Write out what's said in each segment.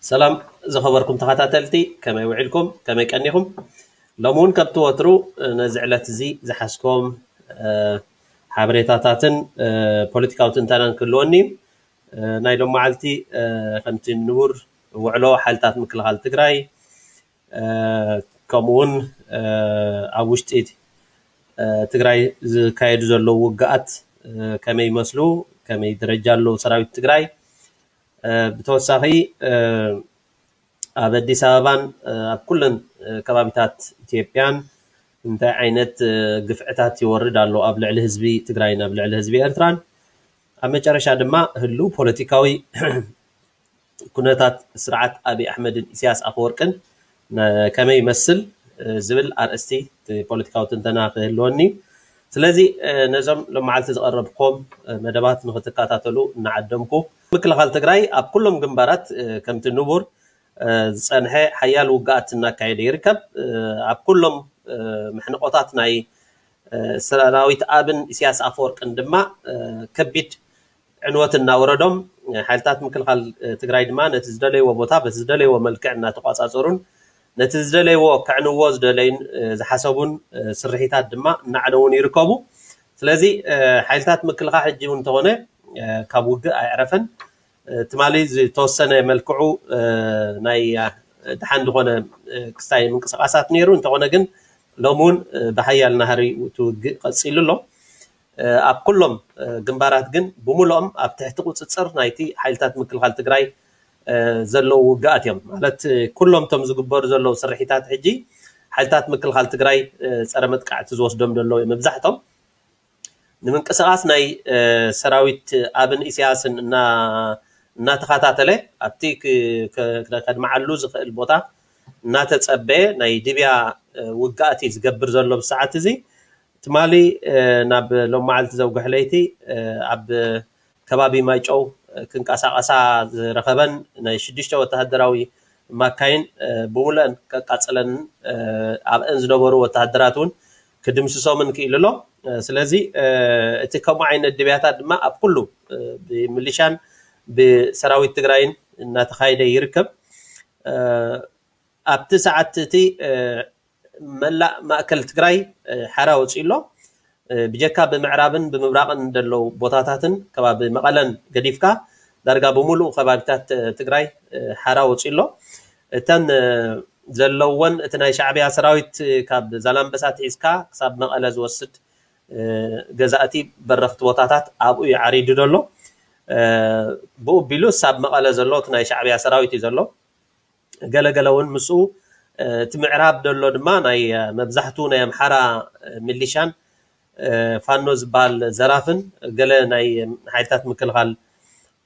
ሰላም ዝኸበርኩም ተኸታተልቲ፣ ከመይ ውዒልኩም? ከመይ ቀኒኹም? ሎሚ እውን ከምቲ ወትሩ ነዚ ዕለት እዚ ዝሓዝኮም ሓበሬታታትን ፖለቲካዊ ትንተናን ክህልወኒ እዩ። ናይ ሎም መዓልቲ ከምቲ ንቡር ውዕሎ ሓይልታት ምክልኻል ትግራይ፣ ከምኡ እውን ኣብ ውሽጢ ትግራይ ዝካየዱ ዘለዉ ውግኣት ከመይ ይመስሉ፣ ከመይ ደረጃ ኣለዉ ሰራዊት ትግራይ፣ ብተወሳኺ ኣብ ኣዲስ ኣበባን ኣብ ኩለን ከባቢታት ኢትዮጵያን እንታይ ዓይነት ግፍዕታት ይወርድ ኣሎ ኣብ ልዕሊ ህዝቢ ትግራይን ኣብ ልዕሊ ህዝቢ ኤርትራን፣ ኣብ መጨረሻ ድማ ህልው ፖለቲካዊ ኩነታት ስርዓት ኣብይ ኣሕመድን ኢሳያስ ኣፈወርቅን ከመይ ይመስል ዝብል ኣርእስቲ ፖለቲካዊ ትንተና ክህልወኒ። ስለዚ ነዞም ሎም መዓልቲ ዝቐረብኩም መደባት ንክትከታተሉ እናዓደምኩ፣ ምክልኻል ትግራይ ኣብ ኩሎም ግንባራት ከምቲ ንቡር ዝፀንሐ ሓያል ውግኣት እናካየደ ይርከብ። ኣብ ኩሎም መሕንቆታት ናይ ሰራዊት ኣብን ኢሳያስ ኣፈወርቅን ድማ ከቢድ ዕንወት እናወረዶም፣ ሓይልታት ምክልኻል ትግራይ ድማ ነቲ ዝደለይዎ ቦታ በቲ ዝደለይዎ መልክዕ እናተቋፃፀሩን ነቲ ዝደለይዎ ከዕንዎ ዝደለዩን ዝሓሰቡን ስርሒታት ድማ እናዕነውን ይርከቡ። ስለዚ ሓይልታት ምክልኻል ሕጂ እውን እንተኾነ ካብ ውግእ ኣይዕረፈን። ትማሊ ዝተወሰነ መልክዑ ናይ ድሓን ዝኾነ ክስታይ ምንቅስቃሳት ነይሩ፣ እንተኾነ ግን ሎሚ እውን ብሓያል ናህሪ እቲ ውግእ ቀፂሉ ኣሎ። ኣብ ኩሎም ግንባራት ግን ብምሉኦም ኣብ ትሕቲ ቁፅፅር ናይቲ ሓይልታት ምክልኻል ትግራይ ዘለዉ ውግኣት እዮም። ማለት ኩሎም እቶም ዝግበሩ ዘለዉ ስርሒታት ሕጂ ሓይልታት ምክልኻል ትግራይ ፀረ መጥቃዕቲ ዝወስዶም ዘለዉ እዮም መብዛሕቶም። ንምንቅስቃስ ናይ ሰራዊት ኣብን ኢሳያስን እናተኸታተለ ኣብቲ ከድምዓሉ ዝኽእል ቦታ እናተፀበየ ናይ ድብያ ውግኣት እዩ ዝገብር ዘሎ ብሰዓት እዚ። ትማሊ ናብ ሎም መዓልቲ ዘውግሕ ለይቲ ኣብ ከባቢ ማይጨው ክንቀሳቀሳ ዝረኸበን ናይ ሽዱሽተ ወተሃደራዊ ማካይን ብምሉአን ከቃፅለንን ኣብአን ዝነበሩ ወተሃደራት እውን ክድምስሶምን ክኢሉ ኣሎ። ስለዚ እቲ ከምኡ ዓይነት ድብያታት ድማ ኣብ ኩሉ ብምልሻን ብሰራዊት ትግራይን እናተኻየደ ይርከብ። ኣብቲ ሰዓት እቲ መላእ ማእከል ትግራይ ሓራ ወፂኡ ኣሎ። ብጀካ ብምዕራብን ብምብራቕን ዘለዉ ቦታታትን ከባቢ መቐለን ገዲፍካ ዳርጋ ብምሉእ ከባቢታት ትግራይ ሓራ ወፂኡ ኣሎ። እተን ዘለወን እቲ ናይ ሻዕብያ ሰራዊት ካብ ዛላምበሳ ትሒዝካ ክሳብ መቐለ ዝወስድ ገዛእቲ በረኽቲ ቦታታት ኣብኡ እዩ ዓሪዱ ዘሎ። ብኡ ቢሉ ሳብ መቐለ ዘሎ እቲ ናይ ሻዕብያ ሰራዊት እዩ ዘሎ። ገለገለ እውን ምስኡ እቲ ምዕራብ ዘሎ ድማ ናይ መብዛሕቱ ናይ ኣምሓራ ሚሊሻን ፋኖ ዝበሃል ዘራፍን ገለ ናይ ሓይልታት ምክልኻል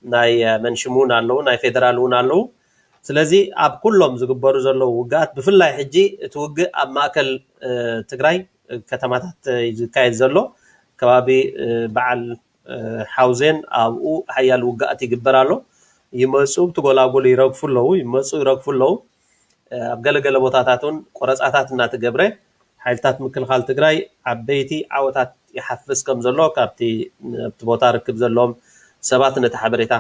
ናይ መንሽም እውን ኣለዉ፣ ናይ ፌደራል እውን ኣለዉ። ስለዚ ኣብ ኩሎም ዝግበሩ ዘለዉ ውግኣት ብፍላይ ሕጂ እቲ ውግእ ኣብ ማእከል ትግራይ ከተማታት እዩ ዝካየድ ዘሎ። ከባቢ በዓል ሓውዜን ኣብኡ ሓያል ውግኣት ይግበር ኣሎ። ይመፁ ብቲ ጎላጉል ይረግፉ ኣለዉ፣ ይመፁ ይረግፉ ኣለዉ። ኣብ ገለገለ ቦታታት እውን ቆረፃታት እናተገብረ ሓይልታት ምክልኻል ትግራይ ዓበይቲ ዓወታት ይሓፍስ ከም ዘሎ ካብቲ ኣብቲ ቦታ ርክብ ዘለዎም ሰባት ነቲ ሓበሬታ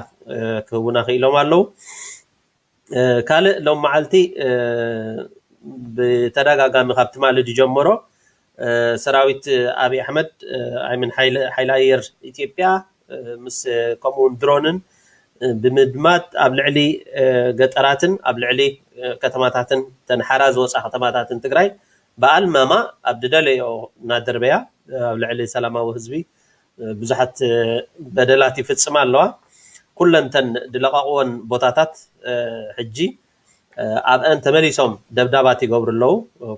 ክህቡና ክኢሎም ኣለዉ። ካልእ ሎም መዓልቲ ብተደጋጋሚ ካብ ትማሊ ዝጀመሮ ሰራዊት ኣብይ ኣሕመድ ኣይምን ሓይሊ ኣየር ኢትዮጵያ ምስ ከምኡውን ድሮንን ብምድማት ኣብ ልዕሊ ገጠራትን ኣብ ልዕሊ ከተማታትን ተንሓራ ዝወፃ ከተማታትን ትግራይ ብኣልማማ ኣብ ድደለዮ እናደርበያ ኣብ ልዕሊ ሰላማዊ ህዝቢ ብዙሓት በደላት ይፍፅማ ኣለዋ። ኩለንተን ዝለቐቕወን ቦታታት ሕጂ ኣብአን ተመሊሶም ደብዳባት ይገብሩ ኣለዉ።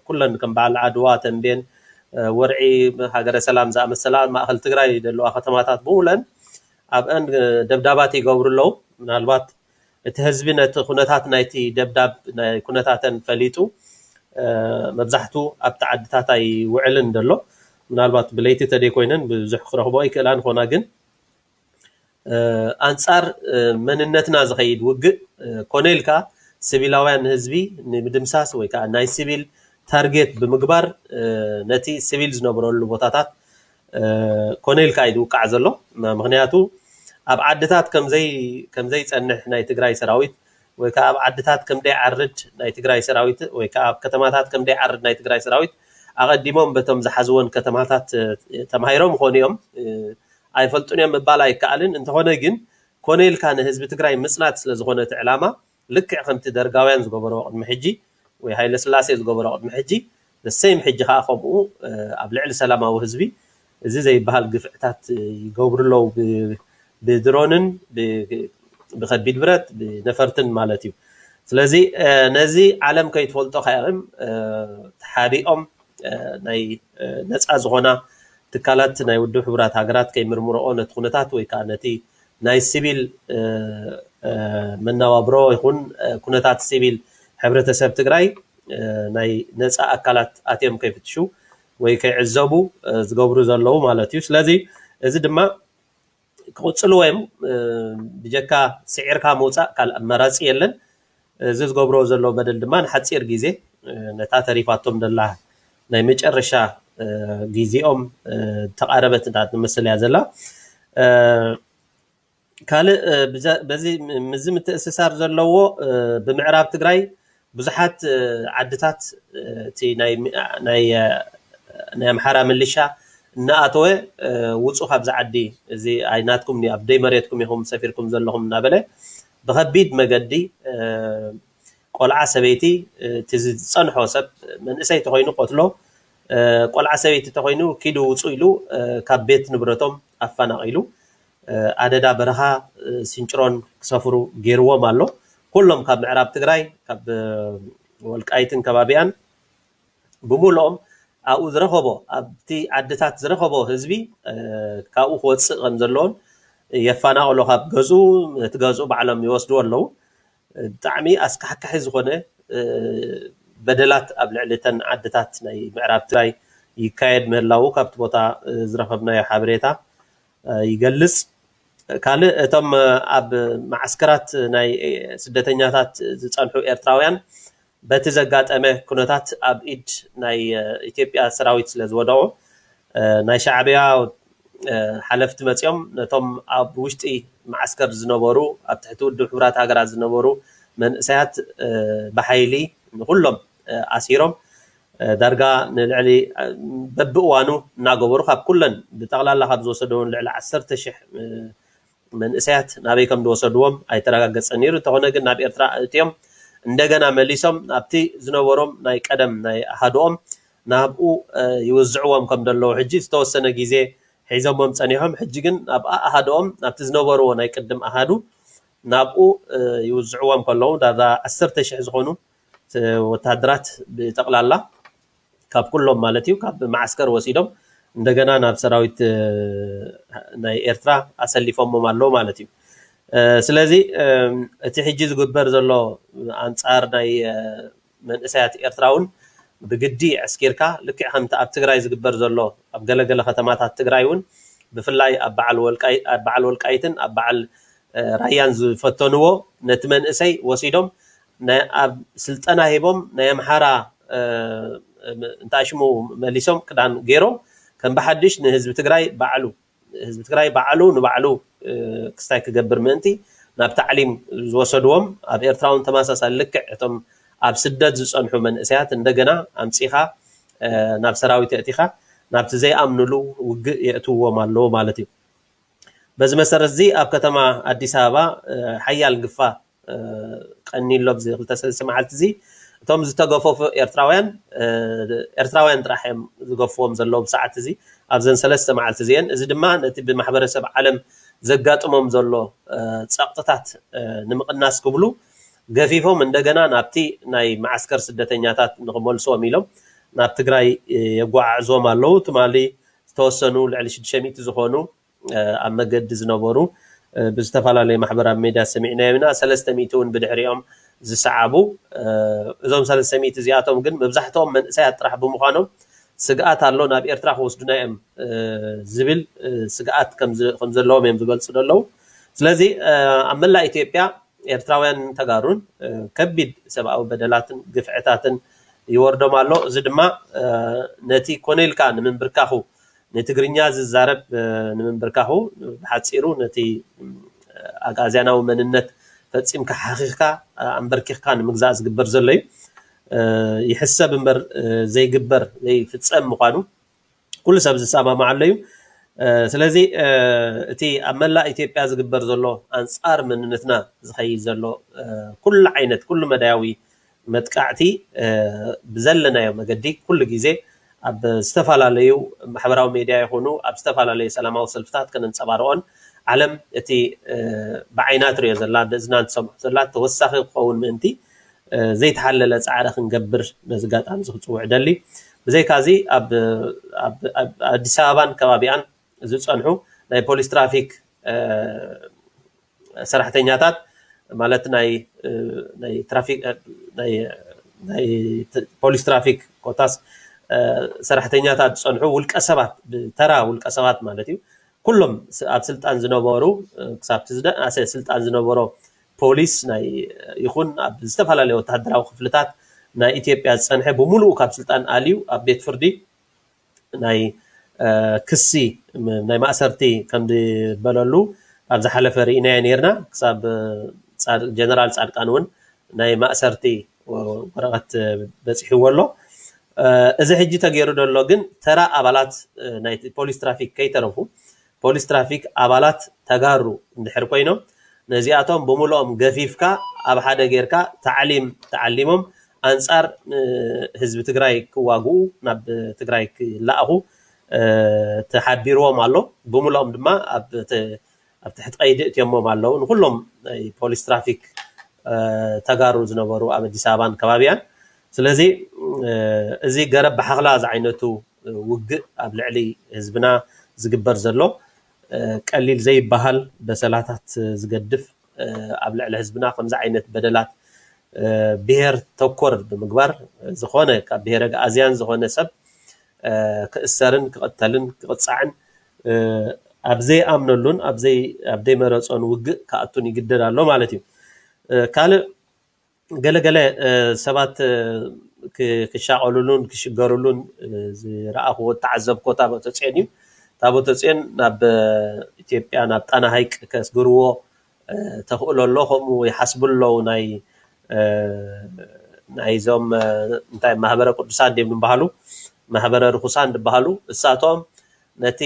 ኩለን ከም በዓል ዓድዋ፣ ተንቤን፣ ወርዒ፣ ሃገረ ሰላም ዝኣመሰላ ማእኸል ትግራይ ዘለዋ ከተማታት ብምለን ኣብአን ደብዳባት ይገብሩ ኣለዉ። ምናልባት እቲ ህዝቢ ነቲ ኩነታት ናይቲ ደብዳብ ናይ ኩነታተን ፈሊጡ መብዛሕቱ ኣብቲ ዓድታት ኣይውዕልን ዘሎ። ምናልባት ብለይቲ ተደይ ኮይነን ብዙሕ ክረኽቦ ይክእላ ንኾና ግን ኣንጻር መንነትና ዝኸይድ ውግእ ኮነ ኢልካ ሲቪላውያን ህዝቢ ንምድምሳስ ወይ ከዓ ናይ ሲቪል ታርጌት ብምግባር ነቲ ሲቪል ዝነብረሉ ቦታታት ኮነ ኢልካ እዩ ዝውቃዕ ዘሎ። ምክንያቱ ኣብ ዓድታት ከምዘይ ከምዘይፀንሕ ናይ ትግራይ ሰራዊት ወይ ከዓ ኣብ ዓድታት ከም ደይዓርድ ናይ ትግራይ ሰራዊት ወይ ከዓ ኣብ ከተማታት ከም ደይዓርድ ናይ ትግራይ ሰራዊት ኣቐዲሞም በቶም ዝሓዝወን ከተማታት ተማሂሮም ይኾኑ እዮም። ኣይፈልጡን እዮም ምባል ኣይከኣልን። እንተኾነ ግን ኮነ ኢልካ ንህዝቢ ትግራይ ምፅናት ስለዝኾነ እቲ ዕላማ ልክዕ ከምቲ ደርጋውያን ዝገበሮ ቅድሚ ሕጂ ወይ ሃይለ ስላሴ ዝገበሮ ቅድሚ ሕጂ ንሰይም ሕጂ ከዓ ከምኡ ኣብ ልዕሊ ሰላማዊ ህዝቢ እዚ ዘይበሃል ግፍዕታት ይገብሩ ኣለዉ ብድሮንን ብከቢድ ብረት ብነፈርትን ማለት እዩ። ስለዚ ነዚ ዓለም ከይትፈልጦ ከያም ተሓቢኦም ናይ ነፃ ዝኾና ትካላት ናይ ውድብ ሕቡራት ሃገራት ከይምርምረኦ ነቲ ኩነታት ወይ ከዓ ነቲ ናይ ሲቪል መነባብሮ ይኹን ኩነታት ሲቪል ሕብረተሰብ ትግራይ ናይ ነፃ ኣካላት ኣትዮም ከይፍትሹ ወይ ከይዕዘቡ ዝገብሩ ዘለዉ ማለት እዩ። ስለዚ እዚ ድማ ክቕፅሉ ወይም ብጀካ ስዒርካ ምውፃእ ካልእ ኣማራፂ የለን። እዚ ዝገብሮ ዘሎ በደል ድማ ንሓፂር ግዜ ነታ ተሪፋቶም ዘላ ናይ መጨረሻ ግዜኦም ተቓረበት እንዳትመስል እያ ዘላ። ካልእ በዚ ምዚ ምትእስሳር ዘለዎ ብምዕራብ ትግራይ ብዙሓት ዓድታት እቲ ናይ ኣምሓራ ምልሻ እናኣተወ ውፁ ካብዚ ዓዲ እዚ ኣይናትኩም ኣብ ደይ መሬትኩም ኢኹም ሰፊርኩም ዘለኹም እናበለ ብከቢድ መገዲ ቆልዓ ሰበይቲ እቲ ዝፀንሖ ሰብ መንእሰይ ተኮይኑ ቆትሎ ቆልዓ ሰበይቲ ተኮይኑ ኪዱ ውፁ ኢሉ ካብ ቤት ንብረቶም ኣፈናቂሉ ኣደዳ በረኻ ሲንጭሮን ክሰፍሩ ገይርዎም ኣሎ። ኩሎም ካብ ምዕራብ ትግራይ ካብ ወልቃይትን ከባቢያን ብምልኦም ኣብኡ ዝረኸቦ ኣብቲ ዓድታት ዝረኸቦ ህዝቢ ካብኡ ክወፅእ ከም ዘለዎን የፈናቅሎ ካብ ገዝኡ እቲ ገዝኡ ባዕሎም ይወስድዎ ኣለዉ። ብጣዕሚ ኣስካሕካሒ ዝኾነ በደላት ኣብ ልዕሊ እተን ዓድታት ናይ ምዕራብ ትግራይ ይካየድ ምህላዉ ካብቲ ቦታ ዝረኸብናዮ ሓበሬታ ይገልፅ። ካልእ እቶም ኣብ ማዓስከራት ናይ ስደተኛታት ዝፀንሑ ኤርትራውያን በቲ ዘጋጠመ ኩነታት ኣብ ኢድ ናይ ኢትዮጵያ ሰራዊት ስለ ዝወደቑ ናይ ሻዕብያ ሓለፍቲ መፂኦም ነቶም ኣብ ውሽጢ ማዓስከር ዝነበሩ ኣብ ትሕቲ ውድብ ሕቡራት ሃገራት ዝነበሩ መንእሰያት ብሓይሊ ንኩሎም ኣሲሮም ዳርጋ ንልዕሊ በብእዋኑ እናገበሩ ካብ ኩለን ብጠቕላላ ካብ ዝወሰደውን ልዕሊ ዓሰርተ ሽሕ መንእሰያት ናበይ ከም ዝወሰድዎም ኣይተረጋገፀን ነይሩ። እንተኾነ ግን ናብ ኤርትራ ኣእትዮም እንደገና መሊሶም ናብቲ ዝነበሮም ናይ ቀደም ናይ ኣሃድኦም ናብኡ ይውዝዕዎም ከም ዘለዉ ሕጂ ዝተወሰነ ግዜ ሒዞሞም ፀኒሖም። ሕጂ ግን ናብ ኣሃድኦም ናብቲ ዝነበርዎ ናይ ቅድም ኣሃዱ ናብኡ ይውዝዕዎም ከለዉ ዳርጋ ዓሰርተ ሽሕ ዝኾኑ ወታደራት ብጠቕላላ ካብ ኩሎም ማለት እዩ ካብ ማዓስከር ወሲዶም እንደገና ናብ ሰራዊት ናይ ኤርትራ ኣሰሊፎሞም ኣለዉ ማለት እዩ። ስለዚ እቲ ሕጂ ዝግበር ዘሎ ኣንፃር ናይ መንእሰያት ኤርትራ እውን ብግዲ ዕስኪርካ ልክዕ ከምቲ ኣብ ትግራይ ዝግበር ዘሎ ኣብ ገለገለ ከተማታት ትግራይ እውን ብፍላይ ኣብ በዓል ወልቃይትን ኣብ በዓል ራያን ዝፈተንዎ ነቲ መንእሰይ ወሲዶም ኣብ ስልጠና ሂቦም ናይ ኣምሓራ እንታይ ሽሙ መሊሶም ክዳን ገይሮም ከም ብሓድሽ ንህዝቢ ትግራይ ባዕሉ ህዝቢ ትግራይ ባዕሉ ንባዕሉ ክስታይ ክገብር ምእንቲ ናብ ታዕሊም ዝወሰድዎም ኣብ ኤርትራ እውን ተመሳሳሊ ልክዕ እቶም ኣብ ስደት ዝፀንሑ መንእሰያት እንደገና ኣምፂኻ ናብ ሰራዊት የእቲኻ ናብቲ ዘይኣምንሉ ውግእ የእትውዎም ኣለዉ ማለት እዩ። በዚ መሰረት እዚ ኣብ ከተማ ኣዲስ ኣበባ ሓያል ግፋ ቀኒሎም እዚ ክልተ ሰለስተ መዓልቲ እዚ እቶም ዝተገፈፉ ኤርትራውያን ኤርትራውያን ጥራሕ እዮም ዝገፍዎም ዘለዉ ብሰዓት እዚ ኣብዘን ሰለስተ መዓልቲ እዚአን። እዚ ድማ ነቲ ብማሕበረሰብ ዓለም ዘጋጥሞም ዘሎ ፀቕጥታት ንምቕናስ ክብሉ ገፊፎም እንደገና ናብቲ ናይ መዓስከር ስደተኛታት ንክመልስዎም ኢሎም ናብ ትግራይ የጓዓዕዝዎም ኣለዉ። ትማሊ ዝተወሰኑ ልዕሊ ሽዱሽተ ሚእቲ ዝኾኑ ኣብ መገዲ ዝነበሩ ብዝተፈላለዩ ማሕበራዊ ሜድያ ሰሚዕናዮም ኢና። ሰለስተ ሚእቲ እውን ብድሕሪኦም ዝሰዓቡ እዞም ሰለስተ ሚእቲ እዚኣቶም ግን መብዛሕትኦም መንእሰያት ጥራሕ ብምዃኖም ስግኣት ኣሎ ናብ ኤርትራ ክወስዱና እዮም ዝብል ስግኣት ከም ዘለዎም እዮም ዝገልፁ ዘለዉ። ስለዚ ኣብ መላእ ኢትዮጵያ ኤርትራውያን ተጋሩን ከቢድ ሰብኣዊ በደላትን ግፍዕታትን ይወርዶም ኣሎ። እዚ ድማ ነቲ ኮነ ኢልካ ንምንብርካኹ ንትግርኛ ዝዛረብ ንምንብርካኹ ብሓፂሩ ነቲ ኣግኣዝያናዊ መንነት ፈፂምካ ሓኺኽካ ኣንበርኪኽካ ንምግዛእ ዝግበር ዘሎ እዩ። ይሕሰብ እምበር ዘይግበር ዘይፍፀም ምዃኑ ኩሉ ሰብ ዝሰማማዓሉ እዩ። ስለዚ እቲ ኣብ መላእ ኢትዮጵያ ዝግበር ዘሎ ኣንፃር መንነትና ዝኸይድ ዘሎ ኩሉ ዓይነት ኩሉ መዳያዊ መጥቃዕቲ ብዘለናዮ መገዲ ኩሉ ግዜ ኣብ ዝተፈላለዩ ማሕበራዊ ሜድያ ይኹኑ ኣብ ዝተፈላለዩ ሰላማዊ ሰልፍታት ከነንፀባርቆን ዓለም እቲ ብዓይና ትሪኦ ዘላ ብእዝና ትሰምዖ ዘላ ተወሳኺ ክኸውን ምእንቲ ዘይተሓለለ ፃዕሪ ክንገብር ነዚ ኣጋጣሚ እዚ ክፅውዕ ደሊ። ብዘይካዚ ኣብ ኣዲስ ኣበባን ከባቢኣን ዝፀንሑ ናይ ፖሊስ ትራፊክ ሰራሕተኛታት ማለት ናይ ፖሊስ ትራፊክ ኮታስ ሰራሕተኛታት ዝፀንሑ ውልቀ ሰባት ብተራ ውልቀ ሰባት ማለት እዩ። ኩሎም ኣብ ስልጣን ዝነበሩ ክሳብ ስልጣን ዝነበሮ ፖሊስ ይኹን ኣብ ዝተፈላለዩ ወታደራዊ ክፍልታት ናይ ኢትዮጵያ ዝፀንሐ ብምሉኡ ካብ ስልጣን ኣልዩ ኣብ ቤት ፍርዲ ናይ ክሲ ናይ ማእሰርቲ ከም ዝበለሉ ኣብ ዝሓለፈ ርኢናዮ ነርና። ክሳብ ጀነራል ፃድቃን እውን ናይ ማእሰርቲ ወረቐት በፂሕዎ ኣሎ። እዚ ሕጂ ተገይሩ ዘሎ ግን ተራ ኣባላት ናይ ፖሊስ ትራፊክ ከይተረፉ ፖሊስ ትራፊክ ኣባላት ተጋሩ እንድሕር ኮይኖም ነዚኣቶም ብምልኦም ገፊፍካ ኣብ ሓደ ጌርካ ታዕሊም ተዓሊሞም ኣንፃር ህዝቢ ትግራይ ክዋግኡ ናብ ትግራይ ክለኣኹ ተሓቢርዎም ኣሎ። ብምልኦም ድማ ኣብ ትሕቲ ቀይዲ እትዮሞም ኣለዉ። ንኩሎም ናይ ፖሊስ ትራፊክ ተጋሩ ዝነበሩ ኣብ ኣዲስ ኣበባን ከባቢያን። ስለዚ እዚ ገረብ ብሓኽላ ዝዓይነቱ ውግእ ኣብ ልዕሊ ህዝብና ዝግበር ዘሎ ቀሊል ዘይበሃል በሰላታት ዝገድፍ ኣብ ልዕሊ ህዝብና ከምዚ ዓይነት በደላት ብሄር ተኮር ብምግባር ዝኾነ ካብ ብሄረ ኣግኣዝያን ዝኾነ ሰብ ክእሰርን ክቕተልን ክቕፃዕን ኣብ ዘይኣምነሉን ኣብ ዘይመረፆን ውግእ ክኣቱን ይግደድ ኣሎ ማለት እዩ። ካልእ ገለገለ ሰባት ክሻቐሉሉን ክሽገሩሉን ዝረኣኽዎ ዝተዓዘብኮ ታቦተ ፅዮን እዩ። ታቦተ ፅዮን ናብ ኢትዮጵያ ናብ ጣና ሃይቅ ከስግርዎ ተኽእሎ ኣሎ። ከምኡ ይሓስቡ ኣለዉ ናይ ናይዞም እንታይ ማህበረ ቅዱሳን ድም ዝበሃሉ ማህበረ ርኩሳን ዝበሃሉ እሳቶም ነቲ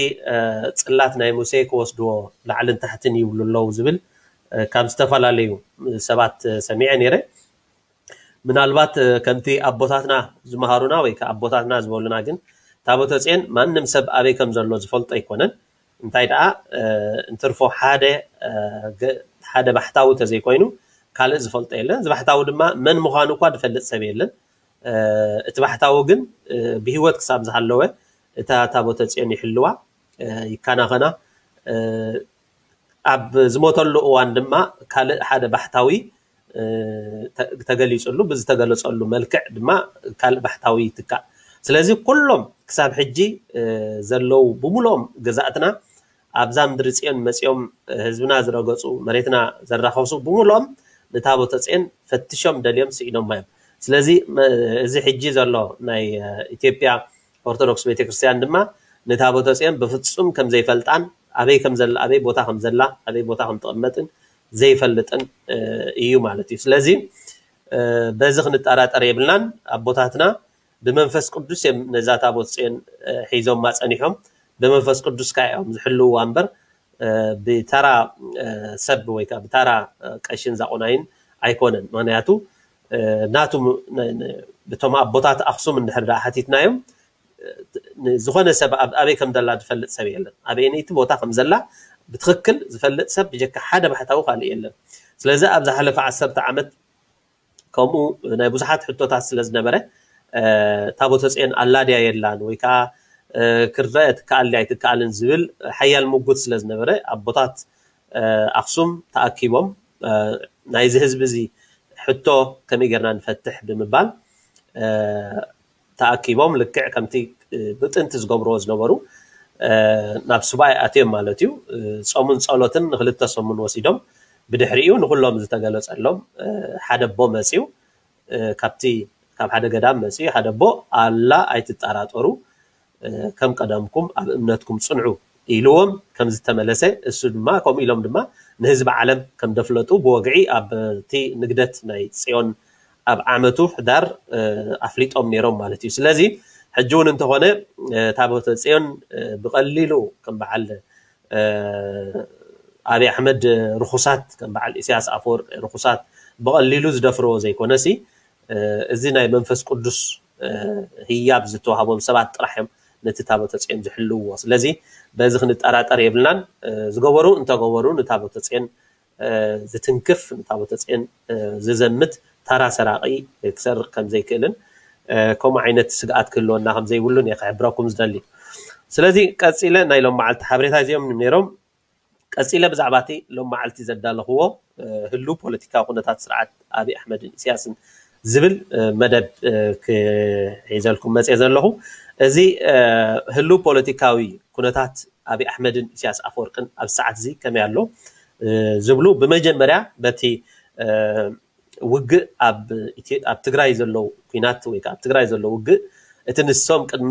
ፅላት ናይ ሙሴ ክወስድዎ ላዕልን ታሕትን ይብሉ ኣለዉ ዝብል ካብ ዝተፈላለዩ ሰባት ሰሚዐ ነይረ። ምናልባት ከምቲ ኣቦታትና ዝመሃሩና ወይ ከዓ ኣቦታትና ዝበሉና ግን ታቦተ ፅዮን ማንም ሰብ ኣበይ ከም ዘሎ ዝፈልጦ ኣይኮነን። እንታይ ደኣ እንትርፎ ሓደ ሓደ ባሕታዊ ተዘይኮይኑ ካልእ ዝፈልጦ የለን። እዚ ባሕታዊ ድማ መን ምዃኑ እኳ ዝፈልጥ ሰብ የለን። እቲ ባሕታዊ ግን ብህይወት ክሳብ ዝሃለወ እታ ታቦተ ፅዮን ይሕልዋ፣ ይከናኸና። ኣብ ዝሞተሉ እዋን ድማ ካልእ ሓደ ባሕታዊ ተገሊፅሉ፣ ብዝተገለፀሉ መልክዕ ድማ ካልእ ባሕታዊ ይትካእ። ስለዚ ኩሎም ክሳብ ሕጂ ዘለዉ ብምልኦም ገዛእትና ኣብዛ ምድሪ ፅዮን መፂኦም ህዝብና ዝረገፁ መሬትና ዘራኸሱ ብምልኦም ንታቦተ ፅዮን ፈትሾም ደልዮም ስኢኖማ እዮም። ስለዚ እዚ ሕጂ ዘሎ ናይ ኢትዮጵያ ኦርቶዶክስ ቤተክርስትያን ድማ ንታቦተ ፅዮን ብፍፁም ከም ዘይፈልጣን ኣበይ ከም ዘላ ኣበይ ቦታ ከም ዘላ ኣበይ ቦታ ከም ትቕመጥን ዘይፈልጥን እዩ ማለት እዩ። ስለዚ በዚ ክንጠራጠር የብልናን። ኣቦታትና ብመንፈስ ቅዱስ እዮም ነዛ ታቦት ፅዮን ሒዞማ ፀኒሖም። ብመንፈስ ቅዱስ ከዓ እዮም ዝሕልውዋ እምበር ብተራ ሰብ ወይ ከዓ ብተራ ቀሽን ዛቆናይን ኣይኮነን። ምክንያቱ ናቱ ብቶም ኣቦታት ኣክሱም እንድሕር ደኣ ሓቲትናዮም ዝኾነ ሰብ ኣበይ ከም ደላ ዝፈልጥ ሰብ የለን። ኣበየነይቲ ቦታ ከም ዘላ ብትክክል ዝፈልጥ ሰብ ብጀካ ሓደ ባሕታዊ ካልእ የለን። ስለዚ ኣብ ዝሓለፈ ዓሰርተ ዓመት ከምኡ ናይ ብዙሓት ሕቶታት ስለ ዝነበረ ታቦተ ፅዮን ኣላ ድያ የላን ወይ ከዓ ክረአ ትከኣል ድያ ኣይትከኣልን ዝብል ሓያል ምጉት ስለ ዝነበረ ኣቦታት ኣክሱም ተኣኪቦም ናይዚ ህዝቢ እዚ ሕቶ ከመይ ጌርና ንፈትሕ ብምባል ተኣኪቦም ልክዕ ከምቲ ብጥንቲ ዝገብርዎ ዝነበሩ ናብ ሱባኤ ኣትዮም ማለት እዩ። ፆሙን ፀሎትን ንክልተ ሰሙን ወሲዶም ብድሕሪኡ ንኩሎም ዝተገለፀሎም ሓደ ኣቦ መፅዩ ካብቲ ካብ ሓደ ገዳም መፅዩ ሓደ ኣቦ ኣላ ኣይትጠራጠሩ ከም ቀደምኩም ኣብ እምነትኩም ፅንዑ ኢልዎም ከም ዝተመለሰ እሱ ድማ ከምኡ ኢሎም ድማ ንህዝቢ ዓለም ከም ደፍለጡ ብወግዒ ኣብቲ ንግደት ናይ ጽዮን ኣብ ዓመቱ ሕዳር ኣፍሊጦም ነይሮም ማለት እዩ። ስለዚ ሕጂ እውን እንተኾነ ታቦተ ጽዮን ብቐሊሉ ከም በዓል ኣብይ ኣሕመድ ርኹሳት፣ ከም በዓል ኢሳያስ ኣፈወርቂ ርኹሳት ብቐሊሉ ዝደፍርዎ ዘይኮነሲ፣ እዚ ናይ መንፈስ ቅዱስ ህያብ ዝተዋህቦም ሰባት ጥራሕ እዮም ነቲ ታቦተ ጽዮን ዝሕልውዎ። ስለዚ በዚ ክንጠራጠር የብልናን። ዝገበሩ እንተገበሩ ንታቦተ ጽዮን ዝትንክፍ፣ ንታቦተ ጽዮን ዝዘምት ታራ ሰራቒ ክሰርቕ ከም ዘይክእልን ከምኡ ዓይነት ስግኣት ክህልወና ከም ዘይብሉን እየ ክሕብረኩም ዝደሊ። ስለዚ ቀጺለ ናይ ሎም መዓልቲ ሓበሬታ እዚኦም ነይሮም። ቀጺለ ብዛዕባ እቲ ሎም መዓልቲ ዘዳለኽዎ ህሉ ፖለቲካዊ ኩነታት ስርዓት ኣብይ ኣሕመድን ኢሳያስን ዝብል መደብ ክሒዘልኩም መፅየ ዘለኹ። እዚ ህሉ ፖለቲካዊ ኩነታት ኣብይ ኣሕመድን ኢሳያስ ኣፈወርቅን ኣብ ሰዓት እዚ ከመይ ኣሎ ዝብሉ፣ ብመጀመርያ በቲ ውግእ ኣብ ትግራይ ዘሎ ኩናት ወይ ኣብ ትግራይ ዘሎ ውግእ፣ እቲ ንሶም ቅድሚ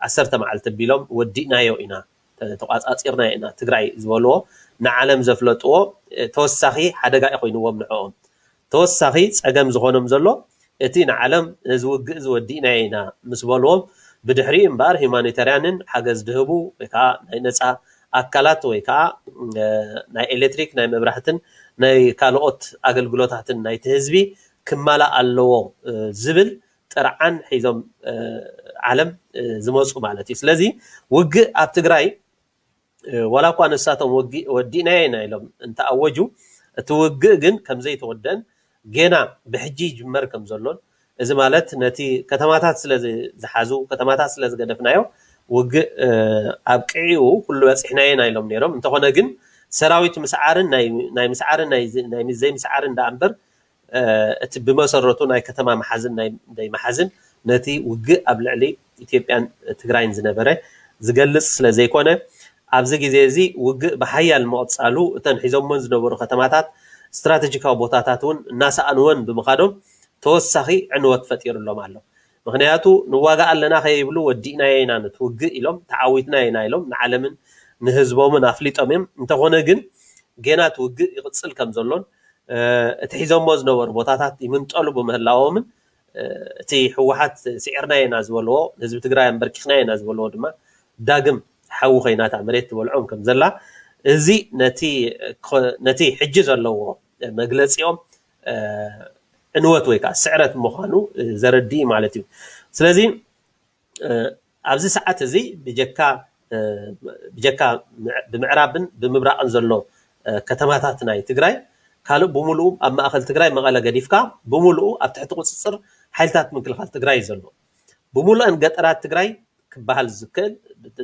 ዓሰርተ መዓልቲ ኣቢሎም ወዲእናዮ ኢና፣ ተቋፃፂርና ኢና ትግራይ ዝበልዎ ንዓለም ዘፍለጥዎ ተወሳኺ ሓደጋ እዩ ኮይንዎም ንዕኦም። ተወሳኺ ፀገም ዝኾኖም ዘሎ እቲ ንዓለም እዚ ውግእ እዚ ወዲእናዮ ኢና ምስ በልዎም፣ ብድሕሪኡ እምበኣር ሂማኒታርያንን ሓገዝ ድህቡ ወይ ከዓ ናይ ነፃ ኣካላት ወይ ከዓ ናይ ኤሌክትሪክ፣ ናይ መብራህትን ናይ ካልኦት ኣገልግሎታትን ናይቲ ህዝቢ ክማላእ ኣለዎ ዝብል ጥርዓን ሒዞም ዓለም ዝመፁ ማለት እዩ። ስለዚ ውግእ ኣብ ትግራይ ዋላ እኳ ንሳቶም ወዲእናዮ ኢና ኢሎም እንተኣወጁ፣ እቲ ውግእ ግን ከምዘይተወደን ጌና ብሕጂ ይጅመር ከም ዘሎን፣ እዚ ማለት ነቲ ከተማታት ስለ ዝሓዙ፣ ከተማታት ስለ ዝገደፍናዮ ውግእ ኣብቂዑ ኩሉ በፂሕናዮ ኢና ኢሎም ነይሮም። እንተኾነ ግን ሰራዊት ምስዓርን ናይ ምስዓርን ናይ ዘይምስዓርን ደኣ እምበር እቲ ብመሰረቱ ናይ ከተማ መሓዝን ናይ ደይ መሓዝን ነቲ ውግእ ኣብ ልዕሊ ኢትዮጵያን ትግራይን ዝነበረ ዝገልፅ ስለ ዘይኮነ፣ ኣብዚ ግዜ እዚ ውግእ ብሓያል ምቕፃሉ እተን ሒዞሞን ዝነበሩ ከተማታት ስትራቴጂካዊ ቦታታት እውን እናሰኣንወን ብምኻዶም ተወሳኺ ዕንወት ፈጢሩሎም ኣሎ። ምክንያቱ ንዋጋእ ኣለና ከይብሉ ወዲእናዮ ኢና ነቲ ውግእ ኢሎም ተዓዊትና ኢና ኢሎም ንዓለምን ንህዝቦምን ኣፍሊጦም እዮም። እንተኾነ ግን ጌና እቲ ውግእ ይቕፅል ከም ዘሎን እቲ ሒዞሞ ዝነበሩ ቦታታት ይምንጠሉ ብምህላዎምን እቲ ህወሓት ስዒርና ኢና ዝበልዎ፣ ህዝቢ ትግራይ ኣንበርኪኽና ኢና ዝበልዎ ድማ ዳግም ሓዊ ኮይናታ መሬት ትበልዖም ከም ዘላ፣ እዚ ነቲ ሕጂ ዘለዎ መግለፂኦም ዕንወት ወይ ከዓ ስዕረት ምዃኑ ዘረድእ ማለት እዩ። ስለዚ ኣብዚ ሰዓት እዚ ብጀካ ብጀካ ብምዕራብን ብምብራቕን ዘሎ ከተማታት ናይ ትግራይ፣ ካልእ ብምሉኡ ኣብ ማእኸል ትግራይ መቐለ ገዲፍካ ብምሉኡ ኣብ ትሕቲ ቁፅፅር ሓይልታት ምክልኻል ትግራይ እዩ ዘሎ። ብምሉአን ገጠራት ትግራይ ክበሃል ዝክእል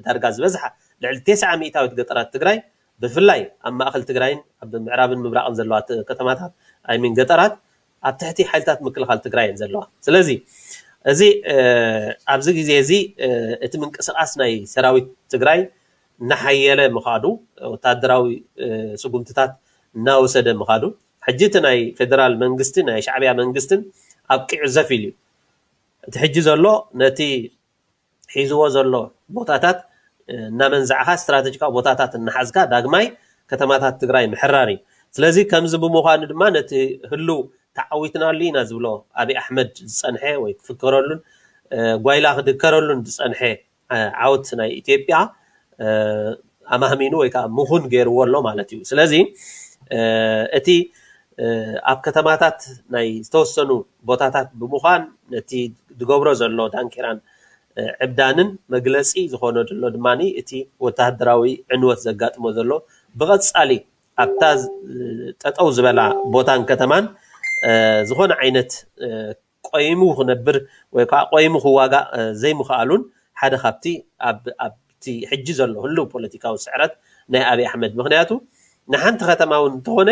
ዳርጋ ዝበዝሓ ልዕሊ ተስዓ ሚእታዊት ገጠራት ትግራይ ብፍላይ ኣብ ማእኸል ትግራይን ኣብ ምዕራብን ምብራቕን ዘለዋ ከተማታት ኣይሚን ገጠራት ኣብ ትሕቲ ሓይልታት ምክልኻል ትግራይ እየን ዘለዋ። ስለዚ እዚ ኣብዚ ግዜ እዚ እቲ ምንቅስቃስ ናይ ሰራዊት ትግራይ እናሓየለ ምኻዱ፣ ወታደራዊ ስጉምትታት እናወሰደ ምኻዱ፣ ሕጂ እቲ ናይ ፌደራል መንግስቲ ናይ ሻዕብያ መንግስትን ኣብቂዑ ዘፍ ኢሉ እዩ። እቲ ሕጂ ዘሎ ነቲ ሒዝዎ ዘሎ ቦታታት እናመንዛዕካ ስትራቴጂካዊ ቦታታት እናሓዝካ ዳግማይ ከተማታት ትግራይ ምሕራር እዩ። ስለዚ ከምዚ ብምዃኑ ድማ ነቲ ህሉ ተዓዊትናሉ ኢና ዝብሎ ኣብይ ኣሕመድ ዝፀንሐ ወይ ክፍከረሉን ጓይላ ክድከረሉን ዝፀንሐ ዓወት ናይ ኢትዮጵያ ኣማህሚኑ ወይ ከዓ ምኹን ገይርዎ ኣሎ ማለት እዩ። ስለዚ እቲ ኣብ ከተማታት ናይ ዝተወሰኑ ቦታታት ብምዃን ነቲ ዝገብሮ ዘሎ ዳንኬራን ዕብዳንን መግለፂ ዝኾኖ ዘሎ ድማ እቲ ወታደራዊ ዕንወት ዘጋጥሞ ዘሎ ብቐፃሊ ኣብታ ጠጠው ዝበላ ቦታን ከተማን ዝኾነ ዓይነት ቆይሙ ክነብር ወይ ከዓ ቆይሙ ክዋጋእ ዘይምኽኣሉን ሓደ ካብቲ ኣብቲ ሕጂ ዘሎ ህልው ፖለቲካዊ ስዕረት ናይ ኣብይ ኣሕመድ። ምክንያቱ ንሓንቲ ከተማ እውን እንተኾነ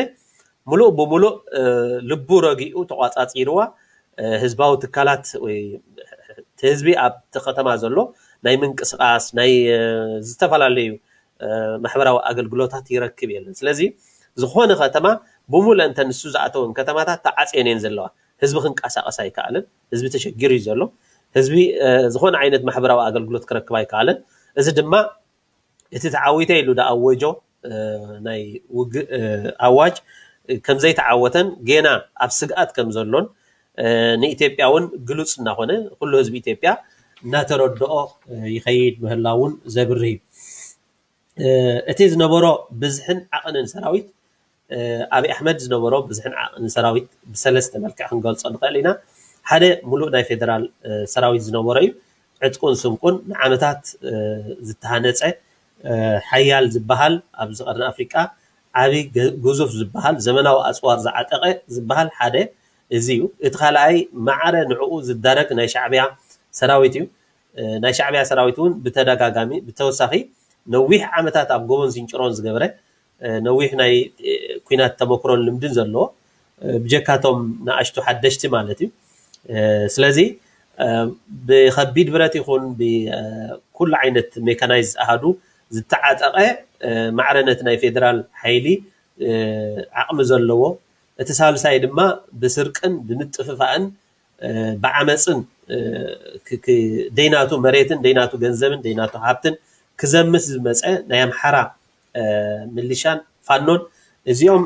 ሙሉእ ብሙሉእ ልቡ ረጊኡ ተቋፃፂርዋ ህዝባዊ ትካላት ወይ ህዝቢ ኣብቲ ከተማ ዘሎ ናይ ምንቅስቃስ ናይ ዝተፈላለዩ ማሕበራዊ ኣገልግሎታት ይረክብ የለን። ስለዚ ዝኾነ ከተማ ብሙሉእ እንተ ንሱ ዝኣተወን ከተማታት ተዓፅየን እየን ዘለዋ። ህዝቢ ክንቀሳቀስ ኣይከኣልን። ህዝቢ ተሸጊሩ እዩ ዘሎ። ህዝቢ ዝኾነ ዓይነት ማሕበራዊ ኣገልግሎት ክረክብ ኣይከኣልን። እዚ ድማ እቲ ተዓዊተ ኢሉ ዝኣወጆ ናይ ውግእ ኣዋጅ ከም ዘይተዓወተን ጌና ኣብ ስግኣት ከም ዘሎን ንኢትዮጵያ እውን ግሉጽ እናኾነ ኩሉ ህዝቢ ኢትዮጵያ እናተረድኦ ይኸይድ ምህላውን ዘብርህ እዩ። እቲ ዝነበሮ ብዝሕን ዓቕንን ሰራዊት ኣብይ ኣሕመድ ዝነበሮ ብዝሕን ዓቕንን ሰራዊት ብሰለስተ መልክዕ ክንገልጾ ንኽእል ኢና። ሓደ ሙሉእ ናይ ፌደራል ሰራዊት ዝነበሮ እዩ። ዕጥቁን ስንቁን ንዓመታት ዝተሃነፀ ሓያል ዝበሃል ኣብዚ ቀርኒ ኣፍሪቃ ዓብይ ግዙፍ ዝበሃል ዘመናዊ ኣፅዋር ዝዓጠቐ ዝበሃል ሓደ እዚ እዩ። እቲ ካልኣይ ማዕረ ንዕኡ ዝዳረግ ናይ ሻዕቢያ ሰራዊት እዩ። ናይ ሻዕቢያ ሰራዊት እውን ብተደጋጋሚ ብተወሳኺ ነዊሕ ዓመታት ኣብ ጎቦን ዝንጭሮን ዝገበረ ነዊሕ ናይ ኩናት ተመክሮን ልምድን ዘለዎ ብጀካቶም ንኣሽቱ ሓደሽቲ ማለት እዩ። ስለዚ ብከቢድ ብረት ይኹን ብኩሉ ዓይነት ሜካናይዝ ኣሃዱ ዝተዓጠቐ ማዕረ ነቲ ናይ ፌደራል ሓይሊ ዓቕሚ ዘለዎ፣ እቲ ሳልሳይ ድማ ብስርቅን ብምጥፍፋእን ብዓመፅን ደይናቱ መሬትን ደይናቱ ገንዘብን ደይናቱ ሃብትን ክዘምት ዝመፀ ናይ ኣምሓራ ምልሻን ፋኖን እዚኦም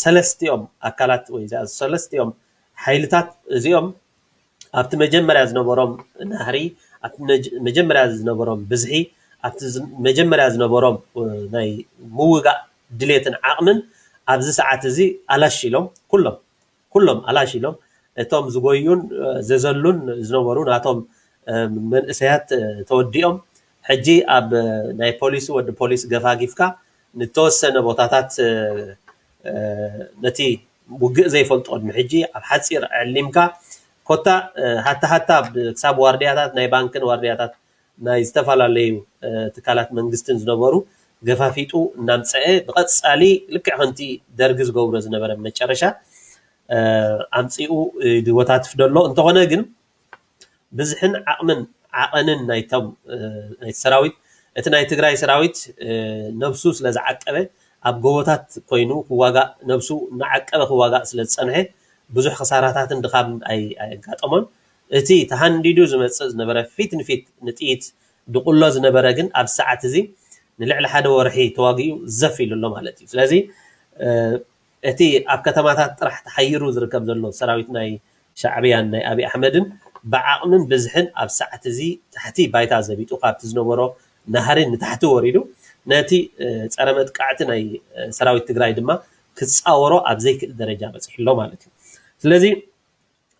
ሰለስቲኦም ኣካላት ወይ ሰለስቲኦም ሓይልታት እዚኦም ኣብቲ መጀመርያ ዝነበሮም ናህሪ፣ ኣብቲ መጀመርያ ዝነበሮም ብዝሒ፣ ኣብቲ መጀመርያ ዝነበሮም ናይ ምውጋእ ድሌትን ዓቕምን ኣብዚ ሰዓት እዚ ኣላሽ ኢሎም ኩሎም ኩሎም ኣላሽ ኢሎም እቶም ዝጎዩን ዘዘሉን ዝነበሩ ናቶም መንእሰያት ተወዲኦም ሕጂ ኣብ ናይ ፖሊሲ ወዲ ፖሊስ ገፋጊፍካ ንተወሰነ ቦታታት ነቲ ውግእ ዘይፈልጦ ቅድሚ ሕጂ ኣብ ሓፂር ዕሊምካ ኮታ ሃታ ሃታ ክሳብ ዋርድያታት ናይ ባንክን ዋርድያታት ናይ ዝተፈላለዩ ትካላት መንግስትን ዝነበሩ ገፋፊጡ እናምፀአ ብቐፃሊ ልክዕ ከምቲ ደርጊ ዝገብሮ ዝነበረ መጨረሻ ኣምፂኡ ድወታትፍ ደሎ እንተኾነ ግን ብዝሕን ዓቕምን ዓቐንን ናይቶም ናይ ሰራዊት እቲ ናይ ትግራይ ሰራዊት ነብሱ ስለ ዝዓቀበ ኣብ ጎቦታት ኮይኑ ክዋጋእ ነብሱ እናዓቀበ ክዋጋእ ስለ ዝፀንሐ ብዙሕ ክሳራታትን ድኻም ኣየጋጠሞን። እቲ ተሃንዲዱ ዝመፅእ ዝነበረ ፊት ንፊት ንጥይት ድቑሎ ዝነበረ ግን ኣብ ሰዓት እዚ ንልዕሊ ሓደ ወርሒ ተዋጊኡ ዘፍ ኢሉ ኣሎ ማለት እዩ። ስለዚ እቲ ኣብ ከተማታት ጥራሕ ተሓይሩ ዝርከብ ዘሎ ሰራዊት ናይ ሻዕብያን ናይ ኣብይ ኣሕመድን ብዓቕምን ብዝሕን ኣብ ሰዓት እዚ ታሕቲ ባይታ ዘቢጡ ካብቲ ዝነበሮ ናህሪ ንታሕቲ ወሪዱ ነቲ ፀረ መጥቃዕቲ ናይ ሰራዊት ትግራይ ድማ ክፃወሮ ኣብ ዘይክእል ደረጃ በፂሑ ኣሎ ማለት እዩ። ስለዚ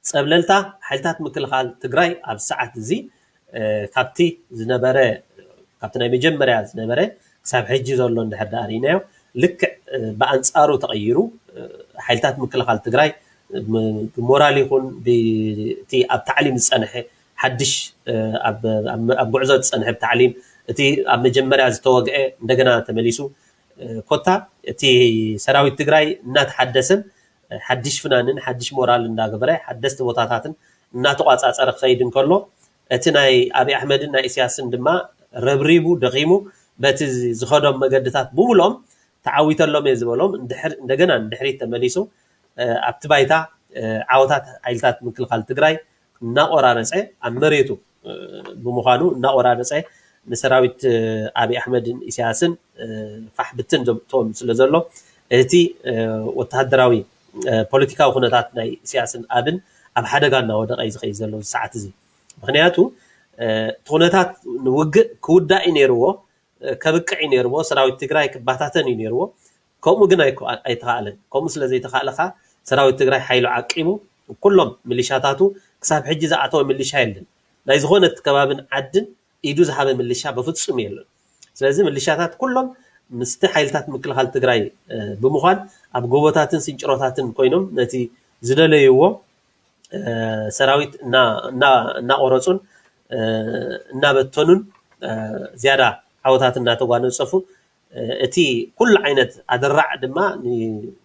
ፀብለልታ ሓይልታት ምክልኻል ትግራይ ኣብ ሰዓት እዚ ካብቲ ዝነበረ ካብቲ ናይ መጀመርያ ዝነበረ ክሳብ ሕጂ ዘሎ እንድሕር ዳኣ ርኢናዮ ልክዕ ብኣንፃሩ ተቐይሩ ሓይልታት ምክልኻል ትግራይ ብሞራል ይኹን ብቲ ኣብ ታዕሊም ዝፀንሐ ሓድሽ ኣብ ጉዕዞ ዝፀንሐ ብታዕሊም እቲ ኣብ መጀመርያ ዝተወግአ እንደገና ተመሊሱ ኮታ እቲ ሰራዊት ትግራይ እናተሓደሰን ሓድሽ ፍናንን ሓድሽ ሞራል እንዳገበረ ሓደስቲ ቦታታትን እናተቋፃፀረ ክኸይድ እንከሎ እቲ ናይ ኣብይ ኣሕመድን ናይ ኢሳያስን ድማ ረብሪቡ ደኺሙ በቲ ዝኸዶም መገድታት ብምልኦም ተዓዊተሎም እየ ዝበሎም እንደገና ንድሕሪት ተመሊሱ ኣብቲ ባይታ ዓወታት ሓይልታት ምክልኻል ትግራይ እናቆራረፀ ኣብ መሬቱ ብምዃኑ እናቆራረፀ ንሰራዊት ኣብይ ኣሕመድን ኢሳያስን ፋሕ ብትን ዘምጥቶም ስለ ዘሎ እቲ ወተሃደራዊ ፖለቲካዊ ኩነታት ናይ ኢሳያስን ኣብን ኣብ ሓደጋ እናወደቀ እዩ ዝኸይድ ዘሎ ሰዓት እዚ። ምክንያቱ እቲ ኩነታት ንውግእ ክውዳእ እዩ ነይርዎ፣ ከብቅዕ እዩ ነይርዎ፣ ሰራዊት ትግራይ ክባታተን እዩ ነይርዎ። ከምኡ ግን ኣይተኻእለን። ከምኡ ስለ ዘይተኻእለ ከዓ ሰራዊት ትግራይ ሓይሉ ዓቂቡ ኩሎም ሚሊሻታቱ ክሳብ ሕጂ ዝኣተወ ሚሊሻ የለን። ናይ ዝኾነ ከባብን ዓድን ኢዱ ዝሃበ ምልሻ በፍጹም የለን። ስለዚ ምልሻታት ኩሎም ምስቲ ሓይልታት ምክልኻል ትግራይ ብምዃን ኣብ ጎቦታትን ስንጭሮታትን ኮይኖም ነቲ ዝደለይዎ ሰራዊት እናቆረፁን እናበተኑን ዝያዳ ዓወታት እናተጓነፀፉ እቲ ኩሉ ዓይነት ኣደራዕ ድማ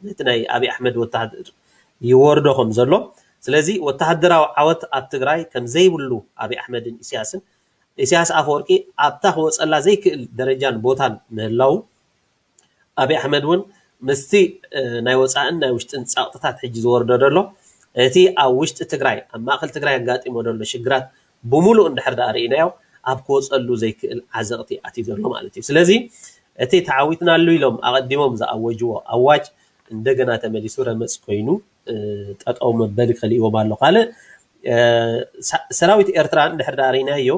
ነቲ ናይ ኣብይ ኣሕመድ ወተሃደር ይወርዶ ከም ዘሎ ስለዚ ወተሃደራዊ ዓወት ኣብ ትግራይ ከም ዘይብሉ ኣብይ ኣሕመድን ኢሳያስን ኢሳያስ ኣፈወርቂ ኣብታ ክወፀላ ዘይክእል ደረጃን ቦታን ምህላው ኣብይ ኣሕመድ እውን ምስቲ ናይ ወፃእን ናይ ውሽጥን ፃቕጥታት ሕጂ ዝወርዶ ዘሎ እቲ ኣብ ውሽጢ ትግራይ ኣብ ማእከል ትግራይ ኣጋጢሞ ዘሎ ሽግራት ብምሉእ እንድሕር ዳኣ ርኢናዮ ኣብ ክወፀሉ ዘይክእል ዓዘቕቲ ኣትዩ ዘሎ ማለት እዩ። ስለዚ እቲ ተዓዊትናሉ ኢሎም ኣቐዲሞም ዝኣወጅዎ ኣዋጅ እንደገና ተመሊሱ ረመፅ ኮይኑ ጠጠው መበሊ ከሊእዎም ኣሎ። ካልእ ሰራዊት ኤርትራ እንድሕር ዳኣ ርኢናዮ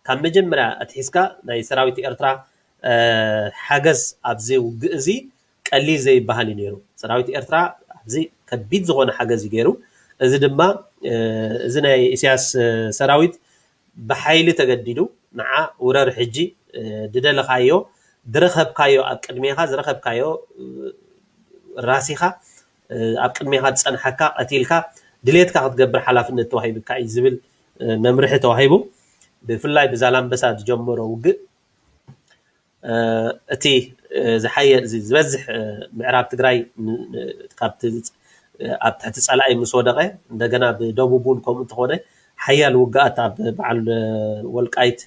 ካብ መጀመርያ ኣትሒዝካ ናይ ሰራዊት ኤርትራ ሓገዝ ኣብዚ ውግእ እዚ ቀሊል ዘይበሃል እዩ ነይሩ። ሰራዊት ኤርትራ ኣብዚ ከቢድ ዝኾነ ሓገዝ እዩ ገይሩ። እዚ ድማ እዚ ናይ ኢሳያስ ሰራዊት ብሓይሊ ተገዲዱ ንዓ ውረር ሕጂ ድደለኻዮ ድረኸብካዮ ኣብ ቅድሜኻ ዝረኸብካዮ ራሲኻ ኣብ ቅድሜኻ ዝፀንሓካ ቀቲልካ ድሌትካ ክትገብር ሓላፍነት ተዋሂብካ እዩ ዝብል መምርሒ ተዋሂቡ። ብፍላይ ብዛላምበሳ ዝጀመሮ ውግእ እቲ ዝበዝሕ ምዕራብ ትግራይ ካብቲ ኣብ ትሕቲ ፀላኢ ምስ ወደቐ እንደገና ብደቡብ እውን ከምኡ እንተኾነ ሓያል ውግኣት ኣብ በዓል ወልቃይት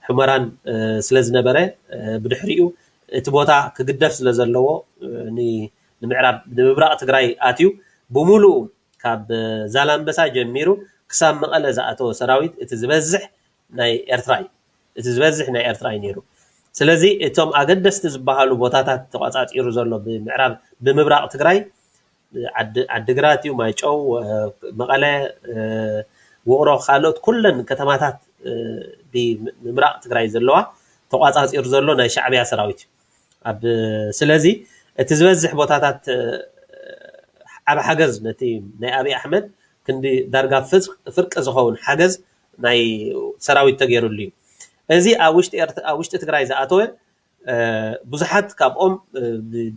ሕመራን ስለ ዝነበረ ብድሕሪኡ እቲ ቦታ ክግደፍ ስለ ዘለዎ ንምዕራብ ንምብራቕ ትግራይ ኣትዩ ብምሉኡ ካብ ዛላምበሳ ጀሚሩ ክሳብ መቐለ ዝኣተወ ሰራዊት እቲ ዝበዝሕ ናይ ኤርትራ እዩ። እቲ ዝበዝሕ ናይ ኤርትራ እዩ ነይሩ። ስለዚ እቶም ኣገደስቲ ዝበሃሉ ቦታታት ተቋፃፂሩ ዘሎ ብምዕራብ ብምብራቕ ትግራይ ዓድግራት እዩ፣ ማይጨው፣ መቐለ፣ ውቕሮ፣ ካልኦት ኩለን ከተማታት ብምብራቕ ትግራይ ዘለዋ ተቋፃፂሩ ዘሎ ናይ ሻዕብያ ሰራዊት እዩ። ኣብ ስለዚ እቲ ዝበዝሕ ቦታታት ዓብ ሓገዝ ነቲ ናይ ኣብይ ኣሕመድ ክንዲ ዳርጋ ፍርቂ ዝኸውን ሓገዝ ናይ ሰራዊት ተገይሩሉ እዩ። እዚ ኣብ ውሽጢ ትግራይ ዝኣተወ ብዙሓት ካብኦም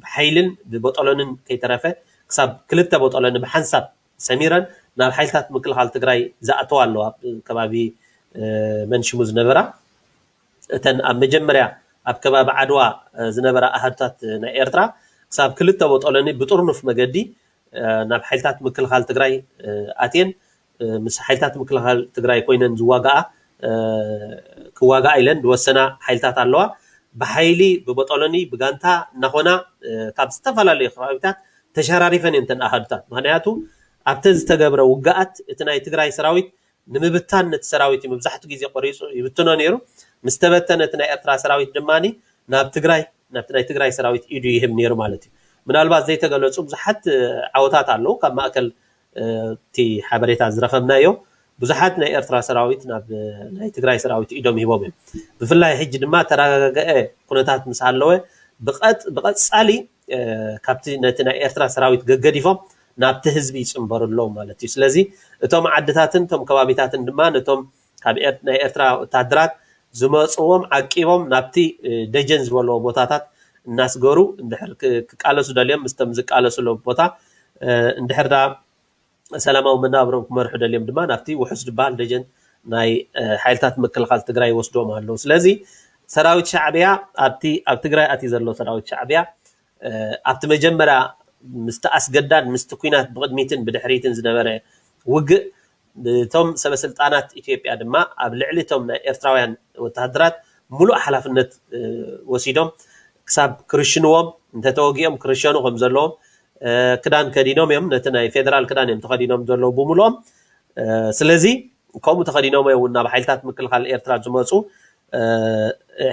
ብሓይልን ብቦጦሎንን ከይተረፈ ክሳብ ክልተ ቦጦሎኒ ብሓንሳብ ሰሚረን ናብ ሓይልታት ምክልኻል ትግራይ ዝኣተዋ ኣለዋ። ኣብ ከባቢ መንሽሙ ዝነበራ እተን ኣብ መጀመርያ ኣብ ከባቢ ዓድዋ ዝነበራ ኣሃዱታት ናይ ኤርትራ ክሳብ ክልተ ቦጦሎኒ ብጥርኑፍ መገዲ ናብ ሓይልታት ምክልኻል ትግራይ ኣትየን ምስ ሓይልታት ምክልኻል ትግራይ ኮይነን ዝዋጋኣ ክዋጋኣ ኢለን ዝወሰና ሓይልታት ኣለዋ። ብሓይሊ ብቦጦሎኒ ብጋንታ እናኾና ካብ ዝተፈላለዩ ከባቢታት ተሸራሪፈን እየን ተን ኣሃዱታት። ምክንያቱ ኣብተ ዝተገብረ ውግኣት እቲ ናይ ትግራይ ሰራዊት ንምብታን ነቲ ሰራዊት እዩ መብዛሕትኡ ግዜ ቆሪፁ ይብትኖ ነይሩ። ምስ ተበተነ እቲ ናይ ኤርትራ ሰራዊት ድማ ናብ ትግራይ ናብቲ ናይ ትግራይ ሰራዊት ኢዱ ይህብ ነይሩ ማለት እዩ። ምናልባት ዘይተገለፁ ብዙሓት ዓወታት ኣለዉ። ካብ ማእከል እቲ ሓበሬታ ዝረኸብናዮ ብዙሓት ናይ ኤርትራ ሰራዊት ናብ ናይ ትግራይ ሰራዊት ኢዶም ሂቦም እዮም። ብፍላይ ሕጂ ድማ ተረጋገአ ኩነታት ምስ ሃለወ ብቐፃሊ ካብቲ ነቲ ናይ ኤርትራ ሰራዊት ገገዲፎም ናብቲ ህዝቢ ይፅንበሩ ኣለዉ ማለት እዩ። ስለዚ እቶም ዓድታትን እቶም ከባቢታትን ድማ ነቶም ካብ ናይ ኤርትራ ወታደራት ዝመፅዎም ዓቂቦም ናብቲ ደጀን ዝበለዎ ቦታታት እናስገሩ እንድሕር ክቃለሱ ደልዮም ምስቶም ዝቃለሱ ኣለዉ ቦታ እንድሕር ዳ ሰላማዊ መናብሮም ክመርሑ ደልዮም ድማ ናብቲ ውሑስ ዝበሃል ደጀን ናይ ሓይልታት ምክልኻል ትግራይ ይወስድዎም ኣለዉ። ስለዚ ሰራዊት ሻዕብያ ኣብቲ ኣብ ትግራይ ኣትዩ ዘሎ ሰራዊት ሻዕብያ ኣብቲ መጀመርያ ምስቲ ኣስገዳድ ምስቲ ኲናት ብቕድሚትን ብድሕሪትን ዝነበረ ውግእ እቶም ሰበስልጣናት ኢትዮጵያ ድማ ኣብ ልዕሊ እቶም ናይ ኤርትራውያን ወታሃደራት ሙሉእ ሓላፍነት ወሲዶም ክሳብ ክርሽንዎም እንተተወጊኦም ክርሸኑ ከም ዘለዎም ክዳን ከዲኖም እዮም። ነቲ ናይ ፌደራል ክዳን እዮም ተኸዲኖም ዘለዉ ብምሉኦም። ስለዚ ከምኡ ተኸዲኖም እዮም ናብ ሓይልታት ምክልኻል ኤርትራ ዝመፁ።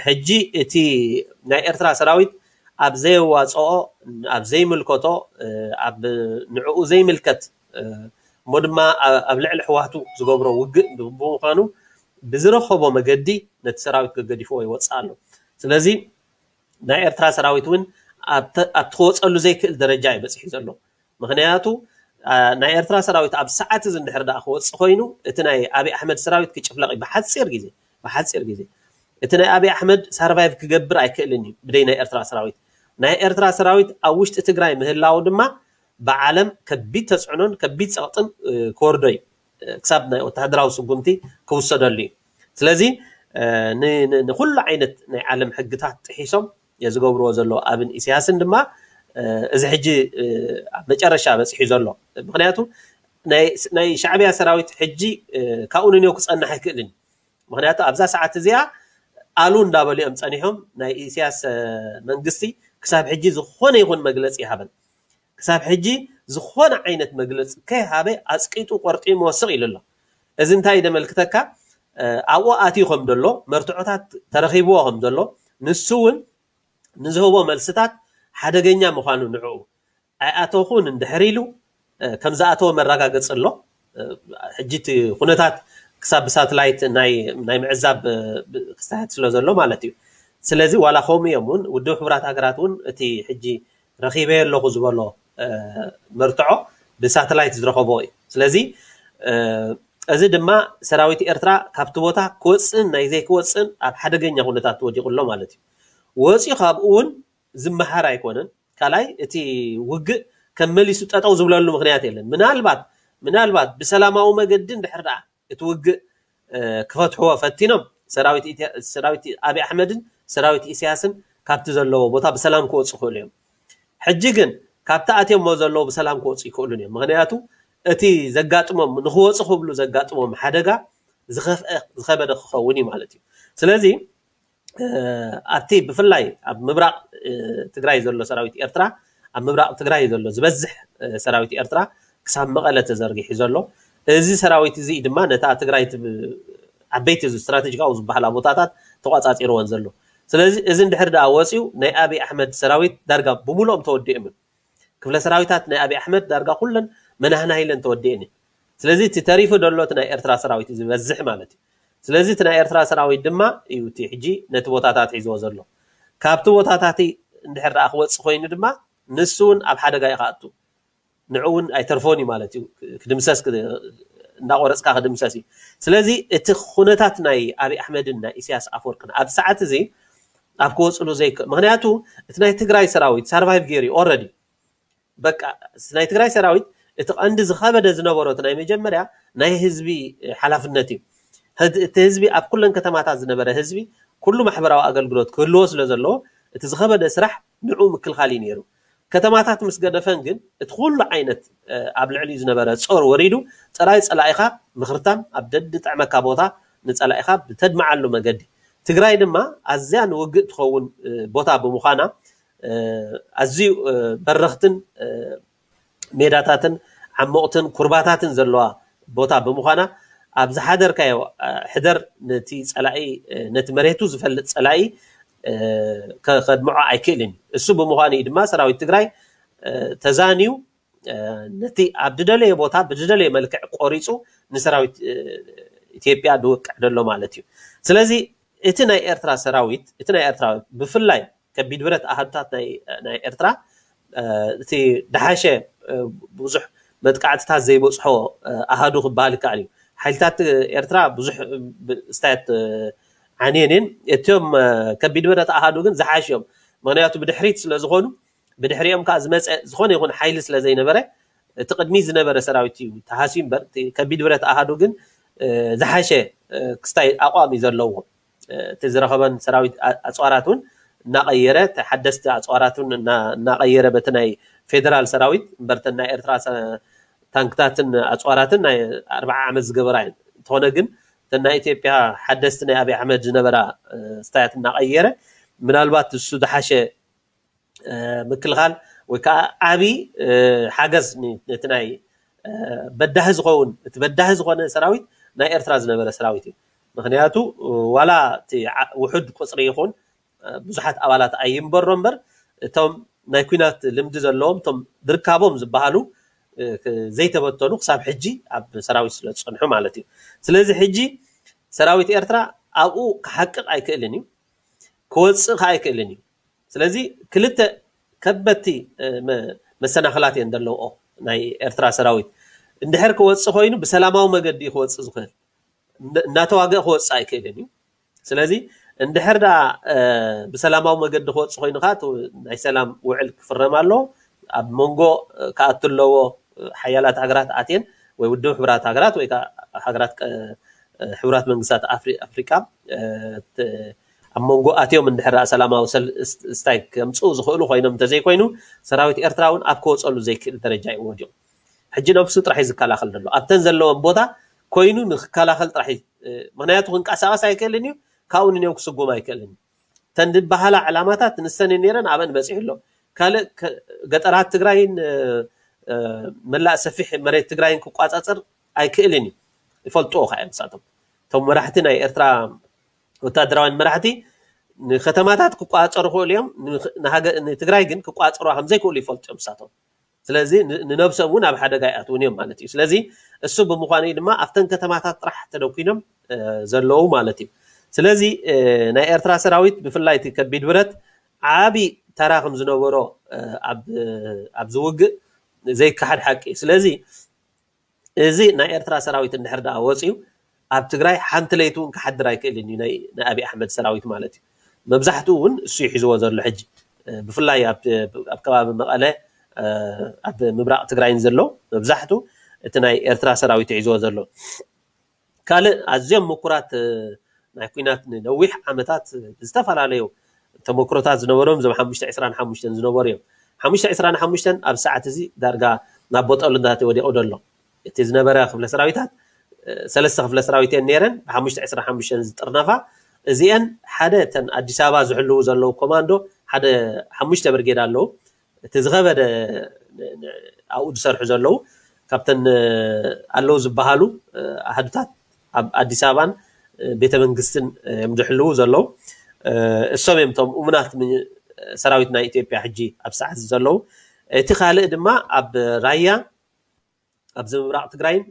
ሕጂ እቲ ናይ ኤርትራ ሰራዊት ኣብ ዘየዋፅኦ ኣብ ዘይምልከቶ ኣብ ንዕኡ ዘይምልከት እሞ ድማ ኣብ ልዕሊ ኣሕዋቱ ዝገብሮ ውግእ ብምዃኑ ብዝረኸቦ መገዲ ነቲ ሰራዊት ገገዲፍዎ ይወፅእ ኣሎ። ስለዚ ናይ ኤርትራ ሰራዊት እውን ኣብቲ ክወፀሉ ዘይክእል ደረጃ እዩ በፂሑ ዘሎ። ምክንያቱ ናይ ኤርትራ ሰራዊት ኣብ ሰዓት እዚ እንድሕር ደኣ ክወፅእ ኮይኑ እቲ ናይ ኣብይ ኣሕመድ ሰራዊት ክጭፍለቕ እዩ ብሓፂር ግዜ ብሓፂር ግዜ እቲ ናይ ኣብይ ኣሕመድ ሳርቫይቭ ክገብር ኣይክእልን እዩ ብደይ ናይ ኤርትራ ሰራዊት። ናይ ኤርትራ ሰራዊት ኣብ ውሽጢ ትግራይ ምህላው ድማ ብዓለም ከቢድ ተፅዕኖን ከቢድ ፀቕጥን ክወርዶ እዩ። ክሳብ ናይ ወታደራዊ ስጉምቲ ክውሰደሉ እዩ። ስለዚ ንኩሉ ዓይነት ናይ ዓለም ሕግታት ጥሒሶም ዝገብርዎ ዘለዉ ኣብን ኢሳያስን ድማ እዚ ሕጂ ኣብ መጨረሻ በፂሑ ዘሎ ምክንያቱ ናይ ሻዕብያ ሰራዊት ሕጂ ካብኡ ንንዮ ክፀንሕ ኣይክእልን። ምክንያቱ ኣብዛ ሰዓት እዚኣ ኣሉ እንዳበሉ እዮም ፀኒሖም። ናይ ኢሳያስ መንግስቲ ክሳብ ሕጂ ዝኾነ ይኹን መግለፂ ይሃበን ክሳብ ሕጂ ዝኾነ ዓይነት መግለፂ ከይሃበ ኣፅቂጡ ቆርጢሙ ወስቕ ኢሉ ኣሎ። እዚ እንታይ ደመልክተካ ኣብኡ ኣትዩ ከም ዘሎ መርትዖታት ተረኺብዎ ከም ዘሎ ንሱ እውን ንዝህቦ መልስታት ሓደገኛ ምዃኑ ንዕኡ ኣይኣተኹን እንድሕር ኢሉ ከም ዝኣተወ መረጋገፂ ኣሎ። ሕጂ እቲ ኩነታት ክሳብ ብሳትላይት ናይ ምዕዛብ ክስተያት ስለ ዘሎ ማለት እዩ። ስለዚ ዋላ ከምኡ እዮም እውን ውድብ ሕቡራት ሃገራት እውን እቲ ሕጂ ረኺበ ኣለኹ ዝበሎ መርትዖ ብሳተላይት ዝረኸቦ እዩ። ስለዚ እዚ ድማ ሰራዊት ኤርትራ ካብቲ ቦታ ክወፅእን ናይ ዘይክወፅእን ኣብ ሓደገኛ ኩነታት ወዲቑ ኣሎ ማለት እዩ። ወፂኡ ካብኡ እውን ዝመሃር ኣይኮነን። ካልኣይ እቲ ውግእ ከም መሊሱ ጠጠው ዝብለሉ ምክንያት የለን። ምናልባት ምናልባት ብሰላማዊ መገዲ እንድሕር ደኣ እቲ ውግእ ክፈትሕዎ ፈቲኖም ሰራዊት ኣብይ ኣሕመድን ሰራዊት ኢሳያስን ካብቲ ዘለዎ ቦታ ብሰላም ክወፁ ይኽእሉ እዮም። ሕጂ ግን ካብቲ ኣትዮሞ ዘለዉ ብሰላም ክወፁ ይክእሉን እዮም። ምክንያቱ እቲ ዘጋጥሞም ንክወፁ ክብሉ ዘጋጥሞም ሓደጋ ዝኸፍአ ዝኸበደ ክኸውን እዩ ማለት እዩ። ስለዚ ኣብቲ ብፍላይ ኣብ ምብራቕ ትግራይ ዘሎ ሰራዊት ኤርትራ ኣብ ምብራቕ ትግራይ ዘሎ ዝበዝሕ ሰራዊት ኤርትራ ክሳብ መቐለ ተዘርጊሑ ዘሎ እዚ ሰራዊት እዚ ድማ ነታ ትግራይ ዓበይቲ ስትራቴጂካዊ ዝበሃላ ቦታታት ተቋፃፂርዎን ዘሎ። ስለዚ እዚ እንድሕር ደኣ ወፂኡ ናይ ኣብይ ኣሕመድ ሰራዊት ዳርጋ ብምሉኦም ተወዲኦም እዮም። ክፍለ ሰራዊታት ናይ ኣብይ ኣሕመድ ዳርጋ ኩለን መናህናሂለን ተወዲኤን እየን። ስለዚ እቲ ተሪፉ ዘሎ እቲ ናይ ኤርትራ ሰራዊት እዩ ዝበዝሕ ማለት እዩ። ስለዚ እቲ ናይ ኤርትራ ሰራዊት ድማ እዩ እቲ ሕጂ ነቲ ቦታታት ሒዝዎ ዘሎ። ካብቲ ቦታታት እንድሕር ደኣ ክወፅእ ኮይኑ ድማ ንሱ እውን ኣብ ሓደጋ እዩ ክኣቱ። ንዑ እውን ኣይተርፎን እዩ ማለት እዩ። ክድምሰስ እንዳቆረፅካ ክድምሰስ እዩ። ስለዚ እቲ ኩነታት ናይ ኣብይ ኣሕመድን ናይ ኢሳያስ ኣፈወርቅን ኣብ ሰዓት እዚ ኣብ ክወፅሉ ዘይክእል ምክንያቱ እቲ ናይ ትግራይ ሰራዊት ሳርቫይቭ ገይሩ እዩ ኦረዲ በቃ ናይ ትግራይ ሰራዊት እቲ ቀንዲ ዝኸበደ ዝነበሮ እቲ ናይ መጀመርያ ናይ ህዝቢ ሓላፍነት እዩ። እቲ ህዝቢ ኣብ ኩለን ከተማታት ዝነበረ ህዝቢ ኩሉ ማሕበራዊ ኣገልግሎት ክህልዎ ስለ ዘለዎ እቲ ዝኸበደ ስራሕ ንዑ ምክልኻል እዩ ነይሩ። ከተማታት ምስ ገደፈን ግን እቲ ኩሉ ዓይነት ኣብ ልዕሊኡ ዝነበረ ጾር ወሪዱ ጥራይ ጸላኢኻ ምኽርታም ኣብ ደድጥዕመካ ቦታ ንጸላኢኻ ብተድምዓሉ መገዲ ትግራይ ድማ ኣዝያ ንውግእ ትኸውን ቦታ ብምዃና ኣዝዩ በረኽትን ሜዳታትን ዓሞቕትን ኩርባታትን ዘለዋ ቦታ ብምዃና ኣብ ዝሓደርካዮ ሕደር ነቲ ጸላኢ ነቲ መሬቱ ዝፈልጥ ጸላኢ ከድምዖ ኣይክእልን እዩ። እሱ ብምዃኑ እዩ ድማ ሰራዊት ትግራይ ተዛንዩ ነቲ ኣብ ዝደለየ ቦታ ብዝደለየ መልክዕ ቆሪፁ ንሰራዊት ኢትዮጵያ ዝወቅዕ ዘሎ ማለት እዩ። ስለዚ እቲ ናይ ኤርትራ ሰራዊት እቲ ናይ ኤርትራ ብፍላይ ከቢድ ብረት ኣሃዱታት ናይ ኤርትራ እቲ ደሓሸ ብዙሕ መጥቃዕትታት ዘይበፅሖ ኣሃዱ ክበሃል ይከኣል እዩ። ሓይልታት ኤርትራ ብዙሕ ስታያት ዓንየን እየን። እቶም ከቢድ ብረት ኣሃዱ ግን ዝሓሽ እዮም። ምክንያቱ ብድሕሪት ስለ ዝኾኑ ብድሕሪኦም ከዓ ዝመፀ ዝኾነ ይኹን ሓይሊ ስለ ዘይነበረ እቲ ቅድሚ ዝነበረ ሰራዊት እዩ ተሃስዩ እምበር ከቢድ ብረት ኣሃዱ ግን ዝሓሸ ክስታይ ኣቋም እዩ ዘለዎ። እቲ ዝረኸበን ሰራዊት ኣፅዋራት እውን እናቐየረ ሓደስቲ ኣፅዋራት እውን እናቐየረ በቲ ናይ ፌደራል ሰራዊት እምበርተን ናይ ኤርትራ ታንክታትን ኣፅዋራትን ናይ ኣርባዓ ዓመት ዝገበራ እየን። እንተኾነ ግን እተን ናይ ኢትዮጵያ ሓደስቲ ናይ ኣብይ ኣሕመድ ዝነበራ ስታያት እናቐየረ ምናልባት እሱ ዝሓሸ ምክልኻል ወይ ከዓ ዓብዪ ሓገዝ ነቲ ናይ በዳሂ ዝኸውን እቲ በዳሂ ዝኾነ ሰራዊት ናይ ኤርትራ ዝነበረ ሰራዊት እዩ። ምክንያቱ ዋላ እቲ ውሑድ ቁፅሪ ይኹን ብዙሓት ኣባላት ኣይንበሮ እምበር እቶም ናይ ኩናት ልምዲ ዘለዎም እቶም ድርካቦም ዝበሃሉ ዘይተበተኑ ክሳብ ሕጂ ኣብ ሰራዊት ስለ ዝፀንሑ ማለት እዩ። ስለዚ ሕጂ ሰራዊት ኤርትራ ኣብኡ ክሓቅቕ ኣይክእልን እዩ፣ ክወፅእ ከዓ ኣይክእልን እዩ። ስለዚ ክልተ ከበድቲ መሰናኽላት እየን ዘለውኦ ናይ ኤርትራ ሰራዊት። እንድሕር ክወፅእ ኮይኑ ብሰላማዊ መገዲ እዩ ክወፅእ ዝኽእል። እናተዋገእ ክወፅእ ኣይክእልን እዩ። ስለዚ እንድሕር ደኣ ብሰላማዊ መገዲ ክወፅእ ኮይኑ ከዓ ናይ ሰላም ውዕል ክፍረም ኣሎ። ኣብ መንጎ ክኣቱ ኣለዎ። ሓያላት ሃገራት ኣትየን ወይ ውድብ ሕቡራት ሃገራት ወይ ከዓ ሃገራት ሕቡራት መንግስታት ኣፍሪቃ ኣብ መንጎ ኣትዮም እንድሕር ሰላማዊ ስታይ ከምፅኡ ዝኽእሉ ኮይኖም እንተዘይኮይኑ ሰራዊት ኤርትራ እውን ኣብ ክወፀሉ ዘይክእል ደረጃ እዩ ወዲቑ። ሕጂ ነብሱ ጥራሕ እዩ ዝከላኸል ዘሎ ኣብተን ዘለወን ቦታ ኮይኑ ንክከላኸል ጥራሕ። ምክንያቱ ክንቀሳቀስ ኣይክእልን እዩ። ካብኡ ንኔው ክስጉም ኣይክእልን እዩ። ተን ዝበሃላ ዕላማታት ንሰን ነይረን ኣበን በፂሑ ኣሎ። ካልእ ገጠራት ትግራይን መላእ ሰፊሕ መሬት ትግራይን ክቋፃፀር ኣይክእልን እዩ። ይፈልጥዎ ከዓ እዮም ንሳቶም እቶም መራሕቲ ናይ ኤርትራ ወታደራውያን መራሕቲ ንከተማታት ክቋፀሩ ክእሉ እዮም። ንትግራይ ግን ክቋፀሩ ከምዘይክእሉ ይፈልጡ እዮም እሳቶም። ስለዚ ንነብሶም እውን ኣብ ሓደጋ ይኣትውን እዮም ማለት እዩ። ስለዚ እሱ ብምዃኑ ድማ ኣብተን ከተማታት ጥራሕ ተደኪኖም ዘለዉ ማለት እዩ። ስለዚ ናይ ኤርትራ ሰራዊት ብፍላይ እቲ ከቢድ ብረት ዓቢ ተራ ከም ዝነበሮ ኣብዚ ውግእ ዘይከሓድ ሓቂ እዩ። ስለዚ እዚ ናይ ኤርትራ ሰራዊት እንድሕር ደኣ ወፂኡ ኣብ ትግራይ ሓንቲ ለይቲ እውን ክሓድር ኣይክእልን እዩ፣ ናይ ኣብይ ኣሕመድ ሰራዊት ማለት እዩ። መብዛሕትኡ እውን እሱ ይሒዝዎ ዘሎ ሕጂ፣ ብፍላይ ኣብ ከባቢ መቐለ፣ ኣብ ምብራቕ ትግራይን ዘሎ መብዛሕቱ እቲ ናይ ኤርትራ ሰራዊት ይሒዝዎ ዘሎ። ካልእ ኣዝዮም ምኩራት ናይ ኩናት ንነዊሕ ዓመታት ዝተፈላለዩ ተመክሮታት ዝነበሮም እዞም ሓሙሽተ ዕስራን ሓሙሽተን ዝነበሩ እዮም። ሓሙሽተ ዕስራን ሓሙሽተን ኣብ ሰዓት እዚ ዳርጋ ናብ ቦጦሎንታት ወዲቑ ደሎ። እቲ ዝነበረ ክፍለ ሰራዊታት ሰለስተ ክፍለ ሰራዊት እየን ነይረን፣ ብሓሙሽተ ዕስራን ሓሙሽተን ዝጥርነፋ። እዚአን ሓደ እተን ኣዲስ ኣበባ ዝሕልዉ ዘለዉ ኮማንዶ ሓደ ሓሙሽተ ብርጌድ ኣለዉ። እቲ ዝኸበደ ኣብኡ ዝሰርሑ ዘለዉ ካብተን ኣለዉ ዝበሃሉ ኣህዱታት ኣብ ኣዲስ ኣበባን ቤተ መንግስትን እዮም ዝሕልዉ ዘለዉ። እሶም እዮም እቶም እሙናት ሰራዊት ናይ ኢትዮጵያ ሕጂ ኣብ ሰዓት ዘለዉ። እቲ ካልእ ድማ ኣብ ራያ ኣብዚ ምብራቕ ትግራይን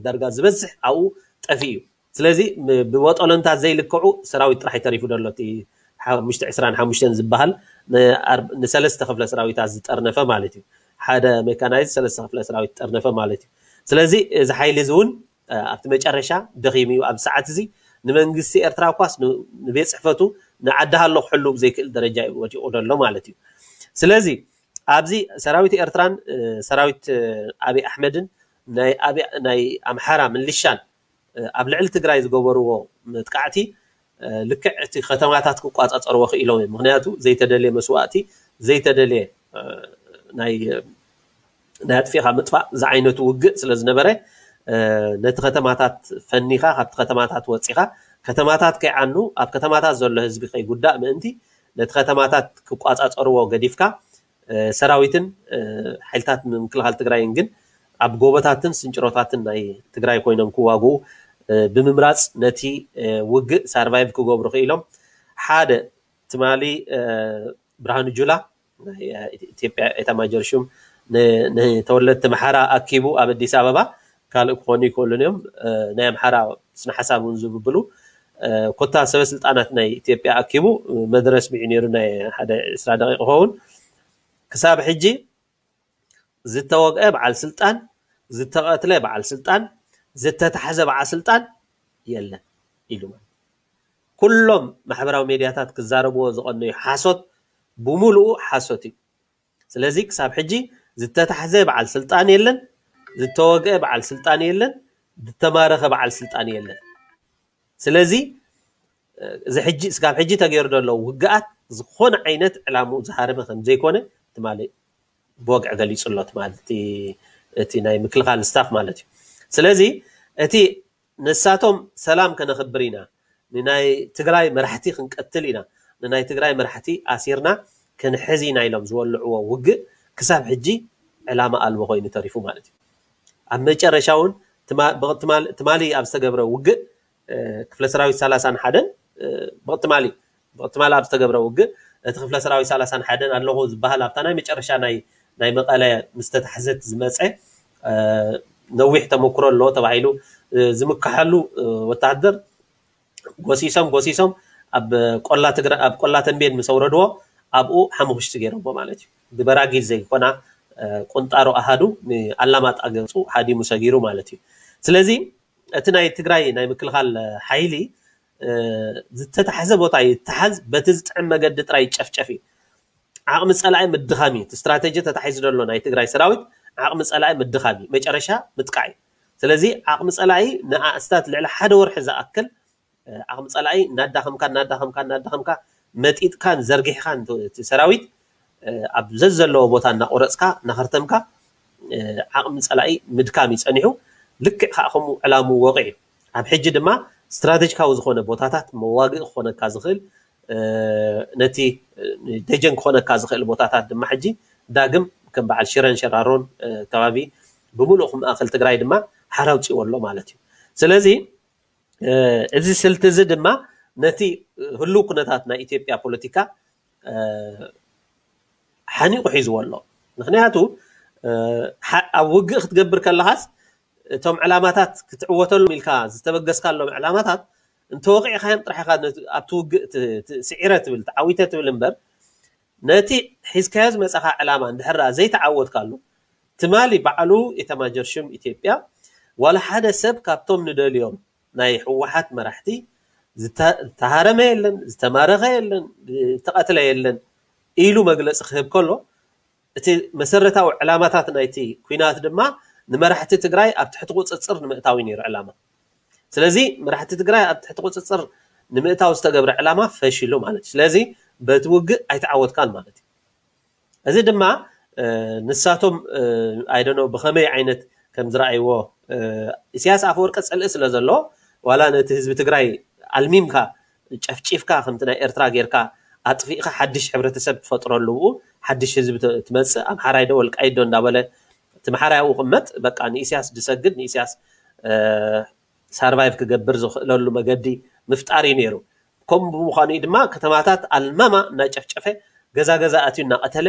ዳርጋ ዝበዝሕ ኣብኡ ጠፊኡ እዩ። ስለዚ ብወጠሎንታት ዘይልክዑ ሰራዊት ጥራሕ ተሪፉ ዘሎ እቲ ሓሙሽተ ዕስራን ሓሙሽተን ዝበሃል ንሰለስተ ክፍለ ሰራዊታት ዝጠርነፈ ማለት እዩ። ሓደ ሜካናይዝ ሰለስተ ክፍለ ሰራዊት ዝጠርነፈ ማለት እዩ። ስለዚ እዚ ሓይሊ እዚ እውን ኣብቲ መጨረሻ ደኺሙ እዩ። ኣብ ሰዓት እዚ ንመንግስቲ ኤርትራ እኳስ ንቤት ፅሕፈቱ ንዓዲ ሃሎ ክሕሉ ዘይክእል ደረጃ እዩ ወዲቑ ዘሎ ማለት እዩ። ስለዚ ኣብዚ ሰራዊት ኤርትራን ሰራዊት ኣብይ ኣሕመድን ናይ ኣምሓራ ምልሻን ኣብ ልዕሊ ትግራይ ዝገበርዎ መጥቃዕቲ ልክዕ እቲ ከተማታት ክቋፃፀርዎ ክኢሎም እዮም። ምክንያቱ ዘይተደልየ መስዋእቲ፣ ዘይተደልየ ናይ ኣጥፊኻ ምጥፋእ ዝዓይነቱ ውግእ ስለ ዝነበረ ነቲ ከተማታት ፈኒኻ፣ ካብቲ ከተማታት ወፂኻ፣ ከተማታት ከይዓኑ፣ ኣብ ከተማታት ዘሎ ህዝቢ ከይጉዳእ ምእንቲ ነቲ ከተማታት ክቋፃፀርዎ ገዲፍካ ሰራዊትን ሓይልታት ምክልኻል ትግራይን ግን ኣብ ጎቦታትን ስንጭሮታትን ናይ ትግራይ ኮይኖም ክዋግኡ ብምምራፅ ነቲ ውግእ ሳርቫይቭ ክገብሩ ክኢሎም። ሓደ ትማሊ ብርሃኑ ጁላ ናይ ኢትዮጵያ ኤታማጆር ሹም ንተወለድቲ ኣምሓራ ኣኪቡ ኣብ ኣዲስ ኣበባ ካልእ ክኾኑ ይክእሉን እዮም። ናይ ኣምሓራ ስነ ሓሳብ እውን ዝብብሉ ኮታ ሰበ ስልጣናት ናይ ኢትዮጵያ ኣኪቡ መደረ ኣስሚዑ ነይሩ፣ ናይ ሓደ ዕስራ ደቂቕ ክኸውን። ክሳብ ሕጂ ዝተወግአ በዓል ስልጣን፣ ዝተቐትለ በዓል ስልጣን፣ ዝተታሕዘ በዓል ስልጣን የለን ኢሉ። ኩሎም ማሕበራዊ ሜድያታት ክዛረብዎ ዝቐነዩ ሓሶት ብምሉኡ ሓሶት እዩ። ስለዚ ክሳብ ሕጂ ዝተታሕዘ በዓል ስልጣን የለን፣ ዝተወግአ በዓል ስልጣን የለን፣ ዝተማረኸ በዓል ስልጣን የለን። ስለዚ እዚ ሕጂ ስጋብ ሕጂ ተገይሩ ዘሎ ውግኣት ዝኾነ ዓይነት ዕላምኡ ዝሃረመ ከም ዘይኮነ ትማሊ ብወግዒ ገሊፁ ኣሎ። ትማሊ እቲ ናይ ምክልኻል ስታፍ ማለት እዩ። ስለዚ እቲ ንሳቶም ሰላም ከነኽብር ኢና፣ ንናይ ትግራይ መራሕቲ ክንቀትል ኢና፣ ንናይ ትግራይ መራሕቲ ኣሲርና ክንሕዝ ኢና ኢሎም ዝወልዕዎ ውግእ ክሳብ ሕጂ ዕላማ ኣልቦ ኮይኑ ተሪፉ ማለት እዩ። ኣብ መጨረሻ እውን ትማሊ ኣብ ዝተገብረ ውግእ ክፍለ ሰራዊት ሰላሳን ሓደን ብቕትማሊ ብቕትማሊ ኣብ ዝተገብረ ውግእ እቲ ክፍለ ሰራዊት ሰላሳን ሓደን ኣለኹ ዝበሃል ኣብታ ናይ መጨረሻ ናይ ናይ መቐለ ምስ ተታሕዘት ዝመፀ ነዊሕ ተመክሮ ኣለዎ ተባሂሉ ዝምከሓሉ ወታደር ጎሲሶም ጎሲሶም ኣብ ቆላ ትግራ ኣብ ቆላ ተንቤን ምስ ኣውረድዎ ኣብኡ ሓሙኽሽቲ ገይሮሞ ማለት እዩ። ብበራጊድ ዘይኮና ቁንጣሮ ኣሃዱ ንኣላማጣ ገፁ ሃዲሙ ሰጊሩ ማለት እዩ። ስለዚ እቲ ናይ ትግራይ ናይ ምክልኻል ሓይሊ ዝተታሕዘ ቦታ ይተሓዝ፣ በቲ ዝጥዕም መገዲ ጥራይ ይጨፍጨፍ እዩ። ዓቕሚ ፀላኢ ምድኻም እዩ። እቲ ስትራቴጂ ተታሒዙ ዘሎ ናይ ትግራይ ሰራዊት ዓቕሚ ፀላኢ ምድኻም እዩ። መጨረሻ ምጥቃዕ እዩ። ስለዚ ዓቕሚ ፀላኢ ንኣስታት ልዕሊ ሓደ ወርሒ ዝኣክል ዓቕሚ ፀላኢ እናዳኸምካ እናዳኸምካ እናዳኸምካ መጢጥካን ዘርጊሕካን እቲ ሰራዊት ኣብ ዘዘለዎ ቦታ እናቆረፅካ እናኸርተምካ ዓቕሚ ፀላኢ ምድካም እዩ ፀኒሑ። ልክዕ ከዓ ከምኡ ዕላምኡ ወቂዑ። ኣብ ሕጂ ድማ ስትራቴጂካዊ ዝኾነ ቦታታት መዋግኢ ክኾነካ ዝኽእል ነቲ ደጀን ክኾነካ ዝኽእል ቦታታት ድማ ሕጂ ዳግም ከም በዓል ሽረን ሸራሮን ከባቢ ብምሉእ ማእኸል ትግራይ ድማ ሓራ ኣውፂእዎ ኣሎ ማለት እዩ። ስለዚ እዚ ስልቲ እዚ ድማ ነቲ ህሉው ኩነታት ናይ ኢትዮጵያ ፖለቲካ ሓኒቑ ሒዝዎ ኣሎ። ምክንያቱ ኣብ ውግእ ክትገብር ከለኻስ እቶም ዕላማታት ክትዕወተሎም ኢልካ ዝተበገስካሎም ዕላማታት እንተወቂዕካዮም ጥራሕ ኢኻ ኣብቲ ውግእ ስዒረ ትብል ተዓዊተ ትብል እምበር ነቲ ሒዝካዮ ዝመፃኻ ዕላማ እንድሕር ዘይተዓወትካሉ ትማሊ ባዕሉ ኢታማጆር ሹም ኢትዮጵያ ዋላ ሓደ ሰብ ካብቶም ንደልዮም ናይ ህወሓት መራሕቲ ዝተሃረመ የለን፣ ዝተማረኸ የለን፣ ዝተቐትለ የለን ኢሉ መግለፂ ክህብ ከሎ እቲ መሰረታዊ ዕላማታት ናይቲ ኩናት ድማ ንመራሕቲ ትግራይ ኣብ ትሕቲ ቁፅፅር ንምእታው ነይሩ ዕላማ። ስለዚ መራሕቲ ትግራይ ኣብ ትሕቲ ቁፅፅር ንምእታው ዝተገብረ ዕላማ ፈሺሉ ማለት እዩ። ስለዚ በቲ ውግእ ኣይተዓወትካን ማለት እዩ። እዚ ድማ ንሳቶም ኣይደኖ ብኸመይ ዓይነት ከም ዝረኣይዎ ኢሳያስ ኣፈወርቂ ፅልኢ ስለ ዘሎ ዋላ ነቲ ህዝቢ ትግራይ ኣልሚምካ ጨፍጪፍካ ከምቲ ናይ ኤርትራ ጌርካ ኣጥፊእካ ሓድሽ ሕብረተሰብ ትፈጥረሉ ብኡ ሓድሽ ህዝቢ ትመፅእ ኣምሓራይ ዶ ወልቃይት ዶ እንዳበለ እቲ ኣምሓራይ ኣብኡ ቅመጥ በቃ ንኢሳያስ ድሰግድ ንኢሳያስ ሳርቫይቭ ክገብር ዝኽእለሉ መገዲ ምፍጣር እዩ ነይሩ። ከምኡ ብምዃኑ ድማ ከተማታት ኣልማማ እናጨፍጨፈ ገዛ ገዛ ኣትዩ እናቐተለ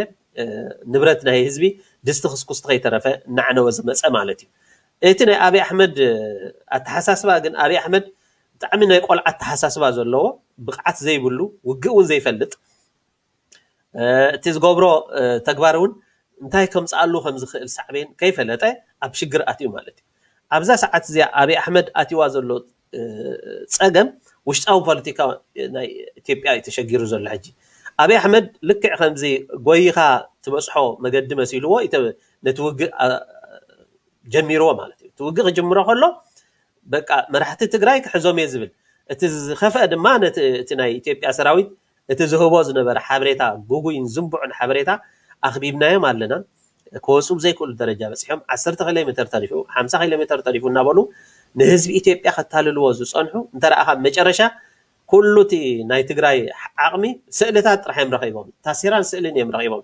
ንብረት ናይ ህዝቢ ድስቲ ክስኩስቲ ከይተረፈ እናዕነወ ዝመፀ ማለት እዩ። እቲ ናይ ኣብይ ኣሕመድ ኣተሓሳስባ ግን ኣብይ ኣሕመድ ብጣዕሚ ናይ ቆልዓ ኣተሓሳስባ ዘለዎ ብቕዓት ዘይብሉ ውግእ እውን ዘይፈልጥ እቲ ዝገብሮ ተግባር እውን እንታይ ከምፅኣሉ ከም ዝኽእል ሳዕቤን ከይፈለጠ ኣብ ሽግር ኣትዩ ማለት እዩ። ኣብዛ ሰዓት እዚኣ ኣብይ ኣሕመድ ኣትይዋ ዘሎ ፀገም ውሽጣዊ ፖለቲካ ናይ ኢትዮጵያ እዩ ተሸጊሩ ዘሎ ሕጂ። ኣብይ ኣሕመድ ልክዕ ከምዚ ጎይኻ ትበፅሖ መገዲ መሲልዎ ነቲ ውግእ ጀሚርዎ ማለት እዩ። እቲ ውግእ ክጅምሮ ከሎ በቃ መራሕቲ ትግራይ ክሕዞም እየ ዝብል እቲ ዝኸፍአ ድማ ነቲ ናይ ኢትዮጵያ ሰራዊት እቲ ዝህቦ ዝነበረ ሓበሬታ ጉጉይን ዝንቡዕን ሓበሬታ ኣኽቢብናዮም ኣለና። ክወፁ ብዘይክእሉ ደረጃ በፂሖም ዓሰርተ ኪሎ ሜትር ተሪፉ ሓምሳ ኪሎ ሜትር ተሪፉ እናበሉ ንህዝቢ ኢትዮጵያ ከታልልዎ ዝፀንሑ እንተረኣኻ መጨረሻ ኩሉ እቲ ናይ ትግራይ ዓቕሚ ስእልታት ጥራሕ እዮም ረኺቦም። ታሲራን ስእልን እዮም ረኺቦም።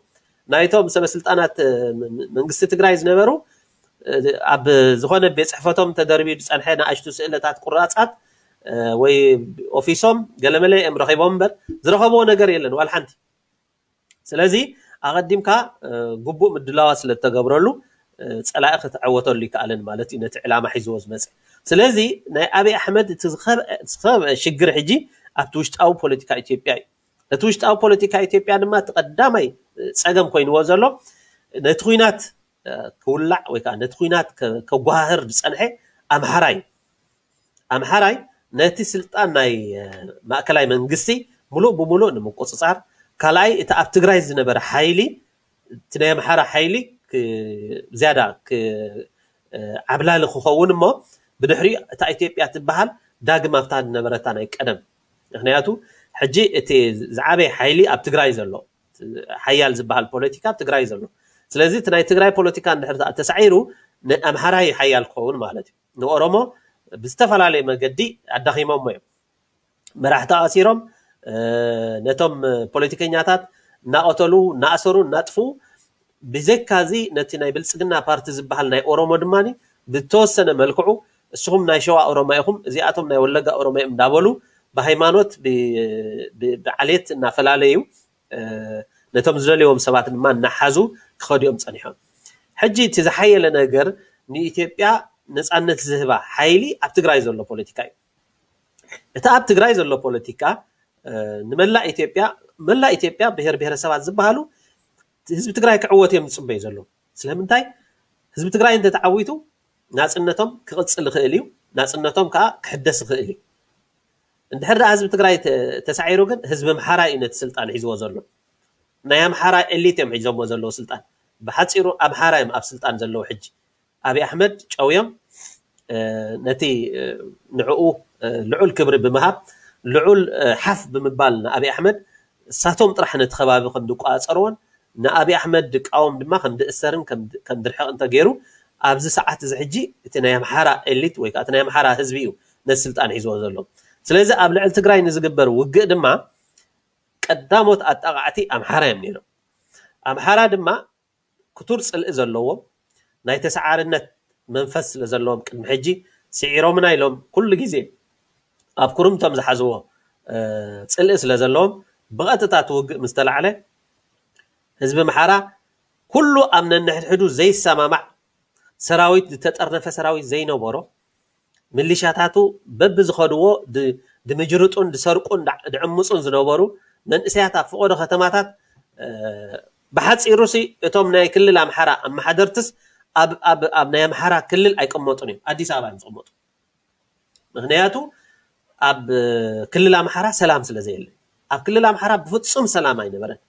ናይቶም ሰበስልጣናት መንግስቲ ትግራይ ዝነበሩ ኣብ ዝኾነ ቤት ፅሕፈቶም ተደርቢዩ ዝፀንሐ ንኣሽቱ ስእልታት ቁራፃት ወይ ኦፊሶም ገለመለ እዮም ረኺቦም እምበር ዝረኸብዎ ነገር የለን ዋላ ሓንቲ። ስለዚ ኣቐዲምካ ግቡእ ምድላዋት ስለ ዝተገብረሉ ፀላኢ ክትዕወተሉ ይከኣልን ማለት እዩ ነቲ ዕላማ ሒዝዎ ዝመፀ። ስለዚ ናይ ኣብይ ኣሕመድ እቲ ዝኸብአ ሽግር ሕጂ ኣብቲ ውሽጣዊ ፖለቲካ ኢትዮጵያ እዩ። እቲ ውሽጣዊ ፖለቲካ ኢትዮጵያ ድማ እቲ ቀዳማይ ፀገም ኮይንዎ ዘሎ ነቲ ኩናት ክውላዕ ወይ ከዓ ነቲ ኩናት ከጓህር ዝፀንሐ ኣምሓራይ ኣምሓራይ ነቲ ስልጣን ናይ ማእከላይ መንግስቲ ሙሉእ ብሙሉእ ንምቁፅፃር ካልኣይ እቲ ኣብ ትግራይ ዝነበረ ሓይሊ እቲ ናይ ኣምሓራ ሓይሊ ዝያዳ ዓብላሊ ክኸውን እሞ ብድሕሪኡ እታ ኢትዮጵያ ትበሃል ዳግም ኣብታ ዝነበረታ ናይ ቀደም ምክንያቱ ሕጂ እቲ ዝዓበየ ሓይሊ ኣብ ትግራይ ዘሎ ሓያል ዝበሃል ፖለቲካ ኣብ ትግራይ ዘሎ ስለዚ እቲ ናይ ትግራይ ፖለቲካ እንድሕር ተሳዒሩ ንኣምሓራይ ሓያል ክኸውን ማለት እዩ ንኦሮሞ ብዝተፈላለየ መገዲ ኣዳኺሞሞ እዮም መራሕቲ ኣሲሮም ነቶም ፖለቲከኛታት እናቐተሉ እናኣሰሩ እናጥፍኡ ብዘይካዚ ነቲ ናይ ብልፅግና ፓርቲ ዝበሃል ናይ ኦሮሞ ድማ ብተወሰነ መልክዑ እስኹም ናይ ሸዋ ኦሮማ ኢኹም እዚኣቶም ናይ ወለጋ ኦሮማ እዮም እንዳበሉ ብሃይማኖት ብዓሌት እናፈላለዩ ነቶም ዝደልዎም ሰባት ድማ እናሓዙ ክኸዱ እዮም ፀኒሖም ሕጂ እቲ ዝሓየለ ነገር ንኢትዮጵያ ነፃነት ዝህባ ሓይሊ ኣብ ትግራይ ዘሎ ፖለቲካ እዩ እቲ ኣብ ትግራይ ዘሎ ፖለቲካ ንመላእ ኢትዮጵያ መላእ ኢትዮጵያ ብሄር ብሄረሰባት ዝበሃሉ ህዝቢ ትግራይ ክዕወት እዮም ዝፅበዩ ዘለዉ ስለምንታይ ህዝቢ ትግራይ እንተተዓዊቱ ናፅነቶም ክቕፅል ይኽእል እዩ ናፅነቶም ከዓ ክሕደስ ይኽእል እዩ እንድሕር ደኣ ህዝቢ ትግራይ ተሳዒሩ ግን ህዝቢ ኣምሓራ እዩ ነቲ ስልጣን ሒዝዎ ዘሎ ናይ ኣምሓራ ኤሊት እዮም ሒዞሞ ዘለዉ ስልጣን ብሓፂሩ ኣምሓራ እዮም ኣብ ስልጣን ዘለዉ ሕጂ ኣብይ ኣሕመድ ጨውዮም ነቲ ንዕኡ ልዑል ክብሪ ብምሃብ ልዑል ሓፍ ብምባል ንኣብይ ኣሕመድ እሳቶም ጥራሕ ነቲ ከባቢ ከም ዝቋፀርዎን ንኣብይ ኣሕመድ ድቃወም ድማ ከም ድእሰርን ከም ድርሕቕ እንተገይሩ ኣብዚ ሰዓት እዚ ሕጂ እቲ ናይ ኣምሓራ ኤሊት ወይ ከዓ ናይ ኣምሓራ ህዝቢ እዩ ነቲ ስልጣን ሒዝዎ ዘሎ ስለዚ ኣብ ልዕሊ ትግራይ ንዝግበር ውግእ ድማ ቀዳሞት ኣጣቃዕቲ ኣምሓራ እዮም ነይሮም ኣምሓራ ድማ ክቱር ፅልኢ ዘለዎም ናይ ተሰዓርነት መንፈስ ስለ ዘለዎም ቅድሚ ሕጂ ስዒሮምና ኢሎም ኩሉ ግዜ ኣብ ኩርምቶም ዝሓዝዎ ጽልኢ ስለ ዘለዎም ብቐጥታ እቲ ውግእ ምስ ተላዕለ ህዝቢ ኣምሓራ ኩሉ ኣብ ነንሕድሕዱ ዘይሰማማዕ ሰራዊት፣ ዝተጠርነፈ ሰራዊት ዘይነበሮ፣ ሚሊሻታቱ በብዝኸድዎ ድምጅርጡን ድሰርቁን ድዕምፁን ዝነበሩ መንእሰያት ኣብ ፍቆዶ ከተማታት ብሓፂሩ ሲ እቶም ናይ ክልል ኣምሓራ ኣመሓደርትስ ኣብ ናይ ኣምሓራ ክልል ኣይቀመጡን እዮም፣ ኣዲስ ኣበባ እዮም ዝቀመጡ። ምክንያቱ ኣብ ክልል ኣምሓራ ሰላም ስለ ዘየለ፣ ኣብ ክልል ኣምሓራ ብፍፁም ሰላም ኣይነበረን።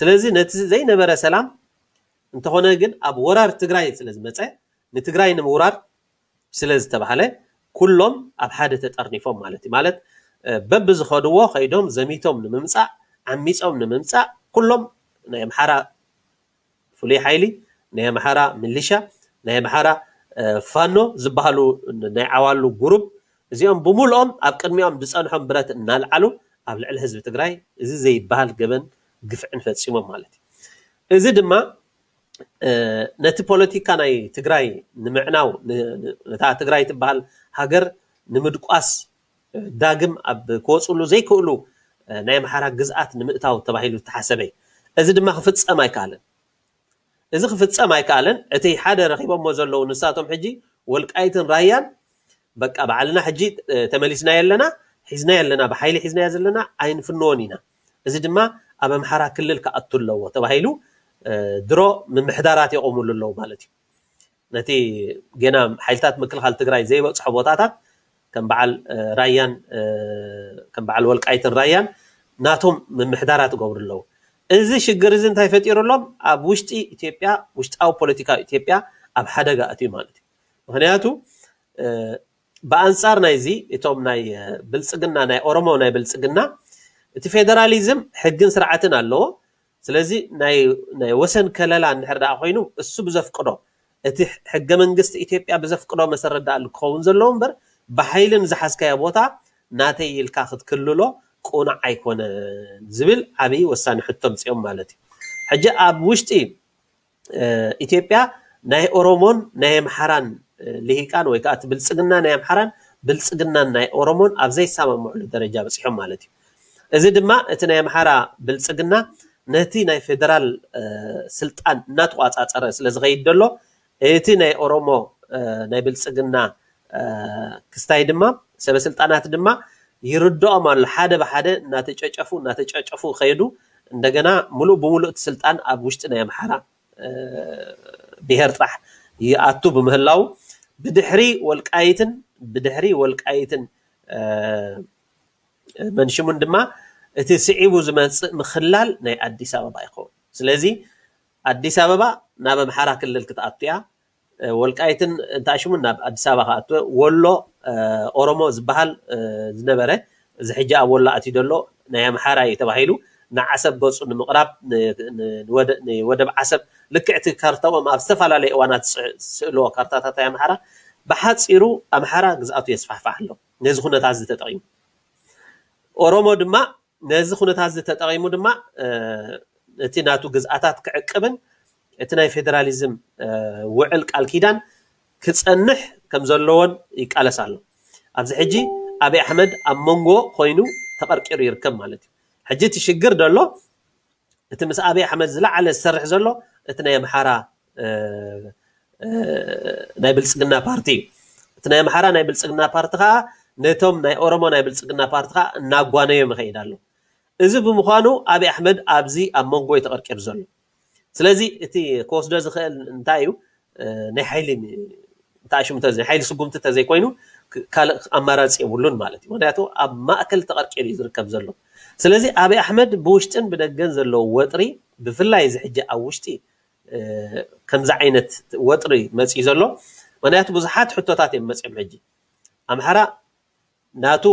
ስለዚ ነቲ ዘይነበረ ሰላም እንተኾነ ግን ኣብ ወራር ትግራይ ስለ ዝመፀ ንትግራይ ንምውራር ስለ ዝተባህለ ኩሎም ኣብ ሓደ ተጠርኒፎም ማለት እዩ። ማለት በብዝኸድዎ ከይዶም ዘሚቶም ንምምፃእ ዓሚፆም ንምምፃእ ኩሎም ናይ ኣምሓራ ፍሉይ ሓይሊ፣ ናይ ኣምሓራ ሚሊሻ፣ ናይ ኣምሓራ ፋኖ ዝበሃሉ ናይ ዓዋሉ ጉሩብ እዚኦም ብምልኦም ኣብ ቅድሚኦም ዝፀንሖም ብረት እናልዓሉ ኣብ ልዕሊ ህዝቢ ትግራይ እዚ ዘይበሃል ገበን ግፍዕን ፈፂሞም ማለት እዩ። እዚ ድማ ነቲ ፖለቲካ ናይ ትግራይ ንምዕናው ነታ ትግራይ ትበሃል ሃገር ንምድቋስ ዳግም ኣብ ክወፅሉ ዘይክእሉ ናይ ኣምሓራ ግዝኣት ንምእታው ተባሂሉ ዝተሓሰበ እዩ። እዚ ድማ ክፍፀም ኣይከኣለን። እዚ ክፍፀም ኣይከኣለን። እቲ ሓደ ረኺቦሞ ዘለዉ ንሳቶም ሕጂ ወልቃይትን ራያን በቃ ባዕልና ሕጂ ተመሊስና የለና ሒዝና የለና ብሓይሊ ሒዝናዮ ዘለና ኣይንፍንዎን ኢና። እዚ ድማ ኣብ ኣምሓራ ክልል ክኣቱ ኣለዎ ተባሂሉ ድሮ ምምሕዳራት የቆምሉ ኣለዉ ማለት እዩ። ነቲ ገና ሓይልታት ምክልኻል ትግራይ ዘይበፅሖ ቦታታት ከም በዓል ራያን ከም በዓል ወልቃይትን ራያን ናቶም ምምሕዳራት ይገብሩ ኣለዉ። እዚ ሽግር እዚ እንታይ ፈጢሩሎም? ኣብ ውሽጢ ኢትዮጵያ ውሽጣዊ ፖለቲካ ኢትዮጵያ ኣብ ሓደጋ ኣትዩ ማለት እዩ። ምክንያቱ ብኣንፃር ናይዚ እቶም ናይ ብልፅግና ናይ ኦሮሞ ናይ ብልፅግና እቲ ፌደራሊዝም ሕግን ስርዓትን ኣለዎ። ስለዚ ናይ ወሰን ከለላ እንድሕር ደኣ ኮይኑ እሱ ብዘፍቅዶ እቲ ሕገ መንግስቲ ኢትዮጵያ ብዘፍቅዶ መሰረት ደኣ ክኸውን ዘለዎ እምበር ብሓይሊ ንዝሓዝካዮ ቦታ ናተይ ኢልካ ክትክልሎ ቁኑዕ ኣይኮነን ዝብል ዓብዪ ወሳኒ ሕቶ ምፅኦም ማለት እዩ። ሕጂ ኣብ ውሽጢ ኢትዮጵያ ናይ ኦሮሞን ናይ ኣምሓራን ልሂቃን ወይ ከዓ እቲ ብልፅግና ናይ ኣምሓራን ብልፅግናን ናይ ኦሮሞን ኣብ ዘይሰማምዕሉ ደረጃ በፂሖም ማለት እዩ። እዚ ድማ እቲ ናይ ኣምሓራ ብልፅግና ነቲ ናይ ፌደራል ስልጣን እናተቋፃፀረ ስለ ዝኸይድ ዘሎ እቲ ናይ ኦሮሞ ናይ ብልፅግና ክስታይ ድማ ሰበ ስልጣናት ድማ ይርድኦም ኣሎ። ሓደ ብሓደ እናተጨጨፉ እናተጨጨፉ ከይዱ እንደገና ሙሉእ ብሙሉእ እቲ ስልጣን ኣብ ውሽጢ ናይ ኣምሓራ ብሄር ጥራሕ ይኣቱ ብምህላው ብድሕሪ ወልቃይትን ብድሕሪ ወልቃይትን መንሽሙን ድማ እቲ ስዒቡ ዝመፅእ ምክላል ናይ ኣዲስ ኣበባ ይኸውን። ስለዚ ኣዲስ ኣበባ ናብ ኣምሓራ ክልል ክትኣቱ እያ። ወልቃይትን እንተኣሽሙ ናብ ኣዲስ ኣበባ ክኣቱ፣ ወሎ ኦሮሞ ዝበሃል ዝነበረ እዚ ሕጂ ኣብ ወሎ ኣትዩ ዘሎ ናይ ኣምሓራ እዩ ተባሂሉ ንዓሰብ ገፁ ንምቕራብ ወደብ ዓሰብ ልክዕቲ ካርታኦም ኣብ ዝተፈላለዩ እዋናት ስእልዎ ካርታታት ኣምሓራ ብሓፂሩ ኣምሓራ ግዝኣቱ የስፋሕፋሕ ኣሎ። ነዚ ኩነታት እዚ ተጠቒሙ ኦሮሞ ድማ ነዚ ኩነታት እዚ ተጠቒሙ ድማ እቲ ናቱ ግዝኣታት ክዕቅብን እቲ ናይ ፌደራሊዝም ውዕል ቃል ኪዳን ክፀንሕ ከም ዘለዎን ይቃለስ ኣሎ። ኣብዚ ሕጂ ኣብይ ኣሕመድ ኣብ መንጎ ኮይኑ ተቐርቂሩ ይርከብ ማለት እዩ። ሕጂ እቲ ሽግር ዘሎ እቲ ምስ ኣብይ ኣሕመድ ዝለዓለ ዝሰርሕ ዘሎ እቲ ናይ ኣምሓራ ናይ ብልፅግና ፓርቲ እዩ። እቲ ናይ ኣምሓራ ናይ ብልፅግና ፓርቲ ከዓ ነቶም ናይ ኦሮሞ ናይ ብልፅግና ፓርቲ ከዓ እናጓነዮም ይኸይድ ኣሎ። እዚ ብምዃኑ ኣብይ ኣሕመድ ኣብዚ ኣብ መንጎ እዩ ተቐርቂሩ ዘሎ። ስለዚ እቲ ክወስዶ ዝኽእል እንታይ እዩ? ናይ ሓይሊ እንተኣሽሙ ናይ ሓይሊ ስጉምቲ ተዘይኮይኑ ካልእ ኣማራፂ የብሉን ማለት እዩ። ምክንያቱ ኣብ ማእከል ተቐርቂሩ እዩ ዝርከብ ዘሎ። ስለዚ ኣብይ ኣሕመድ ብውሽጥን ብደገን ዘለዎ ወጥሪ ብፍላይ እዚ ሕጂ ኣብ ውሽጢ ከምዚ ዓይነት ወጥሪ መፅዩ ዘሎ ምክንያቱ ብዙሓት ሕቶታት እዮም መፅዮም። ሕጂ ኣምሓራ ናቱ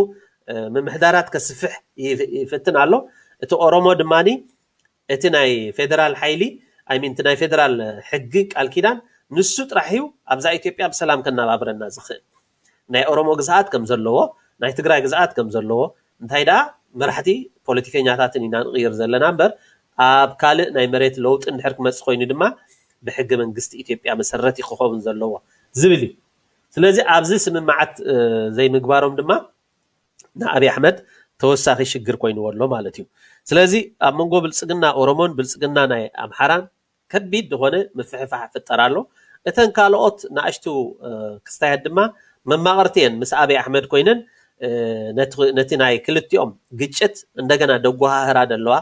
ምምሕዳራት ከስፍሕ ይፍትን ኣሎ። እቲ ኦሮሞ ድማ እቲ ናይ ፌደራል ሓይሊ ኣይሚን እቲ ናይ ፌደራል ሕጊ ቃል ኪዳን ንሱ ጥራሕ እዩ ኣብዛ ኢትዮጵያ ብሰላም ከነባብረና ዝኽእል። ናይ ኦሮሞ ግዝኣት ከም ዘለዎ ናይ ትግራይ ግዝኣት ከም ዘለዎ እንታይ ደኣ መራሕቲ ፖለቲከኛታትን ኢና ንቕይር ዘለና እምበር ኣብ ካልእ ናይ መሬት ለውጢ እንድሕር ክመፅእ ኮይኑ ድማ ብሕገ መንግስቲ ኢትዮጵያ መሰረት እዩ ክኸውን ዘለዎ ዝብል እዩ። ስለዚ ኣብዚ ስምምዓት ዘይምግባሮም ድማ ንኣብይ ኣሕመድ ተወሳኺ ሽግር ኮይንዎ ኣሎ ማለት እዩ። ስለዚ ኣብ መንጎ ብልፅግና ኦሮሞን ብልፅግና ናይ ኣምሓራን ከቢድ ዝኾነ ምፍሕፋሕ ይፍጠር ኣሎ። እተን ካልኦት ንኣሽቱ ክስታያት ድማ መማቕርቲ እየን። ምስ ኣብይ ኣሕመድ ኮይነን ነቲ ናይ ክልቲኦም ግጭት እንደገና ደጓሃህራ ዘለዋ፣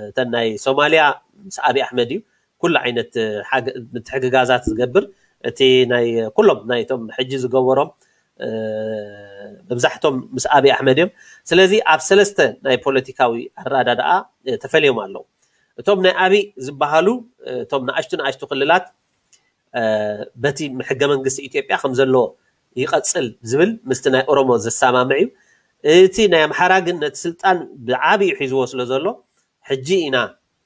እተን ናይ ሶማልያ ምስ ኣብይ ኣሕመድ እዩ ኩሉ ዓይነት ምትሕግጋዛት ዝገብር። እቲ ናይ ኩሎም ናይቶም ሕጂ ዝገበሮም መብዛሕቶም ምስ ኣብይ ኣሕመድ እዮም። ስለዚ ኣብ ሰለስተ ናይ ፖለቲካዊ ኣረዳድኣ ተፈልዮም ኣለዉ። እቶም ናይ ኣብይ ዝበሃሉ እቶም ንኣሽቱ ንኣሽቱ ክልላት በቲ ሕገ መንግስቲ ኢትዮጵያ ከም ዘሎ ይቐፅል ዝብል ምስቲ ናይ ኦሮሞ ዘሰማምዕ እዩ። እቲ ናይ ኣምሓራ ግን ነቲ ስልጣን ብዓብዩ ሒዝዎ ስለ ዘሎ ሕጂ ኢና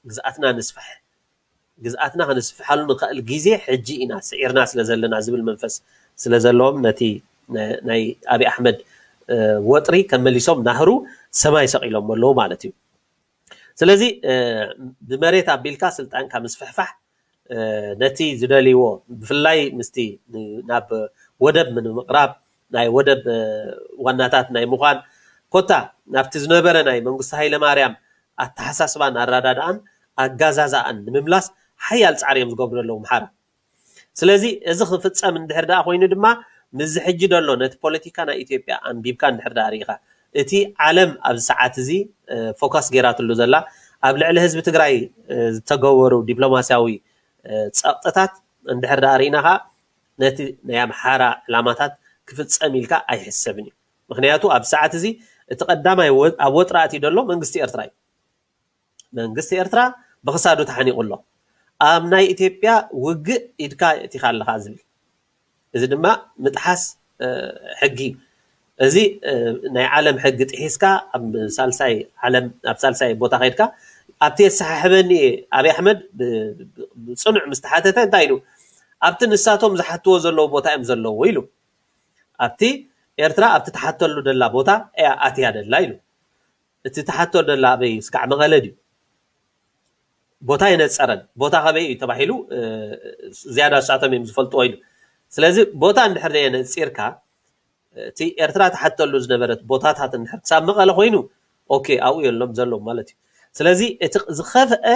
ግዝኣትና ንስፍሕ፣ ግዝኣትና ከነስፍሓሉ ንኽእል ግዜ ሕጂ ኢና ስዒርና ስለ ዘለና ዝብል መንፈስ ስለ ዘለዎም ነቲ ናይ ኣብይ ኣሕመድ ወጥሪ ከመሊሶም ናህሩ ሰማይ ሰቒሎም ኣለዉ ማለት እዩ። ስለዚ ብመሬት ኣቢልካ ስልጣንካ ምስፍሕፋሕ ነቲ ዝደልይዎ ብፍላይ ምስቲ ናብ ወደብ ንምቕራብ ናይ ወደብ ዋናታት ናይ ምዃን ኮታ ናብቲ ዝነበረ ናይ መንግስቲ ሃይለማርያም ኣተሓሳስባን ኣረዳድኣን ኣጋዛዛኣን ንምምላስ ሓያል ፃዕሪ እዮም ዝገብሩ ዘለዉ ኣምሓራ። ስለዚ እዚ ክፍፀም እንድሕር ደኣ ኮይኑ ድማ ምስዚ ሕጂ ደሎ ነቲ ፖለቲካ ናይ ኢትዮጵያ ኣንቢብካ እንድሕር ደኣ ርኢኻ እቲ ዓለም ኣብዚ ሰዓት እዚ ፎካስ ገይራትሉ ዘላ ኣብ ልዕሊ ህዝቢ ትግራይ ዝተገበሩ ዲፕሎማስያዊ ፀቕጥታት እንድሕር ደኣ ርኢና ከዓ ነቲ ናይ ኣምሓራ ዕላማታት ክፍፀም ኢልካ ኣይሕሰብን እዩ። ምክንያቱ ኣብ ሰዓት እዚ እቲ ቀዳማይ ኣብ ወጥሪ ኣትዩ ዘሎ መንግስቲ ኤርትራ እዩ። መንግስቲ ኤርትራ ብክሳዱ ተሓኒቑ ኣሎ። ኣብ ናይ ኢትዮጵያ ውግእ ኢድካ የእቲኻ ኣለኻ ዝብል፣ እዚ ድማ ምጥሓስ ሕጊ እዩ። እዚ ናይ ዓለም ሕጊ ጥሒስካ ኣብ ሳልሳይ ዓለም ኣብ ሳልሳይ ቦታ ከይድካ ኣብቲ የሰሓሕበኒ እየ ኣብይ ኣሕመድ ብፅኑዕ ምስ ተሓተተ እንታይ ኢሉ ኣብቲ ንሳቶም ዝሓትዎ ዘለዉ ቦታ እዮም ዘለዉ ኢሉ ኣብቲ ኤርትራ ኣብቲ ተሓተሉ ደላ ቦታ እያ ኣትያ ደላ ኢሉ እቲ ተሓቶ ደላ ኣበይ ስጋዕ መቐለ ድዩ ቦታ የነፀረን ቦታ ከበይ እዩ ተባሂሉ ዝያዳ ሳቶም እዮም ዝፈልጥዎ ኢሉ ስለዚ ቦታ እንድሕር የነፂርካ እቲ ኤርትራ ተሓተሉ ዝነበረት ቦታታት እንድሕር ክሳብ መቐለ ኮይኑ ኦኬ ኣብኡ የሎም ዘሎም ማለት እዩ ስለዚ እቲ ዝኸፍአ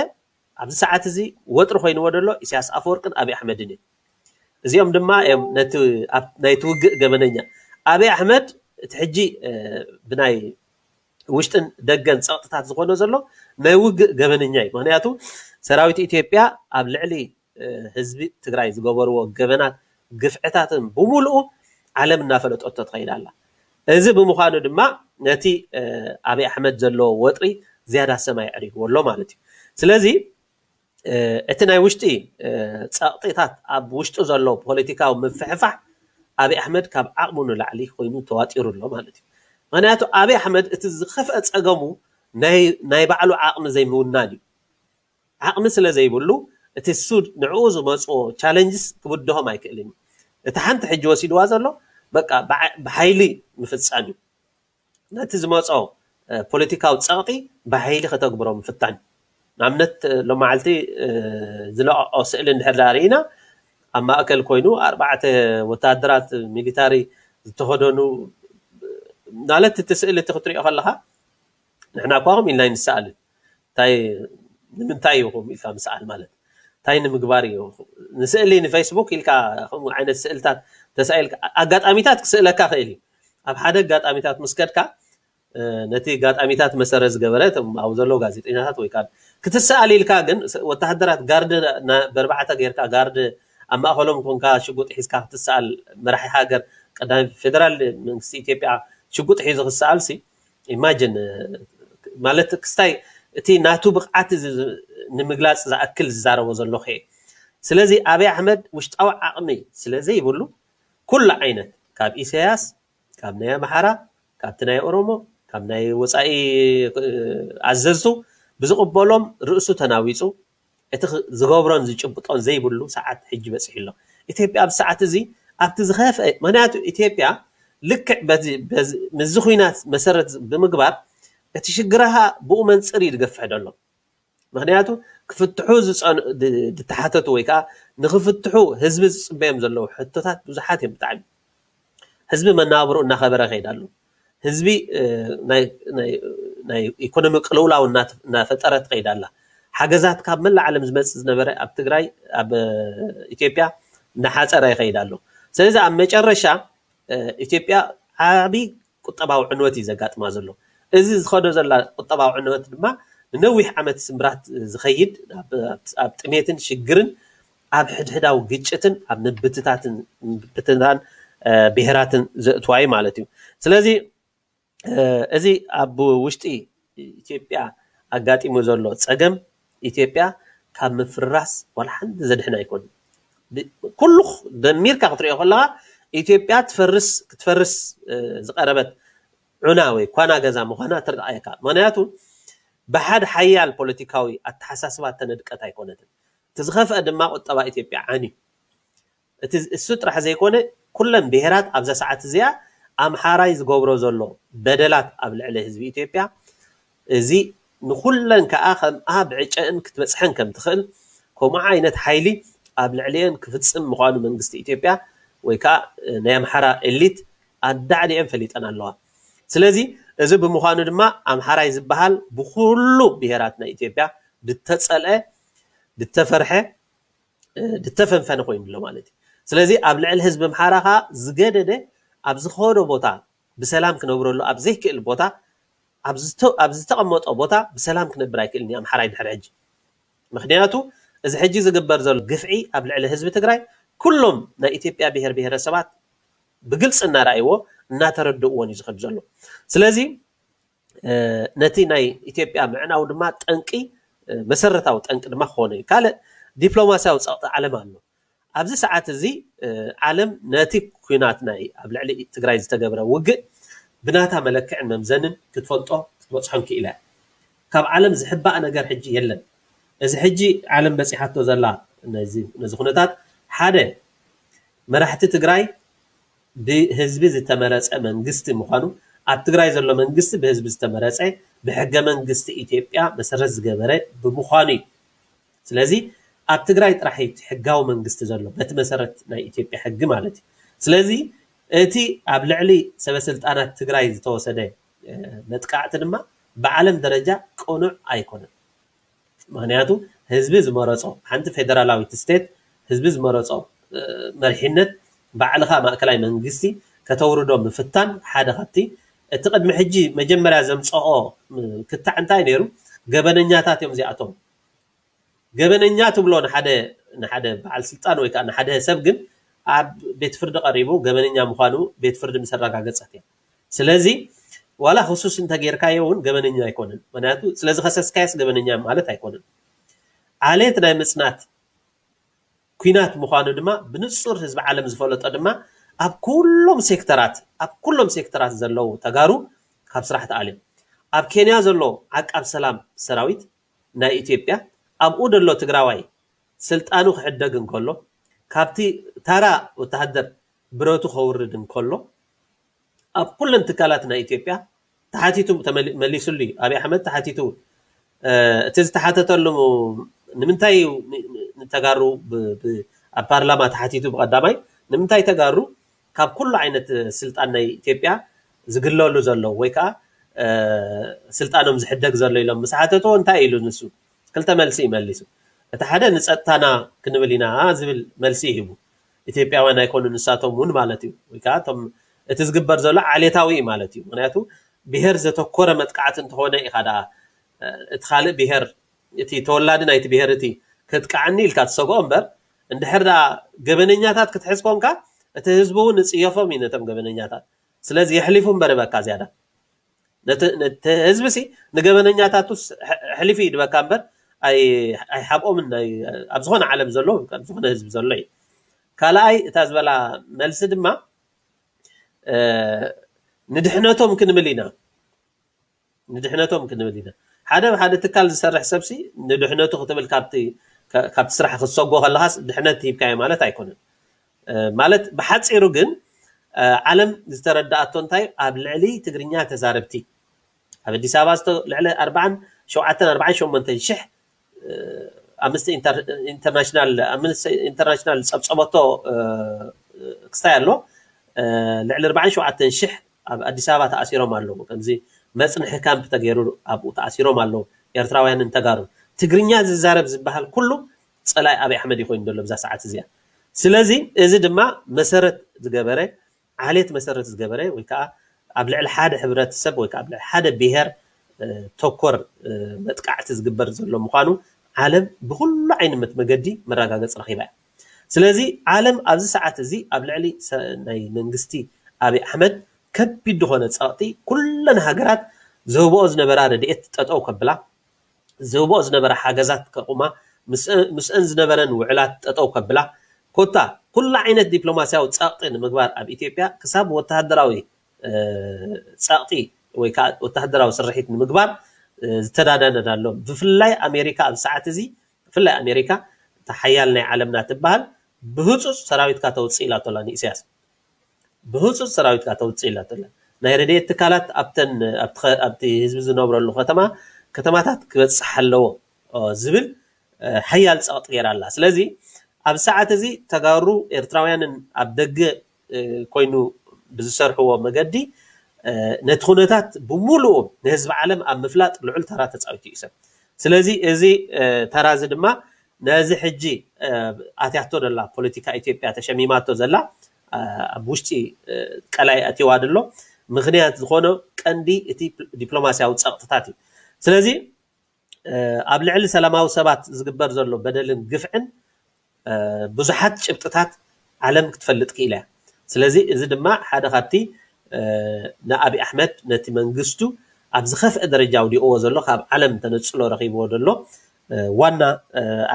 ኣብዚ ሰዓት እዚ ወጥሪ ኮይንዎ ደሎ ኢሳያስ ኣፈወርቅን ኣብይ ኣሕመድን እዩ እዚኦም ድማ እዮም ነቲ ናይቲ ውግእ ገበነኛ ኣብይ ኣሕመድ እቲ ሕጂ ብናይ ውሽጥን ደገን ፀቕጥታት ዝኾነ ዘሎ ናይ ውግእ ገበነኛ እዩ ምክንያቱ ሰራዊት ኢትዮጵያ ኣብ ልዕሊ ህዝቢ ትግራይ ዝገበርዎ ገበናት ግፍዕታትን ብምሉኡ ዓለም እናፈለጠቶ ትኸይድ ኣላ እዚ ብምዃኑ ድማ ነቲ ኣብይ ኣሕመድ ዘለዎ ወጥሪ ዝያዳ ሰማይ ኣዕሪግዎ ኣሎ ማለት እዩ ስለዚ እቲ ናይ ውሽጢ ፀቕጢታት ኣብ ውሽጡ ዘሎ ፖለቲካዊ ምፍሕፋሕ ኣብይ ኣሕመድ ካብ ዓቕሙ ንላዕሊ ኮይኑ ተዋጢሩ ኣሎ ማለት እዩ ምክንያቱ ኣብይ ኣሕመድ እቲ ዝኸፍአ ፀገሙ ናይ ባዕሉ ዓቕሚ ዘይምውናን እዩ ዓቕሚ ስለ ዘይብሉ እቲ ሱድ ንዕኡ ዝመፅዎ ቻለንጅስ ክብድሆም ኣይክእልን እዩ እቲ ሓንቲ ሕጂ ወሲድዋ ዘሎ በቃ ብሓይሊ ምፍፃም እዩ ነቲ ዝመፆ ፖለቲካዊ ፀቕጢ ብሓይሊ ከተግብሮ ምፍታን ንኣብነት ሎማዓልቲ ዝለቀቆ ስእሊ እንድሕር ዳ ርኢና ኣብ ማእከል ኮይኑ ኣርባዕተ ወታደራት ሚሊታሪ ዝተኸደኑ ማለት እቲ ስእሊ እቲ ክትሪኦ ከለካ ንሕና እኳ ከም ኢልና ይንሰኣልን እንታይ ንምንታይ ኢኹም ኢልካ ምስኣል ማለት እንታይ ንምግባር እዩ ንስእሊ ንፌስቡክ ኢልካ ከምኡ ዓይነት ስእልታት ተሳኢልካ ኣጋጣሚታት ክስእለካ ክእል እዩ ኣብ ሓደ ኣጋጣሚታት ምስ ከድካ ነቲ ኣጋጣሚታት መሰረት ዝገበረ እቶም ኣብኡ ዘለዉ ጋዜጠኛታት ወይ ከዓ ክትሰኣል ኢልካ ግን ወታሃደራት ጋርድ በርባዕተ ጌርካ ጋርድ ኣብ ማእኸሎም ኮንካ ሽጉጥ ሒዝካ ክትሰኣል መራሒ ሃገር ቀዳማይ ፌደራል መንግስቲ ኢትዮጵያ ሽጉጥ ሒዙ ክሰኣል ሲ ኢማጅን ማለት ክስታይ እቲ ናቱ ብቕዓት ንምግላፅ ዝኣክል ዝዛረቦ ዘለኹ እየ ስለዚ ኣብይ ኣሕመድ ውሽጣዊ ዓቕሚ ስለ ዘይብሉ ኩሉ ዓይነት ካብ ኢሳያስ ካብ ናይ ኣምሓራ ካብቲ ናይ ኦሮሞ ካብ ናይ ወፃኢ ኣዘዝቱ ብዝቕበሎም ርእሱ ተናዊፁ እቲ ዝገብሮን ዝጭብጦን ዘይብሉ ሰዓት ሕጂ በፂሑ ኣሎ ኢትዮጵያ ኣብዚ ሰዓት እዚ ኣብቲ ዝኸፍአ ምክንያቱ ኢትዮጵያ ልክዕ ምዚ ኩናት መሰረት ብምግባር እቲ ሽግርሃ ብኡ መንፅር እዩ ዝገፍሕ ዘሎ ምክንያቱ ክፍትሑ ዝተሓተቱ ወይ ከዓ ንክፍትሑ ህዝቢ ዝፅበዮም ዘለዉ ሕቶታት ብዙሓት እዮም ብጣዕሚ ህዝቢ መናብሩ እናኸበረ ከይድ ኣሎ ህዝቢ ናይ ኢኮኖሚ ቅልውላው እናፈጠረ ትኸይድ ኣላ። ሓገዛት ካብ መላእ ዓለም ዝመፅእ ዝነበረ ኣብ ትግራይ ኣብ ኢትዮጵያ እናሓፀረ ይኸይድ ኣሎ። ስለዚ ኣብ መጨረሻ ኢትዮጵያ ዓብዪ ቁጠባዊ ዕንወት እዩ ዘጋጥማ ዘሎ። እዚ ዝኸዶ ዘላ ቁጠባዊ ዕንወት ድማ ንነዊሕ ዓመት ስምብራት ዝኸይድ ኣብ ጥሜትን ሽግርን ኣብ ሕድሕዳዊ ግጭትን ኣብ ምብትታትን ምብትታን ብሄራትን ዘእትዋ እዩ ማለት እዩ። ስለዚ እዚ ኣብ ውሽጢ ኢትዮጵያ ኣጋጢሙ ዘሎ ፀገም ኢትዮጵያ ካብ ምፍርራስ ዋላ ሓንቲ ዘድሕን ኣይኮን። ኩሉ ደሚርካ ክትሪኦ ከለካ ኢትዮጵያ ትፈርስ ክትፈርስ ዝቀረበት ዑና ወይ ኳና ገዛ ምኳና ትርኣየካ። ምክንያቱ ብሓድ ሓያል ፖለቲካዊ ኣተሓሳስባ ተነድቀት ኣይኮነትን። እቲ ዝኸፍአ ድማ ቁጠባ ኢትዮጵያ ዓንዩ። እቲ እሱ ጥራሕ ዘይኮነ ኩለን ብሄራት ኣብዛ ሰዓት እዚኣ ኣምሓራይ ዝገብሮ ዘሎ በደላት ኣብ ልዕሊ ህዝቢ ኢትዮጵያ እዚ ንኩለን ከዓ ከምኣ ብዕጨእን ክትበፅሐን ከም ትኽእል ከምኡ ዓይነት ሓይሊ ኣብ ልዕሊአን ክፍፅም ምዃኑ መንግስቲ ኢትዮጵያ ወይ ከዓ ናይ ኣምሓራ ኤሊት ኣዳዕሊአን ፈሊጠን ኣለዋ። ስለዚ እዚ ብምዃኑ ድማ ኣምሓራይ ዝበሃል ብኩሉ ብሄራት ናይ ኢትዮጵያ ድተፀልአ ድተፈርሐ ድተፈንፈነ ኮይኑ ኣሎ ማለት እዩ። ስለዚ ኣብ ልዕሊ ህዝቢ ኣምሓራ ከዓ ዝገደደ ኣብ ዝኸዶ ቦታ ብሰላም ክነብረሉ ኣብ ዘይክእል ቦታ ኣብ ዝተቐመጦ ቦታ ብሰላም ክነብር ኣይክእልን እዩ ኣምሓራይ ድሕሪ ሕጂ። ምክንያቱ እዚ ሕጂ ዝግበር ዘሎ ግፍዒ ኣብ ልዕሊ ህዝቢ ትግራይ ኩሎም ናይ ኢትዮጵያ ብሄር ብሄረሰባት ብግልፂ እናረኣይዎ እናተረድእዎን እዩ ዝኸድ ዘሎ። ስለዚ ነቲ ናይ ኢትዮጵያ ምዕናው ድማ ጠንቂ መሰረታዊ ጠንቂ ድማ ክኾነ እዩ። ካልእ ዲፕሎማሲያዊ ፀቕጢ ዓለም ኣሎ። ኣብዚ ሰዓት እዚ ዓለም ነቲ ኩናት ናይ ኣብ ልዕሊ ትግራይ ዝተገብረ ውግእ ብናታ መለክዕን መምዘንን ክትፈልጦ ክትበፅሖን ክኢላ። ካብ ዓለም ዝሕባእ ነገር ሕጂ የለን። እዚ ሕጂ ዓለም በፂሓቶ ዘላ ነዚ ኩነታት ሓደ መራሕቲ ትግራይ ብህዝቢ ዝተመረፀ መንግስቲ ምዃኑ ኣብ ትግራይ ዘሎ መንግስቲ ብህዝቢ ዝተመረፀ ብሕገ መንግስቲ ኢትዮጵያ መሰረት ዝገበረ ብምዃኑ እዩ። ስለዚ ኣብ ትግራይ ጥራሕ እዩ ሕጋዊ መንግስቲ ዘሎ በቲ መሰረት ናይ ኢትዮጵያ ሕጊ ማለት እዩ። ስለዚ እቲ ኣብ ልዕሊ ሰበስልጣናት ትግራይ ዝተወሰደ መጥቃዕቲ ድማ ብዓለም ደረጃ ቅኑዕ ኣይኮነን። ምክንያቱ ህዝቢ ዝመረፆ ሓንቲ ፌደራላዊት ስቴት ህዝቢ ዝመረፆ መሪሕነት ባዕልካ ማእከላይ መንግስቲ ከተውርዶ ምፍታን ሓደ ካብቲ እቲ ቅድሚ ሕጂ መጀመርያ ዘምፀኦ ክትዕ እንታይ ነይሩ? ገበነኛታት እዮም እዚኣቶም። ገበነኛ ትብሎ ንሓደ ንሓደ በዓል ስልጣን ወይ ከዓ ንሓደ ሰብ ግን ኣብ ቤት ፍርዲ ቀሪቡ ገበነኛ ምዃኑ ቤት ፍርዲ ምስ ኣረጋገፀት እያ። ስለዚ ዋላ ክሱስ እንተጌርካዮ እውን ገበነኛ ኣይኮነን። ምክንያቱ ስለዝኸሰስካዮስ ገበነኛ ማለት ኣይኮነን። ዓሌት ናይ ምፅናት ኲናት ምዃኑ ድማ ብንፁር ህዝቢ ዓለም ዝፈለጦ ድማ ኣብ ኩሎም ሴክተራት ኣብ ኩሎም ሴክተራት ዘለዉ ተጋሩ ካብ ስራሕ ተኣልዮም። ኣብ ኬንያ ዘሎ ዓቃብ ሰላም ሰራዊት ናይ ኢትዮጵያ ኣብኡ ዘሎ ትግራዋይ ስልጣኑ ክሕደግ እንከሎ ካብቲ ታራ ወተሃደር ብረቱ ከውርድ እንከሎ ኣብ ኩለን ትካላት ናይ ኢትዮጵያ ተሓቲቱ መሊሱሉ እዩ። ኣብይ ኣሕመድ ተሓቲቱ እቲ ዝተሓተተሉ ንምንታይ እዩ ንተጋሩ ኣብ ፓርላማ ተሓቲቱ ብቀዳማይ ንምንታይ ተጋሩ ካብ ኩሉ ዓይነት ስልጣን ናይ ኢትዮጵያ ዝግለሉ ዘለዉ ወይ ከዓ ስልጣኖም ዝሕደግ ዘሎ ኢሎም ምስ ሓተትዎ እንታይ ኢሉ ንሱ ክልተ መልሲ እዩ መሊሱ። እቲ ሓደ ንፀጥታና ክንብል ኢና ዝብል መልሲ ይህቡ። ኢትዮጵያውያን ኣይኮኑ ንሳቶም እውን ማለት እዩ ወይ ከዓ እቲ ዝግበር ዘሎ ዓሌታዊ እዩ ማለት እዩ። ምክንያቱ ብሄር ዘተኮረ መጥቃዕቲ እንተኾነ ኢኻ ደኣ እቲ ካልእ ብሄር እቲ ተወላዲ ናይቲ ብሄር እቲ ከጥቃዓኒ ኢልካ ትሰግኦ እምበር እንድሕር ደኣ ገበነኛታት ክትሕዝ ኮንካ እቲ ህዝቢ እውን ንፅየፎም እዩ ነቶም ገበነኛታት። ስለዚ የሕሊፉ እምበር ይበካ ዝያዳ ነቲ ህዝቢ ሲ ንገበነኛታቱ ሕሊፉ ይድበካ እምበር ኣይሓብኦምን ኣብ ዝኾነ ዓለም ዘሎ ኣብ ዝኾነ ህዝቢ ዘሎ እዩ። ካልኣይ እታ ዝበላ መልሲ ድማ ንድሕነቶም ክንብል ኢና ንድሕነቶም ክንብል ኢና ሓደ ሓደ ትካል ዝሰርሕ ሰብሲ ንድሕነቱ ክትብል ካብቲ ካብቲ ስራሕ ክትሰጎ ከለካስ ድሕነት ሂብካዮ ማለት ኣይኮነን። ማለት ብሓፂሩ ግን ዓለም ዝተረዳኣቶ እንታይ ኣብ ልዕሊ ትግርኛ ተዛረብቲ ኣብ ኣዲስ ኣበባ ልዕሊ ኣርባዓን ሸውዓተን ኣርባዓን ሸሞንተን ሽሕ ኣምነስቲ ኢንተርናሽናል ኣምነስቲ ኢንተርናሽናል ዝፀብፀበቶ ክስታይ ኣሎ ልዕሊ ኣርባዓን ሸውዓተን ሽሕ ኣብ ኣዲስ ኣበባ ተኣሲሮም ኣለዉ። ከምዚ መፅንሒ ካምፕ ተገይሩ ኣብኡ ተኣሲሮም ኣለዉ። ኤርትራውያንን ተጋሩን ትግርኛ ዝዛረብ ዝበሃል ኩሉ ፀላኢ ኣብይ ኣሕመድ ይኮይኑ ዘሎ ብዛ ሰዓት እዚኣ። ስለዚ እዚ ድማ መሰረት ዝገበረ ዓሌት መሰረት ዝገበረ ወይ ከዓ ኣብ ልዕሊ ሓደ ሕብረተሰብ ወይ ከዓ ኣብ ልዕሊ ሓደ ብሄር ተኮር መጥቃዕቲ ዝግበር ዘሎ ምዃኑ ዓለም ብኩሉ ዓይነት መገዲ መረጋገፂ ረኺባ እያ። ስለዚ ዓለም ኣብዚ ሰዓት እዚ ኣብ ልዕሊ ናይ መንግስቲ ኣብይ ኣሕመድ ከቢድ ዝኾነ ፀቕጢ ኩለን ሃገራት ዝህብኦ ዝነበራ ረድኤት ጠጠው ከብላ ዝህብኦ ዝነበረ ሓገዛት ከቑማ ምስአን ዝነበረን ውዕላት ጠጠው ከብላ ኮታ ኩሉ ዓይነት ዲፕሎማሲያዊ ፀቕጢ ንምግባር ኣብ ኢትዮጵያ ክሳብ ወተሃደራዊ ፀቕጢ ወይ ከዓ ወተሃደራዊ ስርሒት ንምግባር ዝተዳደነዳ ኣሎ። ብፍላይ ኣሜሪካ ኣብ ሰዓት እዚ ብፍላይ ኣሜሪካ እታ ሓያል ናይ ዓለምና ትበሃል ብህፁፅ ሰራዊትካ ተውፅእ ኢላቶ ኣላ ንኢሳያስ። ብህፁፅ ሰራዊትካ ተውፅእ ኢላቶ ኣላ። ናይ ረድኤት ትካላት ኣብተን ኣብቲ ህዝቢ ዝነብረሉ ከተማ ከተማታት ክበፅሕ ኣለዎ ዝብል ሓያል ፀቕጢ ገይራ ኣላ። ስለዚ ኣብ ሰዓት እዚ ተጋሩ ኤርትራውያንን ኣብ ደገ ኮይኑ ብዝሰርሕዎ መገዲ ነቲ ኩነታት ብምሉኡ ንህዝቢ ዓለም ኣብ ምፍላጥ ልዑል ተራ ተፃዊቱ እዩ ሰብ። ስለዚ እዚ ተራ እዚ ድማ ነዚ ሕጂ ኣትያቶ ዘላ ፖለቲካ ኢትዮጵያ ተሸሚማቶ ዘላ ኣብ ውሽጢ ቀላይ ኣትዋ ዘሎ ምክንያት ዝኾነ ቀንዲ እቲ ዲፕሎማሲያዊ ፀቕጥታት እዩ። ስለዚ ኣብ ልዕሊ ሰላማዊ ሰባት ዝግበር ዘሎ በደልን ግፍዕን ብዙሓት ጭብጥታት ዓለም ክትፈልጥ ክኢላ እያ። ስለዚ እዚ ድማ ሓደ ካብቲ ንኣብይ ኣሕመድ ነቲ መንግስቱ ኣብ ዝኸፍአ ደረጃ ኣውዲቕዎ ዘሎ ካብ ዓለም ተነፅሎ ረኺብዎ ዘሎ ዋና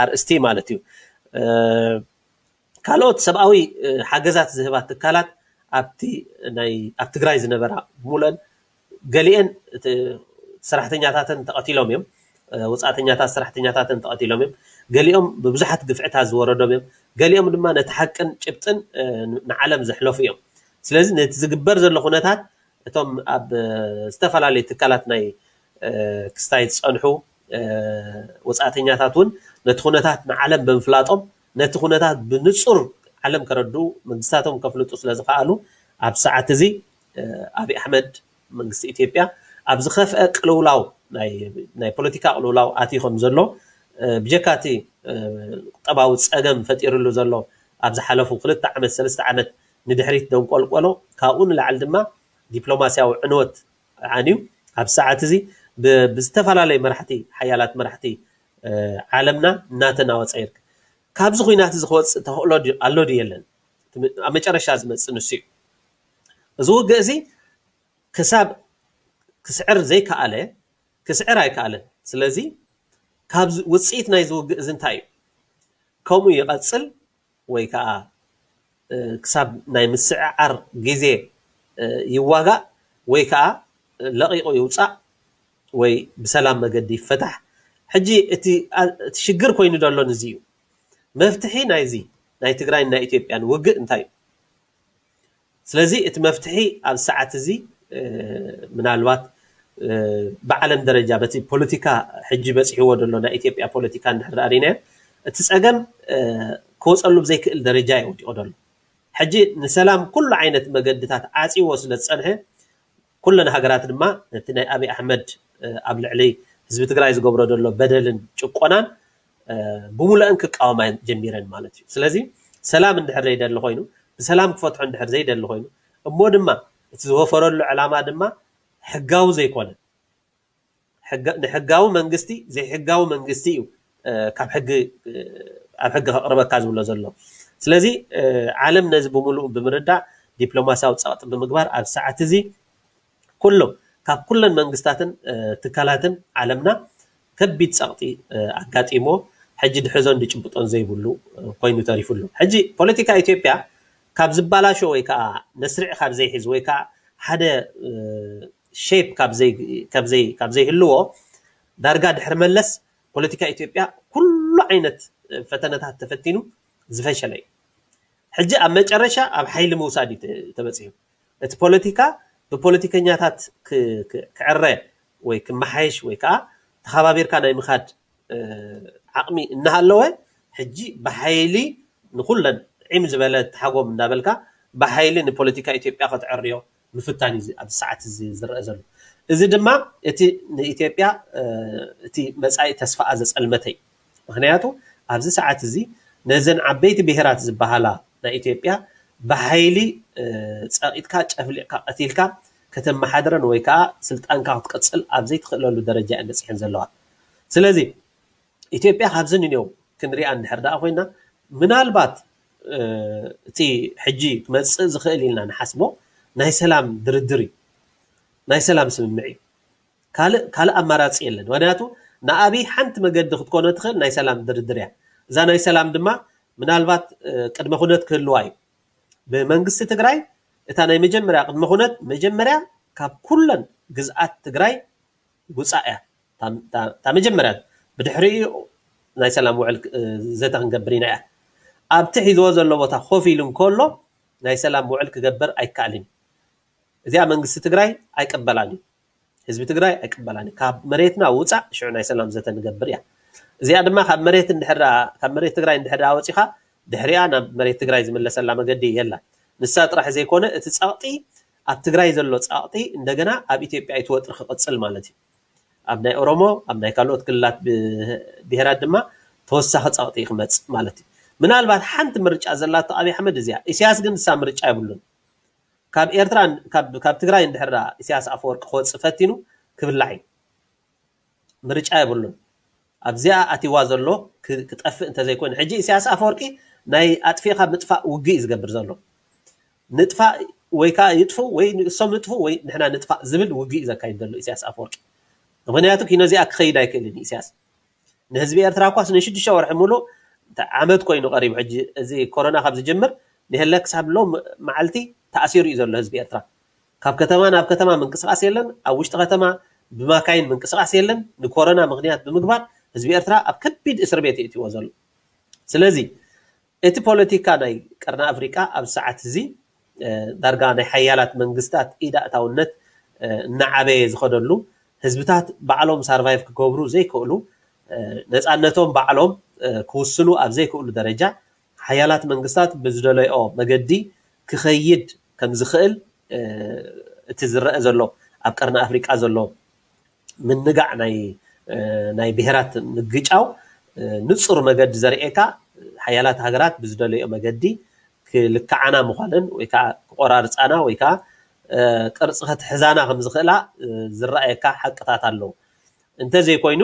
ኣርእስቲ ማለት እዩ። ካልኦት ሰብኣዊ ሓገዛት ዝህባ ትካላት ኣብቲ ናይ ኣብ ትግራይ ዝነበራ ሙለን ገሊአን ሰራሕተኛታተን ተቐቲሎም እዮም። ወፃእተኛታት ሰራሕተኛታተን ተቐቲሎም እዮም። ገሊኦም ብብዙሓት ግፍዕታት ዝወረዶም እዮም። ገሊኦም ድማ ነቲ ሓቅን ጭብጥን ንዓለም ዘሕለፉ እዮም። ስለዚ ነቲ ዝግበር ዘሎ ኩነታት እቶም ኣብ ዝተፈላለዩ ትካላት ናይ ክስታይ ዝፀንሑ ወፃእተኛታት እውን ነቲ ኩነታት ንዓለም ብምፍላጦም ነቲ ኩነታት ብንፁር ዓለም ከረድኡ መንግስታቶም ከፍልጡ ስለዝኸኣሉ ኣብ ሰዓት እዚ ኣብይ ኣሕመድ መንግስቲ ኢትዮጵያ ኣብ ዝኸፍአ ቅልውላው ናይ ፖለቲካ ቅልውላው ኣትዩ ከም ዘሎ ብጀካ እቲ ቁጠባዊ ፀገም ፈጢርሉ ዘሎ ኣብ ዝሓለፉ ክልተ ዓመት ሰለስተ ዓመት ንድሕሪት ደንቆልቆሎ ካብኡ ንላዕሊ ድማ ዲፕሎማሲያዊ ዕንወት ዓንዩ ኣብ ሰዓት እዚ ብዝተፈላለዩ መራሕቲ ሓያላት መራሕቲ ዓለምና እናተናወፀ ይርከብ። ካብዚ ኩናት እዚ ክወፅእ ተኽእሎ ኣሎ ድዩ የለን? ኣብ መጨረሻ ዝመፅእ ንሱ እዩ። እዚ ውግእ እዚ ክሳብ ክስዕር ዘይከኣለ ክስዕር ኣይከኣለን። ስለዚ ካብ ውፅኢት ናይዚ ውግእ እዚ እንታይ እዩ? ከምኡ ይቐፅል ወይ ከዓ ክሳብ ናይ ምስዕዓር ግዜ ይዋጋእ ወይ ከዓ ለቒቑ ይውፃእ ወይ ብሰላም መገዲ ይፈታሕ። ሕጂ እቲ ሽግር ኮይኑ ዘሎ ንዚ እዩ። መፍትሒ ናይዚ ናይ ትግራይን ናይ ኢትዮጵያን ውግእ እንታይ እዩ? ስለዚ እቲ መፍትሒ ኣብ ሰዓት እዚ ምናልባት ብዓለም ደረጃ በቲ ፖለቲካ ሕጂ በፂሕዎ ዘሎ ናይ ኢትዮጵያ ፖለቲካ እንድሕር ርኢናዮ እቲ ፀገም ክወፀሉ ብዘይክእል ደረጃ እዩ ወዲቑ ዘሎ። ሕጂ ንሰላም ኩሉ ዓይነት መገድታት ዓፂዎ ስለ ዝፀንሐ ኩለን ሃገራት ድማ ነቲ ናይ ኣብይ ኣሕመድ ኣብ ልዕሊ ህዝቢ ትግራይ ዝገብሮ ዘሎ በደልን ጭቆናን ብሙሉአን ክቃወማ ጀሚረን ማለት እዩ። ስለዚ ሰላም እንድሕር ዘይደሊ ኮይኑ ብሰላም ክፈትሖ እንድሕር ዘይደሊ ኮይኑ እሞ ድማ እቲ ዝወፈረሉ ዕላማ ድማ ሕጋዊ ዘይኮነ ንሕጋዊ መንግስቲ ዘይሕጋዊ መንግስቲ እዩ ካብ ሕጊ ኣብ ሕጊ ከቕርበካ ዝብሎ ዘሎ። ስለዚ ዓለም ነዚ ብምሉኡ ብምርዳእ ዲፕሎማሲያዊ ፀቕጢ ብምግባር ኣብ ሰዓት እዚ ኩሎም ካብ ኩለን መንግስታትን ትካላትን ዓለምና ከቢድ ፀቕጢ ኣጋጢሞ ሕጂ ድሕዞን ድጭብጦን ዘይብሉ ኮይኑ ተሪፉ ኣሎ። ሕጂ ፖለቲካ ኢትዮጵያ ካብ ዝበላሾ ወይ ከዓ መስርዕ ካብ ዘይሕዝ ወይ ከዓ ሓደ ሼፕ ካብ ዘይህልዎ ዳርጋ ድሕሪ መለስ ፖለቲካ ኢትዮጵያ ኩሉ ዓይነት ፈተነታት ተፈቲኑ ዝፈሸለ እዩ። ሕጂ ኣብ መጨረሻ ኣብ ሓይሊ ምውሳድ እዩ ተበፂሑ። እቲ ፖለቲካ ብፖለቲከኛታት ክዕረ ወይ ክመሓየሽ ወይ ከዓ ተኸባቢርካ ናይ ምኻድ ዓቕሚ እናሃለወ ሕጂ ብሓይሊ ንኩለን ዒም ዝበለ ተሓጎም እንዳበልካ ብሓይሊ ንፖለቲካ ኢትዮጵያ ከተዕርዮ ምፍታን እዩ ኣብዚ ሰዓት እዚ ዝረአ ዘሎ። እዚ ድማ እቲ ንኢትዮጵያ እቲ መፃኢ ተስፋኣ ዘፀልመተ እዩ። ምክንያቱ ኣብዚ ሰዓት እዚ ነዘን ዓበይቲ ብሄራት ዝበሃላ ናይ ኢትዮጵያ ብሓይሊ ጸቂጥካ ጨፍሊቕካ ቀቲልካ ከተመሓድረን ወይ ከዓ ስልጣንካ ክትቅፅል ኣብ ዘይትኽእለሉ ደረጃ እየን በፂሐን ዘለዋ። ስለዚ ኢትዮጵያ ካብዚ ንኔው ክንሪኣ እንድሕር ደኣ ኮይና ምናልባት እቲ ሕጂ ክመፅእ ዝኽእል ኢልና ንሓስቦ ናይ ሰላም ድርድር እዩ፣ ናይ ሰላም ስምምዕ እዩ። ካልእ ካልእ ኣማራፂ የለን። ምክንያቱ ንኣብይ ሓንቲ መገዲ ክትኮኖ ትኽእል ናይ ሰላም ድርድር እያ። እዛ ናይ ሰላም ድማ ምናልባት ቅድመ ኩነት ክህልዋ እዩ። ብመንግስቲ ትግራይ እታ ናይ መጀመርያ ቅድመ ኩነት መጀመርያ ካብ ኩለን ግዝኣት ትግራይ ውፃእ እያ። እታ መጀመርያ ብድሕሪኡ ናይ ሰላም ውዕል ዘተ ክንገብር ኢና እያ። ኣብቲ ሒዝዎ ዘሎ ቦታ ኮፍ ኢሉ እንከሎ ናይ ሰላም ውዕል ክገብር ኣይከኣልን። እዚኣ መንግስቲ ትግራይ ኣይቅበላን እዩ። ህዝቢ ትግራይ ኣይቅበላን እዩ። ካብ መሬትና ውፃእ ሽዑ ናይ ሰላም ዘተ ንገብር እያ። እዚኣ ድማ ካብ መሬት እንድሕር ካብ መሬት ትግራይ እንድሕር ወፂኻ ድሕሪኣ ናብ መሬት ትግራይ ዝምለሰላ መገዲ የላ። ንሳ ጥራሕ ዘይኮነ እቲ ፀቕጢ ኣብ ትግራይ ዘሎ ፀቕጢ እንደገና ኣብ ኢትዮጵያ ኣይትወጥር ክቕፅል ማለት እዩ። ኣብ ናይ ኦሮሞ ኣብ ናይ ካልኦት ክልላት ብሄራት ድማ ተወሳኺ ፀቕጢ ክመፅእ ማለት እዩ። ምናልባት ሓንቲ ምርጫ ዘላቶ ኣብይ ኣሕመድ እዚኣ። ኢሳያስ ግን ንሳ ምርጫ የብሉን። ካብ ኤርትራ ካብ ትግራይ እንድሕር ኢሳያስ ኣፈወርቂ ክወፅእ ፈቲኑ ክብላዕ እዩ። ምርጫ የብሉን። ኣብዚኣ ኣቲዋ ዘሎ ክጠፍእ እንተዘይኮይኑ ሕጂ ኢሳያስ ኣፈወርቂ ናይ ኣጥፊእካ ምጥፋእ ውግእ እዩ ዝገብር ዘሎ። ንጥፋእ ወይ ከዓ ይጥፉ ወይ እሶም ይጥፉ ወይ ንሕና ንጥፋእ ዝብል ውግእ እዩ ዘካይድ ዘሎ ኢሳያስ ኣፈወርቂ። ምክንያቱ ኪኖ እዚኣ ክኸይድ ኣይክእልን እዩ ኢሳያስ። ንህዝቢ ኤርትራ እኳስ ንሽዱሽተ ወርሒ ሙሉእ ዓመት ኮይኑ ቀሪቡ። ሕጂ እዚ ኮሮና ካብ ዝጅምር ንሄለ ክሳብ ሎ መዓልቲ ተኣሲሩ እዩ ዘሎ ህዝቢ ኤርትራ። ካብ ከተማ ናብ ከተማ ምንቅስቃስ የለን። ኣብ ውሽጢ ከተማ ብማካይን ምንቅስቃስ የለን። ንኮሮና ምክንያት ብምግባር ህዝቢ ኤርትራ ኣብ ከቢድ እስር ቤት የእትዎ ዘሎ። ስለዚ እቲ ፖለቲካ ናይ ቀርኒ ኣፍሪቃ ኣብ ሰዓት እዚ ዳርጋ ናይ ሓያላት መንግስታት ኢድ ኣእታውነት እናዓበየ ዝኸደሉ፣ ህዝብታት ባዕሎም ሳርቫይቭ ክገብሩ ዘይክእሉ፣ ነፃነቶም ባዕሎም ክውስኑ ኣብ ዘይክእሉ ደረጃ ሓያላት መንግስታት ብዝደለዮ መገዲ ክኸይድ ከም ዝኽእል እቲ ዝረአ ዘሎ ኣብ ቀርኒ ኣፍሪቃ ዘሎ ምንጋዕ ናይ ናይ ብሄራት ምግጫው ንፁር መገዲ ዘርእየካ ሓያላት ሃገራት ብዝደለዮ መገዲ ክልክዓና ምዃነን ወይ ከዓ ክቆራርፃና ወይ ከዓ ቅርፂ ከትሕዛና ከም ዝኽእላ ዝረኣየካ ሓቅታት ኣለዉ። እንተዘይኮይኑ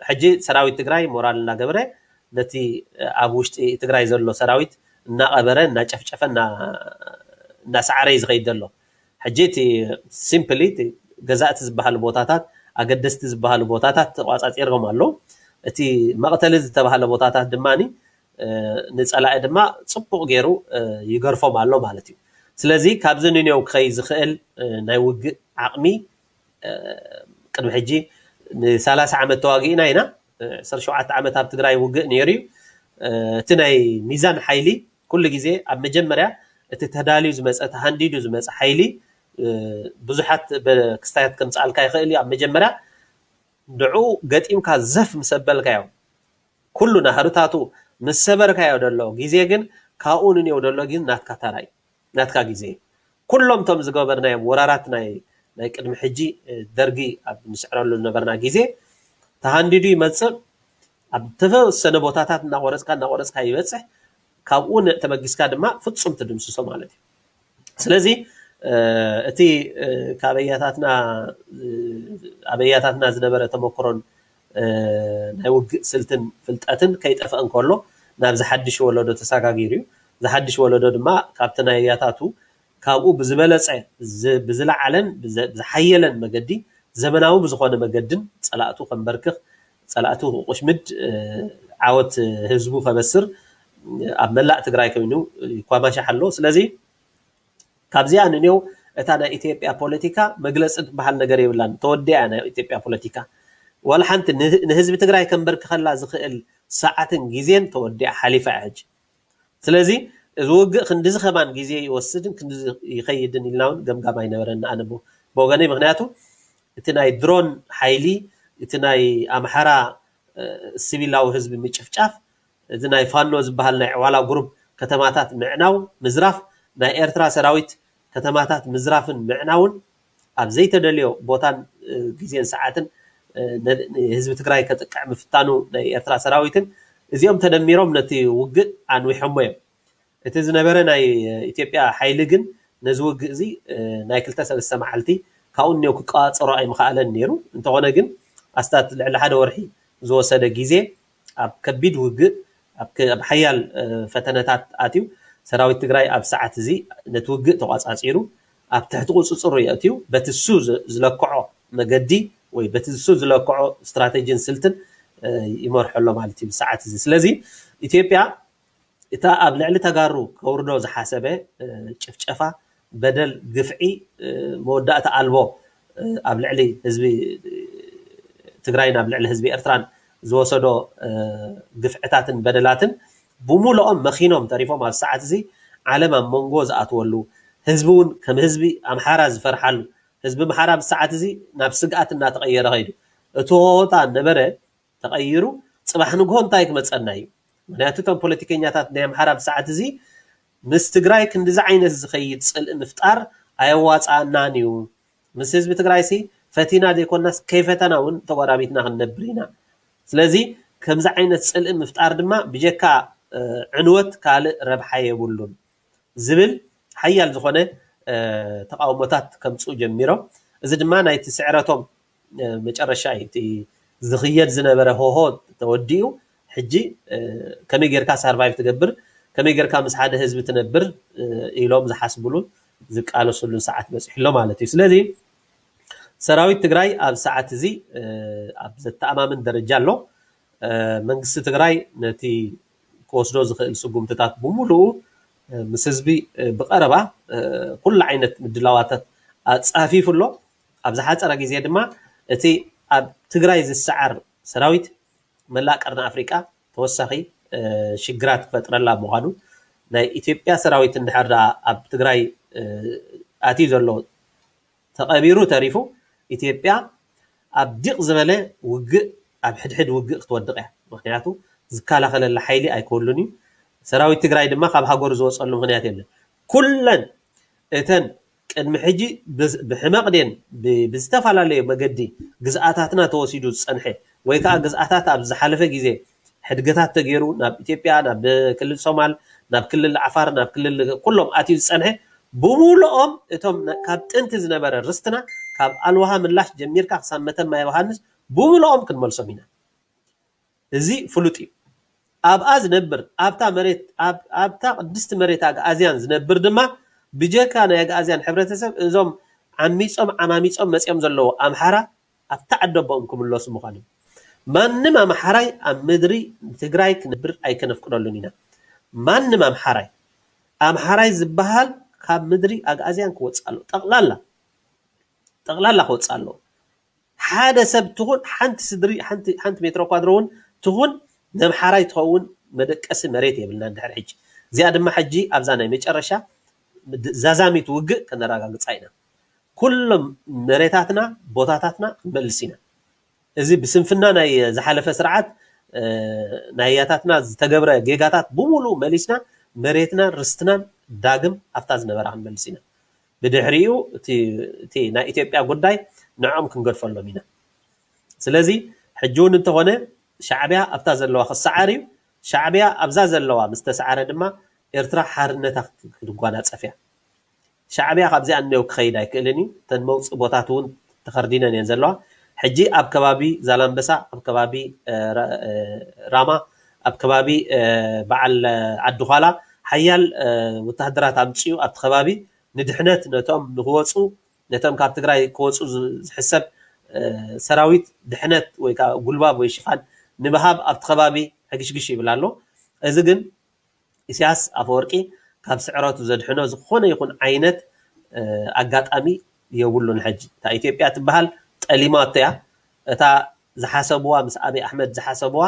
ሕጂ ሰራዊት ትግራይ ሞራል እናገበረ ነቲ ኣብ ውሽጢ ትግራይ ዘሎ ሰራዊት እናቐበረ እናጨፍጨፈ እናሰዓረ እዩ ዝኸይድ ዘሎ። ሕጂ እቲ ሲምፕሊ ገዛእቲ ዝበሃሉ ቦታታት ኣገደስቲ ዝበሃሉ ቦታታት ተቋፃፂሮም ኣለዉ። እቲ መቕተሊ ዝተባሃለ ቦታታት ድማ ንፀላኢ ድማ ፅቡቕ ገይሩ ይገርፎም ኣሎ ማለት እዩ። ስለዚ ካብዚ ንኔው ክኸይ ዝኽእል ናይ ውግእ ዓቕሚ ቅድሚ ሕጂ ንሰላሳ ዓመት ተዋጊእና ኢና። ዕስራን ሸውዓተን ዓመት ኣብ ትግራይ ውግእ ነይሩ እዩ። እቲ ናይ ሚዛን ሓይሊ ኩሉ ግዜ ኣብ መጀመርያ እቲ ተዳልዩ ዝመፀ ተሃንዲዱ ዝመፀ ሓይሊ ብዙሓት ክስታያት ከምፅኣልካ ይኽእል እዩ። ኣብ መጀመርያ ንዑ ገጢምካ ዘፍ ምስ ኣበልካዮ ኩሉ ናህርታቱ ምስ ሰበርካዮ ደሎ ግዜ ግን ካብኡ ንኔው ደሎ ግን ናትካ ተራ እዩ። ናትካ ግዜ ኩሎም እቶም ዝገበርናዮም ወራራት ናይ ናይ ቅድሚ ሕጂ ደርጊ ኣብ ንስዕረሉ ዝነበርና ግዜ ተሃንዲዱ ይመፅእ። ኣብ ተወሰነ ቦታታት እናቆረፅካ እናቆረፅካ ይበፅሕ። ካብኡ ተበጊስካ ድማ ፍፁም ትድምስሶ ማለት እዩ። ስለዚ እቲ ካብ ኣያታትና ዝነበረ ተመክሮን ናይ ውግእ ስልትን ፍልጠትን ከይጠፍአ እንከሎ ናብዚ ሓድሽ ወለዶ ተሰጋጊሩ እዩ። እዚ ሓድሽ ወለዶ ድማ ካብቲ ናይ ኣያታቱ ካብኡ ብዝበለፀ ብዝለዓለን ብዝሓየለን መገዲ ዘመናዊ ብዝኾነ መገድን ፀላእቱ ከንበርክኽ ፀላእቱ ክቁሽምድ ዓወት ህዝቡ ከበስር ኣብ መላእ ትግራይ ኮይኑ ይኳማሻሕ ኣሎ። ስለዚ ካብዚኣ ንኔው እታ ናይ ኢትዮጵያ ፖለቲካ መግለፂ ትበሃል ነገር የብላን። ተወዲኣ ናይ ኢትዮጵያ ፖለቲካ ዋላ ሓንቲ ንህዝቢ ትግራይ ከንበርክኸላ ዝኽእል ሰዓትን ግዜን ተወዲኣ ሓሊፋ እያ ሕጂ። ስለዚ እዚ ውግእ ክንድዚ ከማን ግዜ ይወስድን ክንድዚ ይኸይድን ኢልና እውን ገምጋም ኣይነበረና ኣነ ብወገነይ። ምክንያቱ እቲ ናይ ድሮን ሓይሊ እቲ ናይ ኣምሓራ ሲቪላዊ ህዝቢ ምጭፍጫፍ፣ እዚ ናይ ፋኖ ዝበሃል ናይ ዕዋላ ግሩፕ ከተማታት ምዕናው ምዝራፍ፣ ናይ ኤርትራ ሰራዊት ከተማታት ምዝራፍን ምዕናውን ኣብ ዘይተደልዮ ቦታን ግዜን ሰዓትን ህዝቢ ትግራይ ከጥቅዕ ምፍታኑ ናይ ኤርትራ ሰራዊትን እዚኦም ተደሚሮም ነቲ ውግእ ኣንዊሖሞ እዮም። እቲ ዝነበረ ናይ ኢትዮጵያ ሓይሊ ግን ነዚ ውግእ እዚ ናይ ክልተ ሰለስተ መዓልቲ ካብኡ እኒኦ ክቀዋፀሮ ኣይምኸኣለን ነይሩ። እንተኾነ ግን ኣስታት ልዕሊ ሓደ ወርሒ ዝወሰደ ግዜ ኣብ ከቢድ ውግእ ኣብ ሓያል ፈተነታት ኣትዩ ሰራዊት ትግራይ ኣብ ሰዓት እዚ ነቲ ውግእ ተቋፃፂሩ ኣብ ትሕቲ ቁፅፅሩ የእትዩ በቲ እሱ ዝለክዖ መገዲ ወይ በቲ እሱ ዝለክዖ ስትራተጂን ስልትን ይመርሖ ኣሎ ማለት እዩ ብሰዓት እዚ። ስለዚ ኢትዮጵያ እታ ኣብ ልዕሊ ተጋሩ ከውርዶ ዝሓሰበ ጭፍጨፋ፣ በደል፣ ግፍዒ መወዳእታ ኣልቦ ኣብ ልዕሊ ህዝቢ ትግራይን ኣብ ልዕሊ ህዝቢ ኤርትራን ዝወሰዶ ግፍዕታትን በደላትን ብሙሉኦም መኺኖም ተሪፎም ኣብ ሰዓት እዚ ዓለም ኣብ መንጎ ዝኣትወሉ ህዝቢ እውን ከም ህዝቢ ኣምሓራ ዝፈርሓሉ ህዝቢ ኣምሓራ ብሰዓት እዚ ናብ ስግኣት እናተቐየረ ከይዱ እቲ ሆታ ነበረ ተቐይሩ ፅባሕ ንግሆ እንታይ ክመፀና እዩ? ምክንያቱ እቶም ፖለቲከኛታት ናይ ኣምሓራ ብሰዓት እዚ ምስ ትግራይ ክንዲዚ ዓይነት ዝኸይድ ፅልኢ ምፍጣር ኣየዋፃኣናን እዩ። ምስ ህዝቢ ትግራይ ሲ ፈቲና ዘይኮናስ ከይፈተና እውን ተጎራቢትና ክንነብር ኢና። ስለዚ ከምዚ ዓይነት ፅልኢ ምፍጣር ድማ ብጀካ ዕንወት ካልእ ረብሓ የብሉን ዝብል ሓያል ዝኾነ ተቃውሞታት ከምፅኡ ጀሚሮም። እዚ ድማ ናይቲ ስዕረቶም መጨረሻ እዩ። እቲ ዝኽየድ ዝነበረ ሆሆ ተወዲኡ ሕጂ ከመይ ጌርካ ሳርቫይቭ ትገብር፣ ከመይ ጌርካ ምስ ሓደ ህዝቢ ትነብር ኢሎም ዝሓስብሉን ዝቃለስሉን ሰዓት በፂሑ ኣሎ ማለት እዩ። ስለዚ ሰራዊት ትግራይ ኣብ ሰዓት እዚ ኣብ ዘተኣማምን ደረጃ ኣሎ። መንግስቲ ትግራይ ነቲ ክወስዶ ዝኽእል ስጉምትታት ብምሉኡ ምስ ህዝቢ ብቐረባ ኩሉ ዓይነት ምድላዋታት ኣፃፊፉ ኣሎ። ኣብ ዝሓፀረ ግዜ ድማ እቲ ኣብ ትግራይ ዝሰዓር ሰራዊት መላእ ቀርኒ ኣፍሪቃ ተወሳኺ ሽግራት ክፈጥረላ ምዃኑ ናይ ኢትዮጵያ ሰራዊት እንድሕር ደኣ ኣብ ትግራይ ኣትዩ ዘሎ ተቐቢሩ ተሪፉ ኢትዮጵያ ኣብ ዲቕ ዝበለ ውግእ ኣብ ሕድሕድ ውግእ ክትወድቕ እያ። ምክንያቱ ዝከላኸለላ ሓይሊ ኣይክህሉን እዩ። ሰራዊት ትግራይ ድማ ካብ ሃገሩ ዝወፀሉ ምክንያት የለን። ኩለን እተን ቅድሚ ሕጂ ብሕመቕ ድየን ብዝተፈላለየ መገዲ ግዝኣታትና ተወሲዱ ዝፀንሐ ወይ ከዓ ግዝኣታት ኣብ ዝሓለፈ ግዜ ሕድገታት ተገይሩ ናብ ኢትዮጵያ ናብ ክልል ሶማል ናብ ክልል ዓፋር ናብ ክልል ኩሎም ኣትዩ ዝፀንሐ ብምሉኦም እቶም ካብ ጥንቲ ዝነበረ ርስትና ካብ ኣልዋሃ ምላሽ ጀሚርካ ክሳብ መተማ ዮሃንስ ብምሉኦም ክንመልሶም ኢና። እዚ ፍሉጥ እዩ። ኣብኣ ዝነብር ኣብታ መሬት ኣብታ ቅድስቲ መሬት ኣግኣዝያን ዝነብር ድማ ብጀካ ናይ ኣግኣዝያን ሕብረተሰብ እዞም ዓሚፆም ዓማሚፆም መፅኦም ዘለዉ ኣምሓራ ኣብታ ዓዲ ኣቦኦም ክምለሱ ምዃኖም። ማንም ኣምሓራይ ኣብ ምድሪ ትግራይ ክነብር ኣይከነፍቅደሉን ኢና። ማንም ኣምሓራይ ኣምሓራይ ዝበሃል ካብ ምድሪ ኣግኣዝያን ክወፅእ ኣሎ። ጠቕላላ ጠቕላላ ክወፅእ ኣሎ። ሓደ ሰብ ትኹን ሓንቲ ስድሪ ሓንቲ ሜትሮ ኳድሮ እውን ትኹን ነምሓራይ ትኸውን መደቀሲ መሬት የብልና ድሕር ሕጂ። እዚኣ ድማ ሕጂ ኣብዛ ናይ መጨረሻ ዛዛሚት ውግእ ከነረጋግፃ ኢና። ኩሎም መሬታትና ቦታታትና ክንመልስ ኢና። እዚ ብስንፍና ናይ ዝሓለፈ ስርዓት ናይ ኣያታትና ዝተገብረ ጌጋታት ብምሉኡ መሊስና መሬትናን ርስትናን ዳግም ኣብታ ዝነበራ ክንመልስ ኢና። ብድሕሪኡ እቲ ናይ ኢትዮጵያ ጉዳይ ንዕኦም ክንገድፈሎም ኢና። ስለዚ ሕጂ እውን እንተኾነ ሻዕቢያ ኣብታ ዘለዋ ክሰዓር እዩ። ሻዕቢያ ኣብዛ ዘለዋ ምስ ተሰዓረ ድማ ኤርትራ ሓርነታ ክትጓናፀፍ እያ። ሻዕቢያ ካብዚኣ እነው ክኸይድ ኣይክእልን እዩ። እተን መውፅእ ቦታት እውን ተኸርዲነን እየን ዘለዋ። ሕጂ ኣብ ከባቢ ዛላምበሳ፣ ኣብ ከባቢ ራማ፣ ኣብ ከባቢ በዓል ዓዲ ዃላ ሓያል ወታሃደራት ኣምፅኡ ኣብቲ ከባቢ ንድሕነት ነቶም ንክወፁ ነቶም ካብ ትግራይ ክወፁ ዝሕሰብ ሰራዊት ድሕነት ወይ ከዓ ጉልባብ ወይ ሽፋን ንምሃብ ኣብቲ ከባቢ ሕግሽግሽ ይብል ኣሎ። እዚ ግን ኢሳያስ ኣፈወርቂ ካብ ስዕረቱ ዘድሕኖ ዝኾነ ይኹን ዓይነት ኣጋጣሚ የብሉን። ሕጂ እታ ኢትዮጵያ ትበሃል ጠሊማቶ እያ። እታ ዝሓሰብዋ ምስ ኣብይ ኣሕመድ ዝሓሰብዋ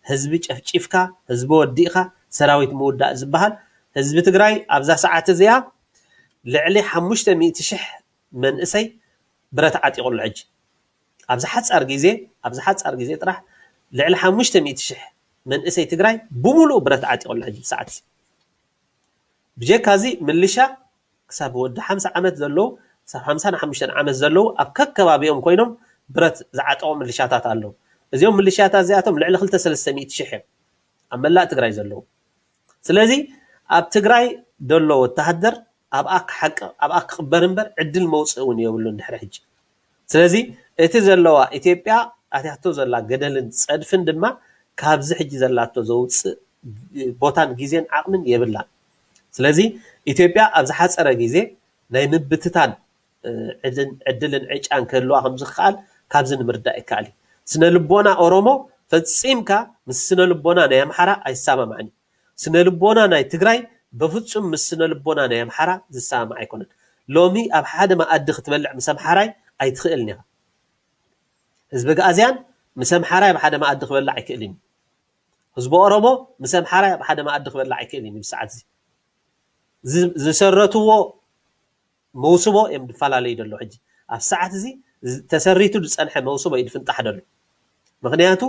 ህዝቢ ጨፍጪፍካ ህዝቢ ወዲእኻ ሰራዊት ምውዳእ ዝበሃል ህዝቢ ትግራይ ኣብዛ ሰዓት እዚኣ ልዕሊ ሓሙሽተ ሚእቲ ሽሕ መንእሰይ ብረት ዓጢቑ ኣሎ። ሕጂ ኣብዚ ሓፃር ግዜ ኣብዚ ሓፃር ግዜ ጥራሕ ልዕሊ ሓሙሽተ ሚእቲ ሽሕ መንእሰይ ትግራይ ብምሉኡ ብረት ዓጢቑ ኣሎ። ሕጂ ብሰዓት እዚ ብጀካ እዚ ምልሻ ክሳብ ወዲ ሓምሳ ዓመት ዘለዉ፣ ክሳብ ሓምሳን ሓሙሽተን ዓመት ዘለዉ ኣብ ከከባቢኦም ኮይኖም ብረት ዝዓጠቑ ምልሻታት ኣለዉ። እዚኦም ምልሻታት እዚኣቶም ልዕሊ ክልተ ሰለስተ ሚእቲ ሽሕ እዮም ኣብ መላእ ትግራይ ዘለዉ። ስለዚ ኣብ ትግራይ ዘሎ ወተሃደር ኣብኣ ክሓቅቕ፣ ኣብኣ ክቕበር እምበር ዕድል መውፅኢ እውን የብሉን ድሕሪ ሕጂ። ስለዚ እቲ ዘለዋ ኢትዮጵያ ኣትያቶ ዘላ ገደልን ፀድፍን ድማ ካብዚ ሕጂ ዘላቶ ዘውፅእ ቦታን ግዜን ዓቕምን የብላን። ስለዚ ኢትዮጵያ ኣብ ዝሓፀረ ግዜ ናይ ምብትታን ዕድልን ዕጫን ክህልዋ ከም ዝከኣል ካብዚ ንምርዳእ ይከኣል እዩ። ስነ ልቦና ኦሮሞ ፈፂምካ ምስ ስነ ልቦና ናይ ኣምሓራ ኣይሰማማዕን እዩ። ስነ ልቦና ናይ ትግራይ በፍፁም ምስ ስነ ልቦና ናይ ኣምሓራ ዝሰማማዕ ኣይኮነን። ሎሚ ኣብ ሓደ መኣዲ ክትበልዕ ምስ ኣምሓራይ ኣይትኽእልን ኢኻ። ህዝቢ ኣግኣዝያን ምስ ኣምሓራይ ኣብ ሓደ መኣዲ ክበልዕ ኣይክእልን እዩ። ህዝቢ ኦሮሞ ምስ ኣምሓራይ ኣብ ሓደ መኣዲ ክበልዕ ኣይክእልን እዩ። ብሰዓት እዚ ዝ- ዝሰረትዎ መውስቦ እዮም ዝፈላለዩ ዘሎ። ሕጂ ኣብ ሰዓት እዚ ዝ- ተሰሪቱ ዝፀንሐ መውስቦ እዩ ዝፍንጣሕ ዘሎ። ምክንያቱ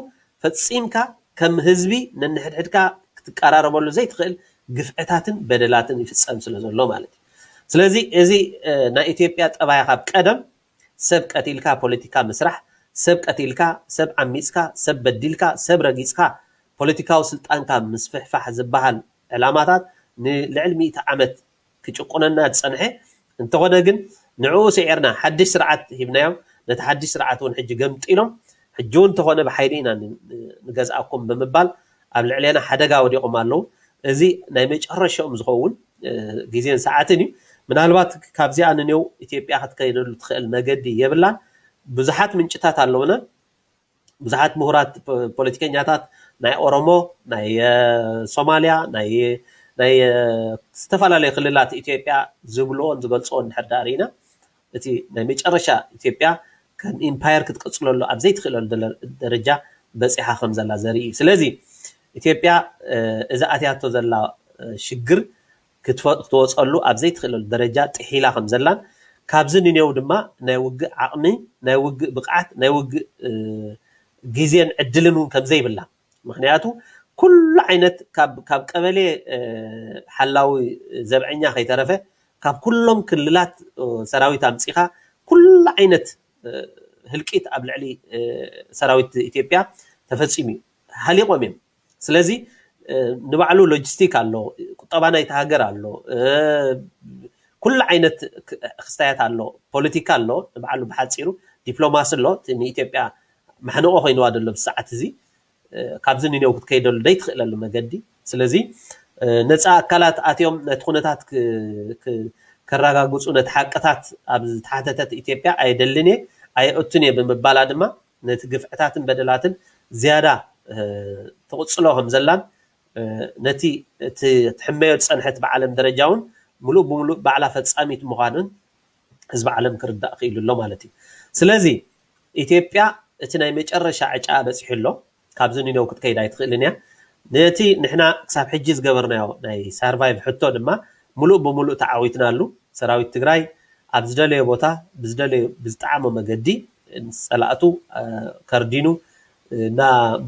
ፈፂምካ ከም ህዝቢ ነንሕድሕድካ ክትቀራረበሉ ዘይትኽእል ግፍዕታትን በደላትን ይፍፀም ስለ ዘሎ ማለት እዩ። ስለዚ እዚ እ፣ ናይ ኢትዮጵያ ጠባይ ካብ ቀደም ሰብ ቀቲልካ ፖለቲካ ምስራሕ፣ ሰብ ቀቲልካ፣ ሰብ ዓሚፅካ፣ ሰብ በዲልካ፣ ሰብ ረጊፅካ ፖለቲካዊ ስልጣንካ ምስፍሕፋሕ ዝበሃል ዕላማታት ንልዕሊ ሚእቲ ዓመት ክጭቁነና ዝፀንሐ እንተኾነ ግን ንዕኡ ስዒርና ሓድሽ ስርዓት ሂብናዮም። ነቲ ሓድሽ ስርዓት እውን ሕጂ ገምጢሎም ሕጂ እውን እንተኾነ ብሓይሊ ኢና ን- ንገዝኣኩም ብምባል ኣብ ልዕሌና ሓደጋ ወዲቖም ኣለዉ። እዚ ናይ መጨረሻኦም ዝኸውን እ፣ ግዜን ሰዓትን እዩ። ምናልባት ካብዚኣ ንኔው ኢትዮጵያ ክትከይደሉ ትኽእል መገዲ የብላን። ብዙሓት ምንጭታት ኣለውና። ብዙሓት ምሁራት ፖ- ፖለቲከኛታት ናይ ኦሮሞ፣ ናይ እ፣ ሶማሊያ፣ ናይ ናይ እ፣ ዝተፈላለዩ ክልላት ኢትዮጵያ ዝብልዎን ዝገልፅዎን እንድሕር ዳኣ ርኢና እቲ ናይ መጨረሻ ኢትዮጵያ ከም ኢምፓየር ክትቅፅለሉ ኣብ ዘይትኽእለሉ ደለ- ደረጃ በፂሓ ከም ዘላ ዘርኢ እዩ። ስለዚ ኢትዮጵያ እ፣ እዚ ኣትያቶ ዘላ እ፣ ሽግር ክትፈ- ክትወፀሉ ኣብ ዘይትኽእለሉ ደረጃ ጥሒላ ከም ዘላን ካብዚ ንኔው ድማ ናይ ውግእ ዓቕሚ፣ ናይ ውግእ ብቕዓት፣ ናይ ውግእ እ፣ ግዜን ዕድልን እውን ከም ዘይብላ። ምክንያቱ ኩሉ ዓይነት ካብ ካብ ቀበሌ እ፣ ሓላዊ ዘብዐኛ ከይተረፈ ካብ ኩሎም ክልላት እ፣ ሰራዊት ኣምፂኻ ኩሉ ዓይነት እ፣ ህልቂት ኣብ ልዕሊ እ፣ ሰራዊት ኢትዮጵያ ተፈፂሙ እዩ። ሃሊቆም እዮም። ስለዚ እ፣ ንባዕሉ ሎጂስቲክ ኣሎ፣ ቁጠባ ናይቲ ሃገር ኣሎ፣ እ፣ ኩሉ ዓይነት ክ- ክስታያት ኣሎ፣ ፖለቲካ ኣሎ፣ ንባዕሉ ብሓፂሩ ዲፕሎማሲ ኣሎ። እቲ ንኢትዮጵያ ማሕንቆ ኮይንዋ ዘሎ ብሰዓት እዚ እ፣ ካብዚ ንኔው ክትከይደሉ ዘይትኽእለሉ መገዲ። ስለዚ እ፣ ነፃ ኣካላት ኣትዮም ነቲ ኩነታት ክ- ክ- ከረጋግፁ ነቲ ሓቅታት ኣብ ዝተሓተተት ኢትዮጵያ ኣየደልን እየ ኣየእቱን እየ ብምባላ ድማ ነቲ ግፍዕታትን በደላትን ዝያዳ እ፣ ትቕፅሎ ከም ዘላን እ፣ ነቲ እቲ ትሕመዮ ዝፀንሐት ብዓለም ደረጃ እውን ሙሉእ ብሙሉእ ባዕላ ፈፃሚት ምዃንን ህዝቢ ዓለም ክርዳእ ክኢሉ ኣሎ ማለት እዩ። ስለዚ ኢትዮጵያ እቲ ናይ መጨረሻ ዕጫ በፂሑ ኣሎ። ካብዚ ንነው ክትከይድ ኣይትኽእልን እያ። ነቲ ንሕና ክሳብ ሕጂ ዝገበርናዮ ናይ ሳርቫይቭ ሕቶ ድማ ሙሉእ ብሙሉእ ተዓዊትናሉ። ሰራዊት ትግራይ ኣብ ዝደለዮ ቦታ ብዝደለዮ ብዝጠዓሞ መገዲ ንፀላእቱ እ፣ ከርዲኑ እና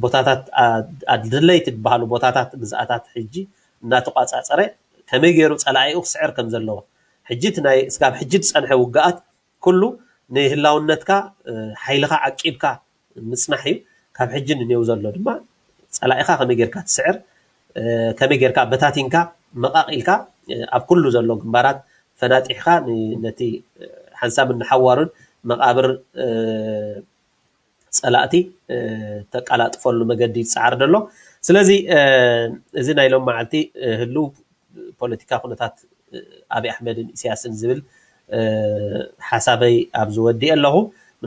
ቦታታት ኣ- ኣድለይቲ ዝበሃሉ ቦታታት ግዝኣታት ሕጂ እናተቋፃፀረ ከመይ ገይሩ ፀላኢኡ ክስዕር ከም ዘለዎ ሕጂ እቲ ናይ እስካብ ሕጂ ዝፀንሐ ውግኣት ኩሉ ንህላውነትካ እ፣ ሓይልኻ ዓቂብካ ምፅናሕ እዩ። ካብ ሕጂ ንኔው ዘሎ ድማ ፀላኢኻ ከመይ ጌርካ ትስዕር እ፣ ከመይ ጌርካ በታቲንካ መቃቂልካ እ፣ ኣብ ኩሉ ዘሎ ግንባራት ፈናጢሕካ ን- ነቲ እ፣ ሓንሳብን ንሓዋሩን መቃብር እ፣ ፀላእቲ እ፣ ተቀላጥፈሉ መገዲ ይፀዓር ዘሎ። ስለዚ እ፣ እዚ ናይ ሎም መዓልቲ እ፣ ህልው ፖለቲካ ኩነታት እ፣ ኣብይ ኣሕመድን ኢሳያስን ዝብል እ፣ ሓሳበይ ኣብዚ ወዲኤ ኣለኹ።